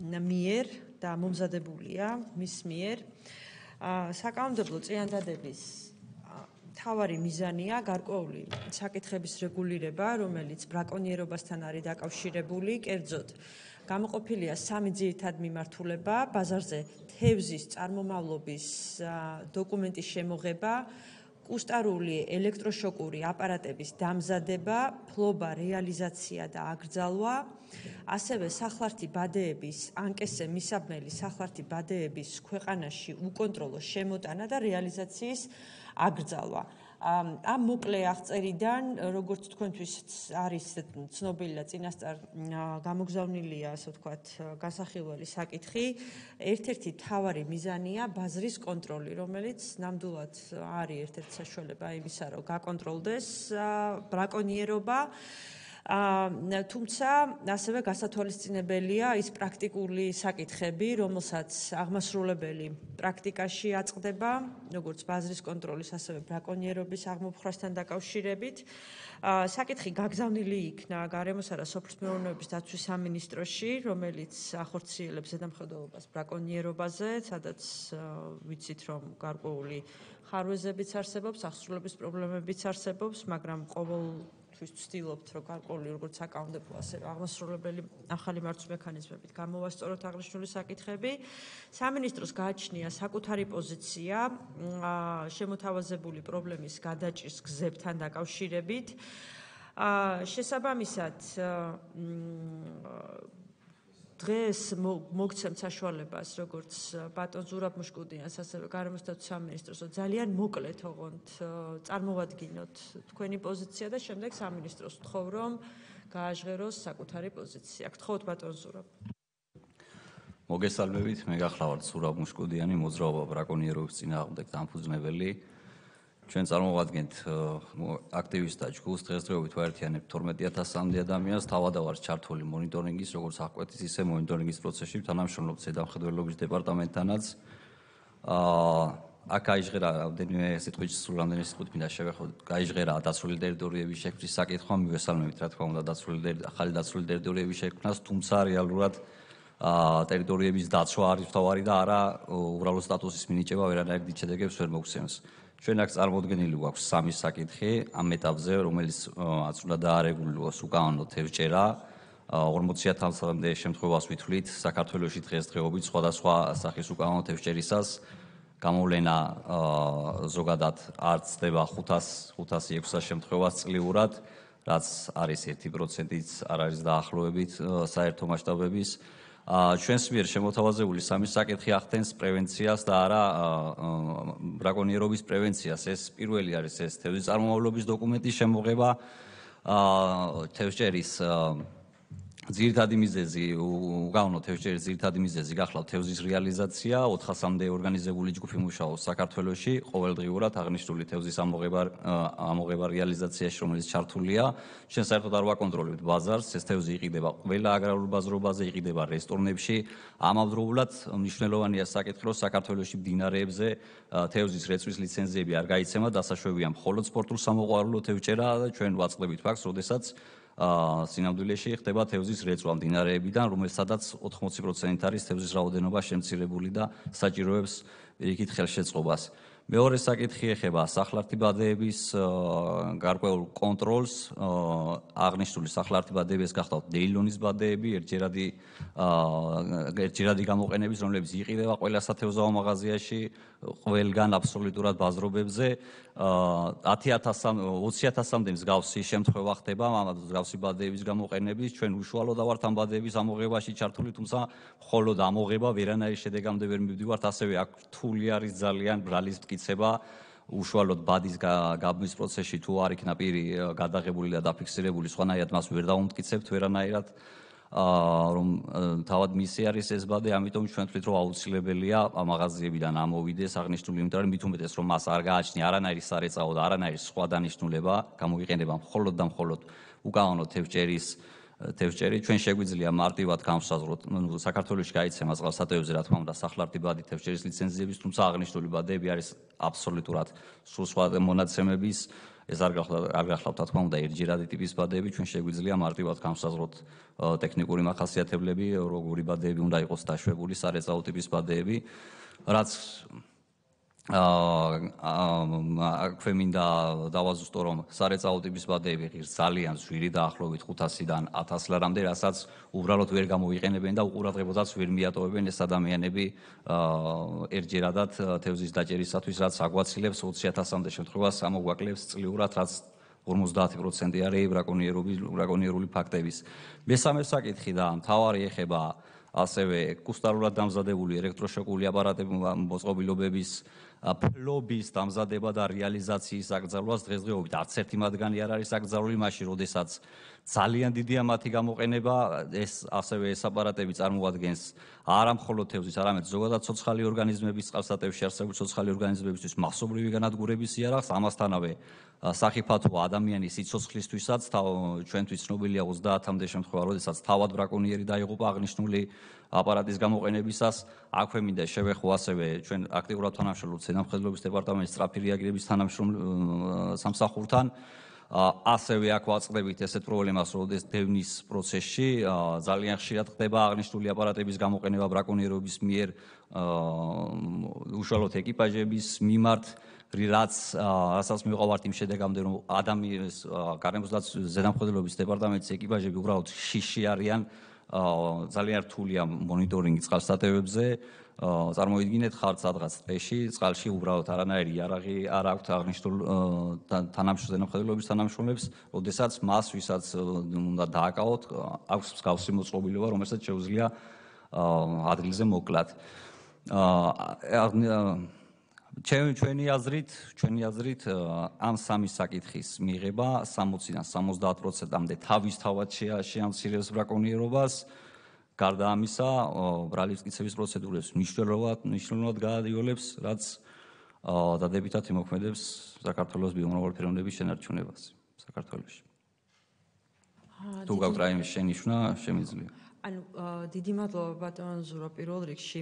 მიერ და მომზადებულია მის მიერ საკანონმდებლო წინადადების თავარი მიზანია გარკვეული საკითხების რეგულირება, რომელიც ბრაკონიერობასთან არის დაკავშირებული, კერძოდ გამოყოფილია 3 ძირითადი მიმართულება: ბაზარზე თევზის წარმომავლობის დოკუმენტის შემოღება, კუსტარული ელექტროშოკური აპარატების დამზადება, ფლობა, რეალიზაცია და აკრძალვა, ასევე სახლართი ბადეების ანკესზე მისაბნელი სახლართი ბადეების ქვეყანაში უკონტროლო შემოტანა და რეალიზაციის აკრძალვა. ამ მოკლე აღწერიდან, როგორც თქვენთვის არის ცნობილი და წინასწარ გამოგზავნილია, ასე ვთქვათ, განსახილველი საკითხი, ერთ-ერთი მთავარი მიზანია ბაზრის კონტროლი, რომელიც ნამდვილად არის ერთ-ერთი საშუალება იმისა, რომ გაკონტროლდეს ბრაკონიერობა. თუმცა ასევე გასათვალისწინებელია ის პრაქტიკული საკითხები, რომელსაც აღმასრულებელი პრაქტიკაში აწყდება, როგორც ბაზრის კონტროლის, ასევე ბრაკონიერობის აღმოფხვრასთან დაკავშირებით. საკითხი გაგზავნილი იქნა გარემოსა და სოფლის მეურნეობის დაცვის სამინისტროში, რომელიც ახორციელებს ზედამხედველობას ბრაკონიერობაზე, სადაც ვიცით, რომ გარკვეული ხარვეზებიც არსებობს, აღსრულების პრობლემებიც არსებობს, მაგრამ ყოველთვის ვცდილობთ, რომ გარკვეული როგორც საკანონმდებლო, ასევე აღმასრულებელი ახალი მართვის მექანიზმებით გამოვასწოროთ აღნიშნული საკითხები. სამინისტროს გააჩნია საკუთარი პოზიცია შემოთავაზებული პრობლემის გადაჭრის გზებთან დაკავშირებით. შესაბამისად, დღეს მოგცემთ საშუალებას, როგორც ბატონ ზურაბ მუშკუდიანს, ასევე გარემოს დაცვის სამინისტროს, ძალიან მოკლედ ოღონდ წარმოვადგინოთ თქვენი პოზიცია და შემდეგ სამინისტროს ვთხოვ, რომ გააჟღეროს საკუთარი პოზიცია. გთხოვთ ბატონ ზურაბ.
მოგესალმებით, მე გახლავართ ზურაბ მუშკუდიანი, მოძრაობა ბრაკონიერობის წინააღმდეგ დამფუძნებელი. ჩვენ წარმოვადგენთ აქტივისტთა ჯგუფს, დღესდღეობით ვაერთიანებთ 12000-მდე ადამიანს, თავადავართ ჩართული მონიტორინგის, როგორც აღკვეთის, ისე მონიტორინგის პროცესში, თანამშრომლობთ ზედამხედველობის დეპარტამენტთანაც. აქ აიჟღერა რამდენიმე სიტყვით, სულ რამდენიმე სიტყვით მინდა შევეხო, გაიჟღერა დაცული ტერიტორიების შექმნის საკითხმა, მივესალმებით, რა თქმა უნდა, ახალი დაცული ტერიტორიების შექმნას, თუმცა რეალურად ტერიტორიების დაცვა არის მთავარი და არა უბრალო სტატუსის მინიჭება ვერანაირ შედეგებს ვერ მოგცემს. ჩვენ აქ წარმოდგენილი გვაქვს 3 საკითხი ამ ეტაპზე, რომელიც უნდა დაარეგულიროს უკანონო თევზჭერა. 40000-მდე შემთხვევას ვითვლით საქართველოში დღესდღეობით სხვადასხვა სახის უკანონო თევზჭერისას. გამოვლენა ზოგადად არ ცდება 500-600 შემთხვევას წლიურად, რაც არის 1%-იც არ არის დაახლოებით საერთო მასშტაბების. ჩვენს მიერ შემოთავაზებული 3 საკითხი ახდენს პრევენციას და არა ბრაკონიერობის პრევენციას. ეს პირველი არის ეს თევზის წარმომავლობის დოკუმენტის შემოღება, თევზჭერის ძირითადი მიზეზი, უკანონო თევზჭერის ძირითადი მიზეზი გახლავთ თევზის რეალიზაცია, 400-მდე ორგანიზებული ჯგუფი მუშაობს საქართველოში, ყოველდღიურად აღნიშნული თევზის ამოღება რეალიზაციაში, რომელიც ჩართულია. ჩვენ საერთოდ არ ვაკონტროლებთ ბაზარს, ეს თევზი იყიდება ყველა აგრარულ ბაზრობაზე, იყიდება რესტორნებში. ამავდროულად მნიშვნელოვანია საკითხი, რომ საქართველოში მდინარეებზე თევზის რეწვის ლიცენზიები არ გაიცემა, დასაშვებია მხოლოდ სპორტულ სამოყვარულო თევზჭერა და ჩვენ ვაწყდებით ფაქტს, როდესაც სინამდვილეში ხდება თევზის რეწვა მდინარეებიდან, რომელსაც 80% არის თევზის რაოდენობა შემცირებული და საჭიროებს პირიქით ხელშეწყობას. მეორე საკითხი ეხება სახლართი ბადეების გარკვეულ კონტროლს. აღნიშნული სახლართი ბადეების გახლავთ დეილონის ბადეები, ერთჯერადი გამოყენების, რომლებიც იყიდება ყველა სათევზაო მაღაზიაში, ყველგან აბსოლუტურად ბაზრობებზე. 20000-მდე მსგავსი შემთხვევა ხდება მსგავსი ბადეების გამოყენების. ჩვენ უშუალოდ ვართ ამ ბადეების ამოღებაში ჩართული, თუმცა მხოლოდ ამოღება ვერანაირი შედეგამდე ვერ მივდივართ. ასევე აქ რთული არის ძალიან ბრალის მტკიცება. უშუალოდ ბადის გაბმის პროცესში თუ არ იქნა პირი გადაღებული და დაფიქსირებული, სხვანაირად მას ვერ დავუმტკიცებთ ვერანაირად. რომ თავად მისი არის ეს ბადე, ამიტომ ჩვენ ვთვლით, რომ აუცილებელია მაღაზიებიდან ამოვიდეს აღნიშნული, იმიტომ რომ მით უმეტეს რომ მას არ გააჩნია არანაირი სარეწაო და არანაირი სხვა დანიშნულება, გამოიყენება მხოლოდ და მხოლოდ უკანონო თევზჭერი. ჩვენ შეგვიძლია მარტივად განვსაზღვროთ, საქართველოში გაიცემა წყალსატევზე, რა თქმა უნდა, სახლართი ბადი თევზჭერის ლიცენზიების, თუმცა აღნიშნული ბადეები არის აბსოლუტურად სულ სხვა მონაცემების ეს არ გახლავთ რა თქმა უნდა ერთჯერადი ტიპის ბადეები, ჩვენ შეგვიძლია მარტივად განსაზღვროთ ტექნიკური მახასიათებლები, როგორი ბადეები უნდა იყოს დაშვებული, სარეწაო ტიპის ბადეები, რაც აქვე მინდა დავაზუსტო, რომ სარეწაო ტიპის ბადეები ღირს ძალიან ძვირი დაახლოებით 500-დან 1000 ლარამდე, რასაც უბრალოდ ვერ გამოიყენებენ და უყურადღებოდაც ვერ მიატოვებენ ეს ადამიანები ერთჯერადად თევზის დაჭერისათვის, რაც აგვაცილებს 20.000-მდე შემთხვევას ამოგვაკლებს წლიურად, რაც 50% არის ბრაკონიერული ფაქტების. მესამე საკითხი და მთავარი ეხება ასევე კუსტარულად დამზადებული ელექტროშოკული აპარატების მოწყობილობების ფლობის დამზადება და რეალიზაციის აკრძალვას დღესდღეობით არც ერთი მათგანი არ არის აკრძალული, მაშინ როდესაც ძალიან დიდია მათი გამოყენება, ეს ასევე ეს აპარატები წარმოადგენს არა მხოლოდ თევზის, არამედ ზოგადად ცოცხალი ორგანიზმების წყალსატევში არსებული ცოცხალი ორგანიზმებისთვის მასობრივი განადგურების იარაღს, ამასთანავე სახიფათო ადამიანის სიცოცხლისთვისაც ჩვენთვის ცნობილია 30-მდე შემთხვევა, როდესაც თავად ბრაკონიერი დაიღუპა აღნიშნული აპარატის გამოყენებისას. აქვე მინდა შევეხო ასევე ჩვენ აქტიურად თანამშრომლობთ ზედამხედველობის დეპარტამენტის სწრაფი რეაგირების სამსახურთან. ასევე აქ ვაწყდებით ესეთ პრობლემას, როდესაც დევნის პროცესში ძალიან ხშირად ხდება აღნიშნული აპარატების გამოყენება ბრაკონიერების მიერ უშუალოდ ეკიპაჟების მიმართ, რასაც მივყავართ იმ შედეგამდე, რომ ადამიანის გარემოსდაცვის ზედამხედველობის დეპარტამენტის ეკიპაჟები უბრალოდ შიში არიან, ძალიან რთულია მონიტორინგი წყალსატევებზე. წარმოიდგინეთ, ხართ სადღაც ტყეში, წყალში უბრალოდ არანაირი იარაღი არ აქვთ აღნიშნულ ზედამხედველობის თანამშრომლებს, როდესაც მას, ვისაც უნდა დააკავოთ, აქვს მსგავსი მოწყობილობა, რომელსაც შეუძლია ადგილზე მოკლათ. ჩვენი აზრით ამ სამი საკითხის მიღება 60-დან 70%-მდე თავისთავად შეამცირებს ბრაკონიერობას. გარდა ამისა, ბრალის მტკიცების პროცედურებს მნიშვნელოვნად გაადიოლებს, რაც დადებითად იმოქმედებს საქართველოს ბიომრავალფეროვნების შენარჩუნებას საქართველოში. თუ გაქვთ რაიმე შენიშვნა, შემიძლია.
ანუ დიდი მადლობა ბატონ ზურო პირველ რიგში.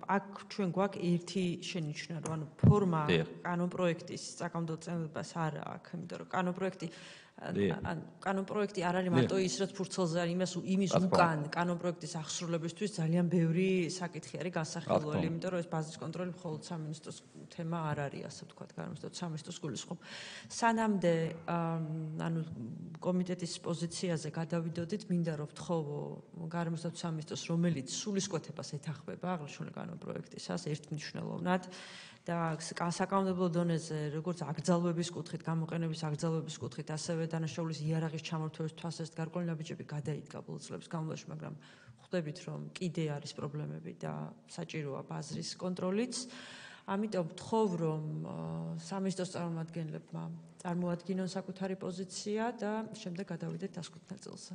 აქ ჩვენ გვაქვს ერთი შენიშვნა, რომ ანუ ფორმა კანონპროექტის საკანონმდებლობას არ აქვს, იმიტომ რომ კანონპროექტი არ არის მარტო ის, რაც ფურცელზე არის, იმის უკან კანონპროექტის აღსრულებისთვის ძალიან ბევრი საკითხი არის განსახილველი, იმიტომ რომ ეს ბაზის კონტროლი მხოლოდ სამინისტროს თემა არ არის, ასე ვთქვათ, განსაკუთრებით სამინისტროს გულისხმობ. სანამდე ანუ კომიტეტის პოზიციაზე გადავიდოდით, მინდა რომ ვთხოვო გარემოსდაცვის სამინისტროს, რომელიც სულისკვეთებას ეთახმება აღნიშნული კანონპროექტისას ერთმნიშვნელოვნად და საკანონმდებლო დონეზე, როგორც აკრძალვების კუთხით, გამოყენების აკრძალვების კუთხით, ასევე დანაშაულის იარაღის ჩამორთმევის თვალსაზრისით გარკვეული ნაბიჯები გადაიდგა ბოლო წლების განმავლობაში, მაგრამ ხვდებით, რომ კიდე არის პრობლემები და საჭიროა ბაზრის კონტროლიც. ამიტომ ვთხოვ, რომ სამინისტროს წარმომადგენლებმა წარმოადგინონ საკუთარი პოზიცია და შემდეგ გადავიდეთ დასკვნითელ წელზე.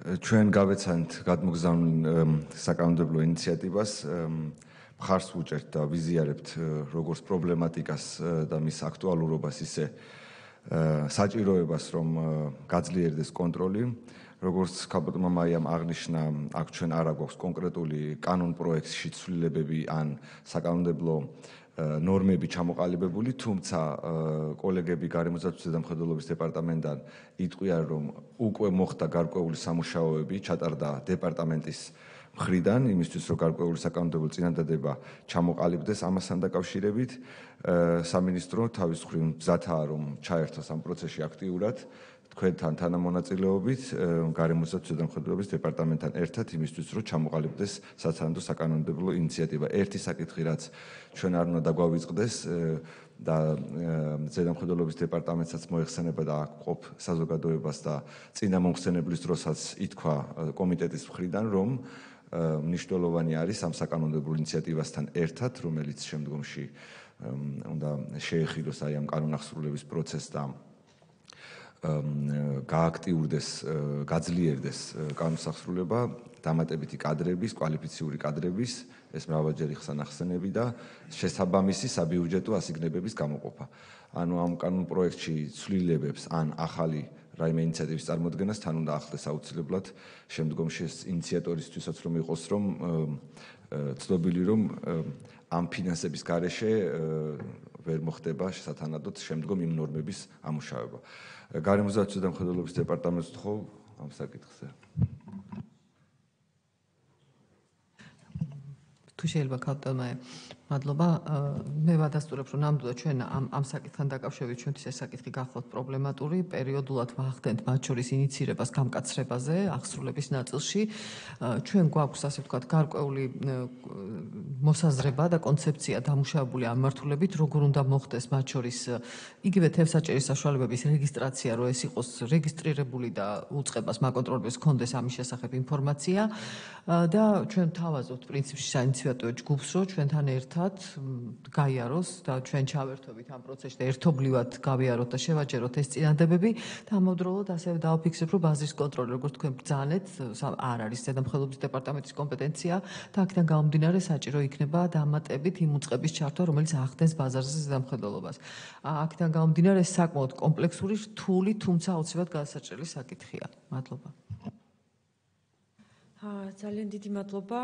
ჩვენ გავეცანთ გადმოგზავნილ საკანონმდებლო ინიციატივას, მხარს ვუჭერთ და ვიზიარებთ როგორც პრობლემატიკას და მის აქტუალურობას, ისე საჭიროებას, რომ გაძლიერდეს კონტროლი. როგორც ქალბატონმა მაიამ აღნიშნა, აქ ჩვენ არ აქვს კონკრეტული კანონპროექტში ცვლილებები ან საკანონმდებლო ნორმები ჩამოყალიბებული, თუმცა კოლეგები გარემოსდაცვის ზედამხედველობის დეპარტამენტიდან იტყვიან, რომ უკვე მოხდა გარკვეული სამუშაოები, ჩატარდა დეპარტამენტის მხრიდან, იმისთვის, რომ გარკვეული საკანონმდებლო წინადადება ჩამოყალიბდეს ამასთან დაკავშირებით. სამინისტრო თავის მხრივ მზადაა, რომ ჩაერთოს ამ პროცესში აქტიურად. თქვენთან თანამონაწილეობით გარემოსდაცვის ზედამხედველობის დეპარტამენტთან ერთად იმისთვის, რომ ჩამოყალიბდეს სათანადო საკანონმდებლო ინიციატივა. ერთი საკითხი, რაც ჩვენ არ უნდა დაგვავიწყდეს და ზედამხედველობის დეპარტამენტსაც მოეხსენება და აქ ყოფ საზოგადოებას და წინა მომხსენებლის დროსაც ითქვა კომიტეტის მხრიდან, რომ მნიშვნელოვანი არის ამ საკანონმდებლო ინიციატივასთან ერთად, რომელიც შემდგომში უნდა შეეხილოს აი ამ კანონახსრულების პროცესს და გააქტიურდეს, გაძლიერდეს კანონსახსრულება, დამატებითი კადრების, კვალიფიციური კადრების, ეს მრავალჯერ იქცა ნახსენები და შესაბამისი საბიუჯეტო ასიგნებების გამოყოფა. ანუ ამ კანონპროექტში ცვლილებებს ან ახალი რაიმე ინიციატივის წარმოადგენას თან უნდა ახლდეს აუცილებლად შემდგომში ეს ინიციატორისთვისაც რომ იყოს რომ ცნობილი რომ ამ ფინანსების გარეშე ვერ მოხდება შესათანადოდ შემდგომ იმ ნორმების ამუშავება. გარემოსდაცვის და მხედველობის დეპარტამენტს ვთხოვ ამ საკითხზე.
თუ შეიძლება ქალტელმა მადლობა. მე ვადასტურებ, რომ ნამდვილად ჩვენ ამ საკითხთან დაკავშირებით ჩვენთვის ეს საკითხი გახლავთ პრობლემატური, პერიოდულად ვახდენთ მათ შორის ინიცირებას გამკაცრებაზე, აღსრულების ნაწილში. ჩვენ გვაქვს, ასე ვთქვათ, გარკვეული მოსაზრება და კონცეფცია დამუშავებული ამ მართულებით, როგორ უნდა მოხდეს მათ შორის იგივე თევზაჭერის საშუალებების რეგისტრაცია, რომ ეს იყოს რეგისტრირებული და უწყებას მაკონტროლებს ჰქონდეს ამის შესახებ ინფორმაცია და ჩვენ თავაზობთ პრინციპში საინიციატივო ჯგუფს, რომ ჩვენთან ერთად გაიაროს და ჩვენ ჩავერთვებით ამ პროცესში და ერთობლივად გავიაროთ და შევაჯეროთ ეს წინადადებები და ამავდროულად ასევე დავაფიქსებ, რომ ბაზრის კონტროლი, როგორც თქვენ ბრძანეთ, არ არის ზედამხედველობის დეპარტამენტის კომპეტენცია და აქედან გამომდინარე საჭირო იქნება დამატებით იმ უწყების ჩართვა, რომელიც ახდენს ბაზარზე ზედამხედველობას. აქედან გამომდინარე ეს საკმაოდ კომპლექსური, რთული, თუმცა აუცილებლად გადასაჭრელი საკითხია. მადლობა.
ძალიან დიდი მადლობა.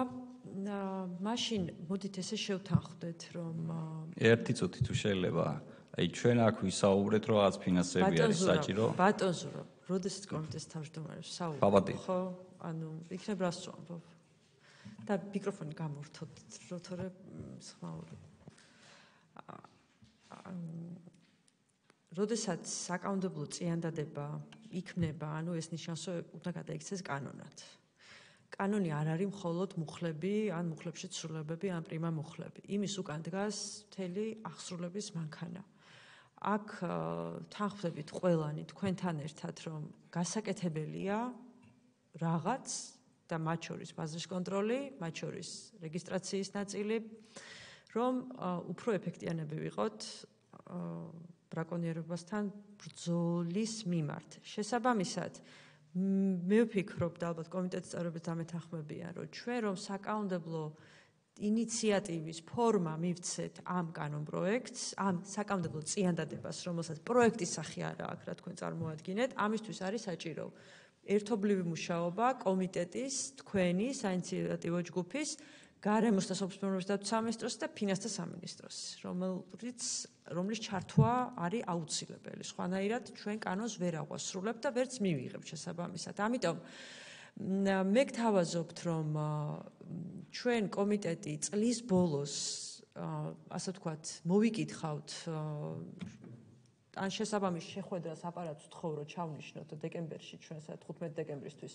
მაშინ მოდით ესე შევთანხმდეთ, რომ
ერთი წუთი თუ შეიძლება. აი ჩვენ აქ ვისაუბრეთ, რომ რაღაც ფინანსები არის საჭირო.
ბატონზურო, როდესაც კომიტეტის თავმჯდომარე საუბრობ, ხო? ანუ იქნებ რას ვამბობ. და მიკროფონი გამორთოთ, როთორე სხმაური. როდესაც საკანონმდებლო წიანდადება იქმნება, ანუ ეს ნიშნავს, რომ უნდა გადაიქცეს კანონად. კანონი არ არის მხოლოდ მუხლები, ან მუხლებში ცვლილებები, ან პრიმა მუხლები. იმის უკან დგას მთელი აღსრულების მანქანა. აქ თანხმდებით ყველანი თქვენთან ერთად, რომ გასაკეთებელია რაღაც და მათ შორის ბაზრის კონტროლი, მათ შორის რეგისტრაციის ნაწილი, რომ უფრო ეფექტიანები ვიყოთ ბრაკონიერებასთან ბრძოლის მიმართ. შესაბამისად, მე ვფიქრობ და ალბათ კომიტეტის წევრებიც დამეთანხმებიან, რომ ჩვენ რომ საკანონმდებლო ინიციატივის ფორმა მივცეთ ამ კანონპროექტს, ამ საკანონმდებლო წიანდადებას, რომელსაც პროექტის სახე არა აქვს, რა თქვენ წარმოადგინეთ, ამისთვის არის საჭირო ერთობლივი მუშაობა კომიტეტის, თქვენი საინიციატივო ჯგუფის, გარემოს და სოფლის მეურნეობის და სამინისტროს და ფინანსთა სამინისტროს, რომლის ჩართვა არის აუცილებელი. სხვანაირად ჩვენ კანონს ვერ აღვასრულებთ და ვერც მივიღებთ შესაბამისად. ამიტომ მე გთავაზობთ, რომ ჩვენ კომიტეტი წლის ბოლოს, ასე ვთქვათ, მოვიკითხავთ ან შესაბამის შეხვედრას აპარატს ვთხოვ, რომ ჩავნიშნოთ დეკემბერში, ჩვენ 15 დეკემბრისთვის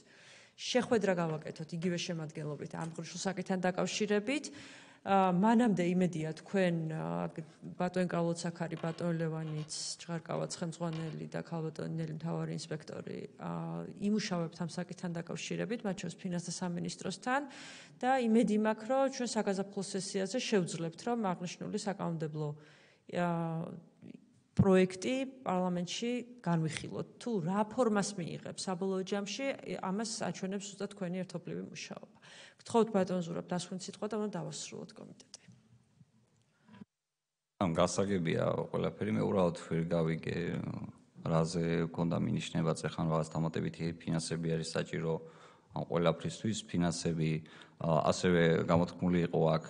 შეხვედრა გავაკეთოთ იგივე შემადგენლობით ამ ღრუშულ საკითხთან დაკავშირებით. მანამდე იმედია თქვენ ბატონ კალოცაქარი, ბატონ ლევანიც, ჭღარკავაც ხელმძღვანელი და ქალბატონი ნელი მთავარი ინსპექტორი იმუშავებთ ამ საკითხთან დაკავშირებით, მათ შორის ფინანსთა სამინისტროსთან და იმედი მაქვს, რომ ჩვენ საგაზაფხულო სესიაზე შევძლებთ, რომ აღნიშნული საკანონმდებლო პროექტი პარლამენტში განვიხილოთ. თუ რა ფორმას მიიღებს საბოლოო ჯამში, ამას აჩვენებს ზუსტად თქვენი ერთობლივი მუშაობა. გთხოვთ ბატონ ზურაბ, დასვენ სიტყვა და უნდა დავასრულოთ კომიტეტი.
გასაგებია ყველაფერი, მე უბრალოდ ვერ გავიგე, რაზე მქონდა მინიშნება წეხან რაღაც დამატებითი ფინანსები არის საჭირო ამ ყველაფრისთვის, ფინანსები ასევე გამოთქმული იყო აქ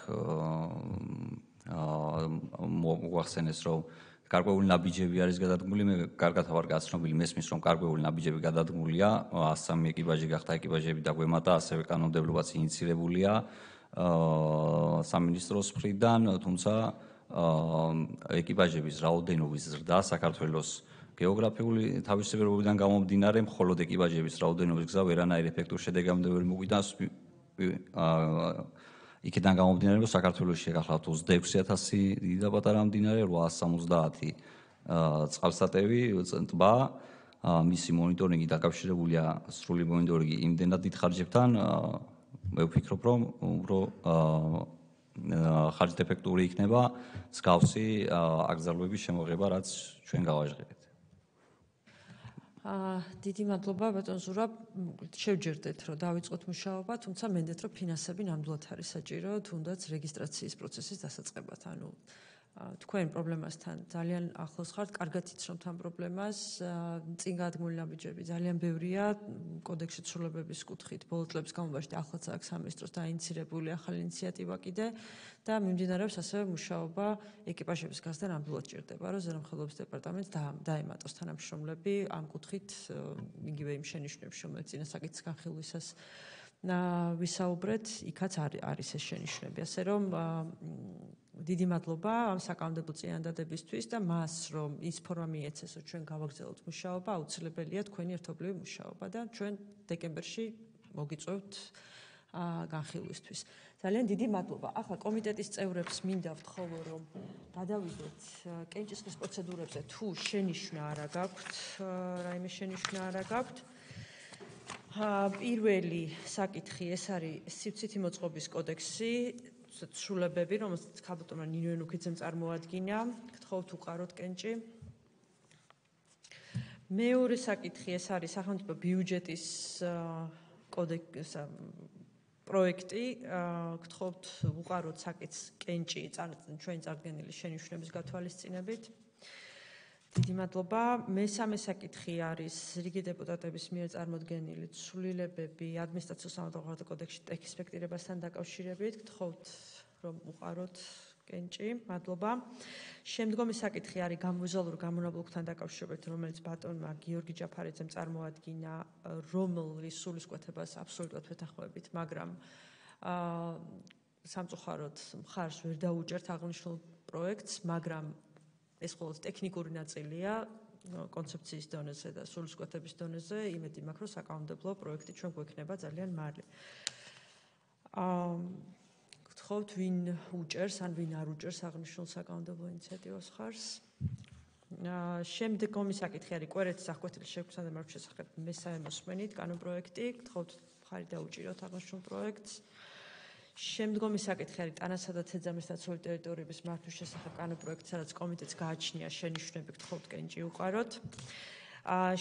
მოახსენეს, რომ გარკვეული ნაბიჯები არის გადადგმული, მე კარგად ვარ გაცნობილი, მესმის რომ გარკვეული ნაბიჯები გადადგმულია, 103 ეკიპაჟი გახდა ეკიპაჟები დაგვემატა, ასევე კანონმდებლობაც ინიცირებულია სამინისტროს მხრიდან, თუმცა ეკიპაჟების რაოდენობის ზრდა საქართველოს გეოგრაფიული თავისებურებიდან გამომდინარე, მხოლოდ ეკიპაჟების რაოდენობის გზა ვერანაირ ეფექტურ შედეგამდე ვერ მოგვიდანს. იქიდან გამომდინარე, რომ საქართველოში გახლავთ 26,000 დიდი და პატარა მდინარე, 870 წყალსატევი, ტბა, მისი მონიტორინგი დაკავშირებულია სრული მონიტორინგი იმდენად დიდ ხარჯებთან, მე ვფიქრობ, რომ ხარჯდეფექტური იქნება მსგავსი აკრძალვების შემოღება, რაც ჩვენ გავაჟღერეთ.
დიდი მადლობა ბატონ ზურაბ, შევჯერდეთ, რომ დავიწყოთ მუშაობა, თუმცა მენდეთ, რომ ფინანსები ნამდვილად არის საჭირო, თუნდაც რეგისტრაციის პროცესის დასაწყებად. ანუ თქვენ პრობლემასთან ძალიან ახლოს ხართ, კარგად იცნობთ ამ პრობლემას, წინ გადმული ნაბიჯები ძალიან ბევრია, კოდექსში ცვლილებების კუთხით, ბოლო წლების განმავლობაში ახლაც აქვს სამინისტროს დაინიცირებული ახალი ინიციატივა კიდე და მიმდინარეობს ასევე მუშაობა ეკიპაჟების გაზრდა ნამდვილად ჭირდება, რომ ზედამხედველობის დეპარტამენტს დაემატოს თანამშრომლები ამ კუთხით, იგივე იმ შენიშვნებში, რომელიც წინა საკითხის განხილვისას ვისაუბრეთ, იქაც არის ეს შენიშვნები, ასე რომ დიდი მადლობა ამ საკანონმდებლო წინადადებისთვის და მას რომ ის ფორმა მიეცეს, რომ ჩვენ გავაგრძელოთ მუშაობა, აუცილებელია თქვენი ერთობლივი მუშაობა და ჩვენ დეკემბერში მოგიწევთ განხილვისთვის. ძალიან დიდი მადლობა. ახლა კომიტეტის წევრებს მინდა ვთხოვო, რომ გადავიდეთ კენჭისყრის პროცედურებზე, თუ შენიშვნა არ გაქვთ, რაიმე შენიშვნა არ გაქვთ. პირველი საკითხი ეს არის სივრცითი მოწყობის კოდექსი, ცვლილებები, რომელსაც ქალბატონმა ნინო ენუქიძემ წარმოადგინა. გთხოვთ უყაროთ კენჭი. მეორე საკითხი ეს არის სახელმწიფო ბიუჯეტის კოდექსი პროექტი. გთხოვთ უყაროთ საკითხს კენჭი ჩვენი წარდგენილი შენიშვნების გათვალისწინებით. დიდი მადლობა. მესამე საკითხი არის რიგი დეპუტატების მიერ წარმოდგენილი ცვლილებები ადმინისტრაციულ-სამართალდამხმართა კოდექსში ტექ-ინსპექტირებასთან დაკავშირებით. გთხოვთ რომ უყაროთ კენჭი. მადლობა. შემდგომი საკითხი არის გამოვიზუალურ გამონაბოლქვთან დაკავშირებით, რომელიც ბატონმა გიორგი ჯაფარიძემ წარმოადგინა, რომლის სულისკვეთებას აბსოლუტურად ვეთანხმებით, მაგრამ სამწუხაროდ მხარს ვერ დაუჭერთ აღნიშნულ პროექტს, მაგრამ ეს მხოლოდ ტექნიკური ნაწილია კონცეფციის დონეზე და სულისკვეთების დონეზე, იმედი მაქვს, რომ საკანონმდებლო პროექტი ჩვენ გვექნება ძალიან მალე. გთხოვთ, ვინ უჭერს ან ვინ არ უჭერს აღნიშნულ საკანონმდებლო ინიციატივას ხარს. შემდგომი საკითხი არის კვერეთის აღკვეთილის შექმნისა და მართვის შესახებ მესამე მოსმენით კანონპროექტი. გთხოვთ, მხარი დაუჭიროთ აღნიშნულ პროექტს. შემდგომი საკითხი არის ტანასა და თეძამის დაცული ტერიტორიების მართვის შესახებ კანონპროექტი, სადაც კომიტეტს გააჩნია შენიშვნები, გთხოვთ კენჭი უყაროთ.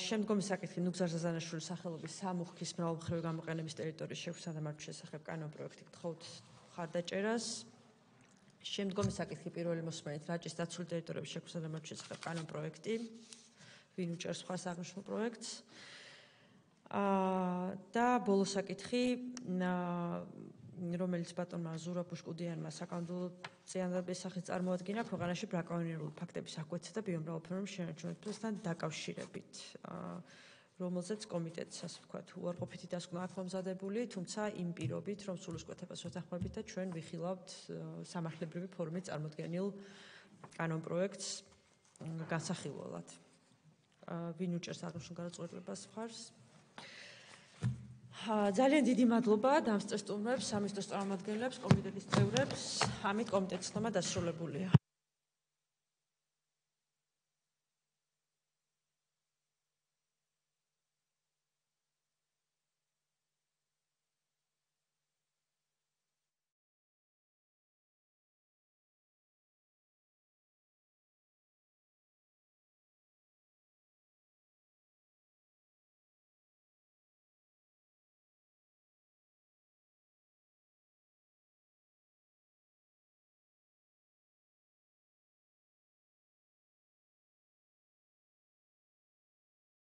შემდგომი საკითხი ნუგზარ ზაზანაშვილის სახელობის სამუხქის მრავალმხრივი გამოყენების ტერიტორიის შექმნისა და მართვის შესახებ კანონპროექტი, გთხოვთ მხარდაჭერას. შემდგომი საკითხი პირველი მოსმენით რაჭის დაცული ტერიტორიების შექმნისა და მართვის შესახებ კანონპროექტი. ვინ უჭერს მხარს აღნიშნულ პროექტს? და ბოლო საკითხი რომელიც ბატონმა ზურაბ ბუშკუდიანმა საკანონმდებლო წინადადების სახით წარმოადგინა ქვეყანაში ბრაკონიერული ფაქტების აღკვეცისა და ბიომრავალფეროვნების შენარჩუნებასთან დაკავშირებით, რომელზეც კომიტეტს, ასე ვთქვათ, უარყოფითი დასკვნა აქვს მომზადებული, თუმცა იმ პირობით, რომ სულისკვეთებას ვეთანხმებით და ჩვენ ვიხილავთ სამართლებრივი ფორმით წარმოდგენილ კანონპროექტს განსახილველად. ვინ უჭერს აღნიშნულ გადაწყვეტილებას მხარს? ძალიან დიდი მადლობა დამსწრე სტუმრებს, სამინისტროს წარმომადგენლებს, კომიტეტის წევრებს. ამით კომიტეტის ცნობა დასრულებულია.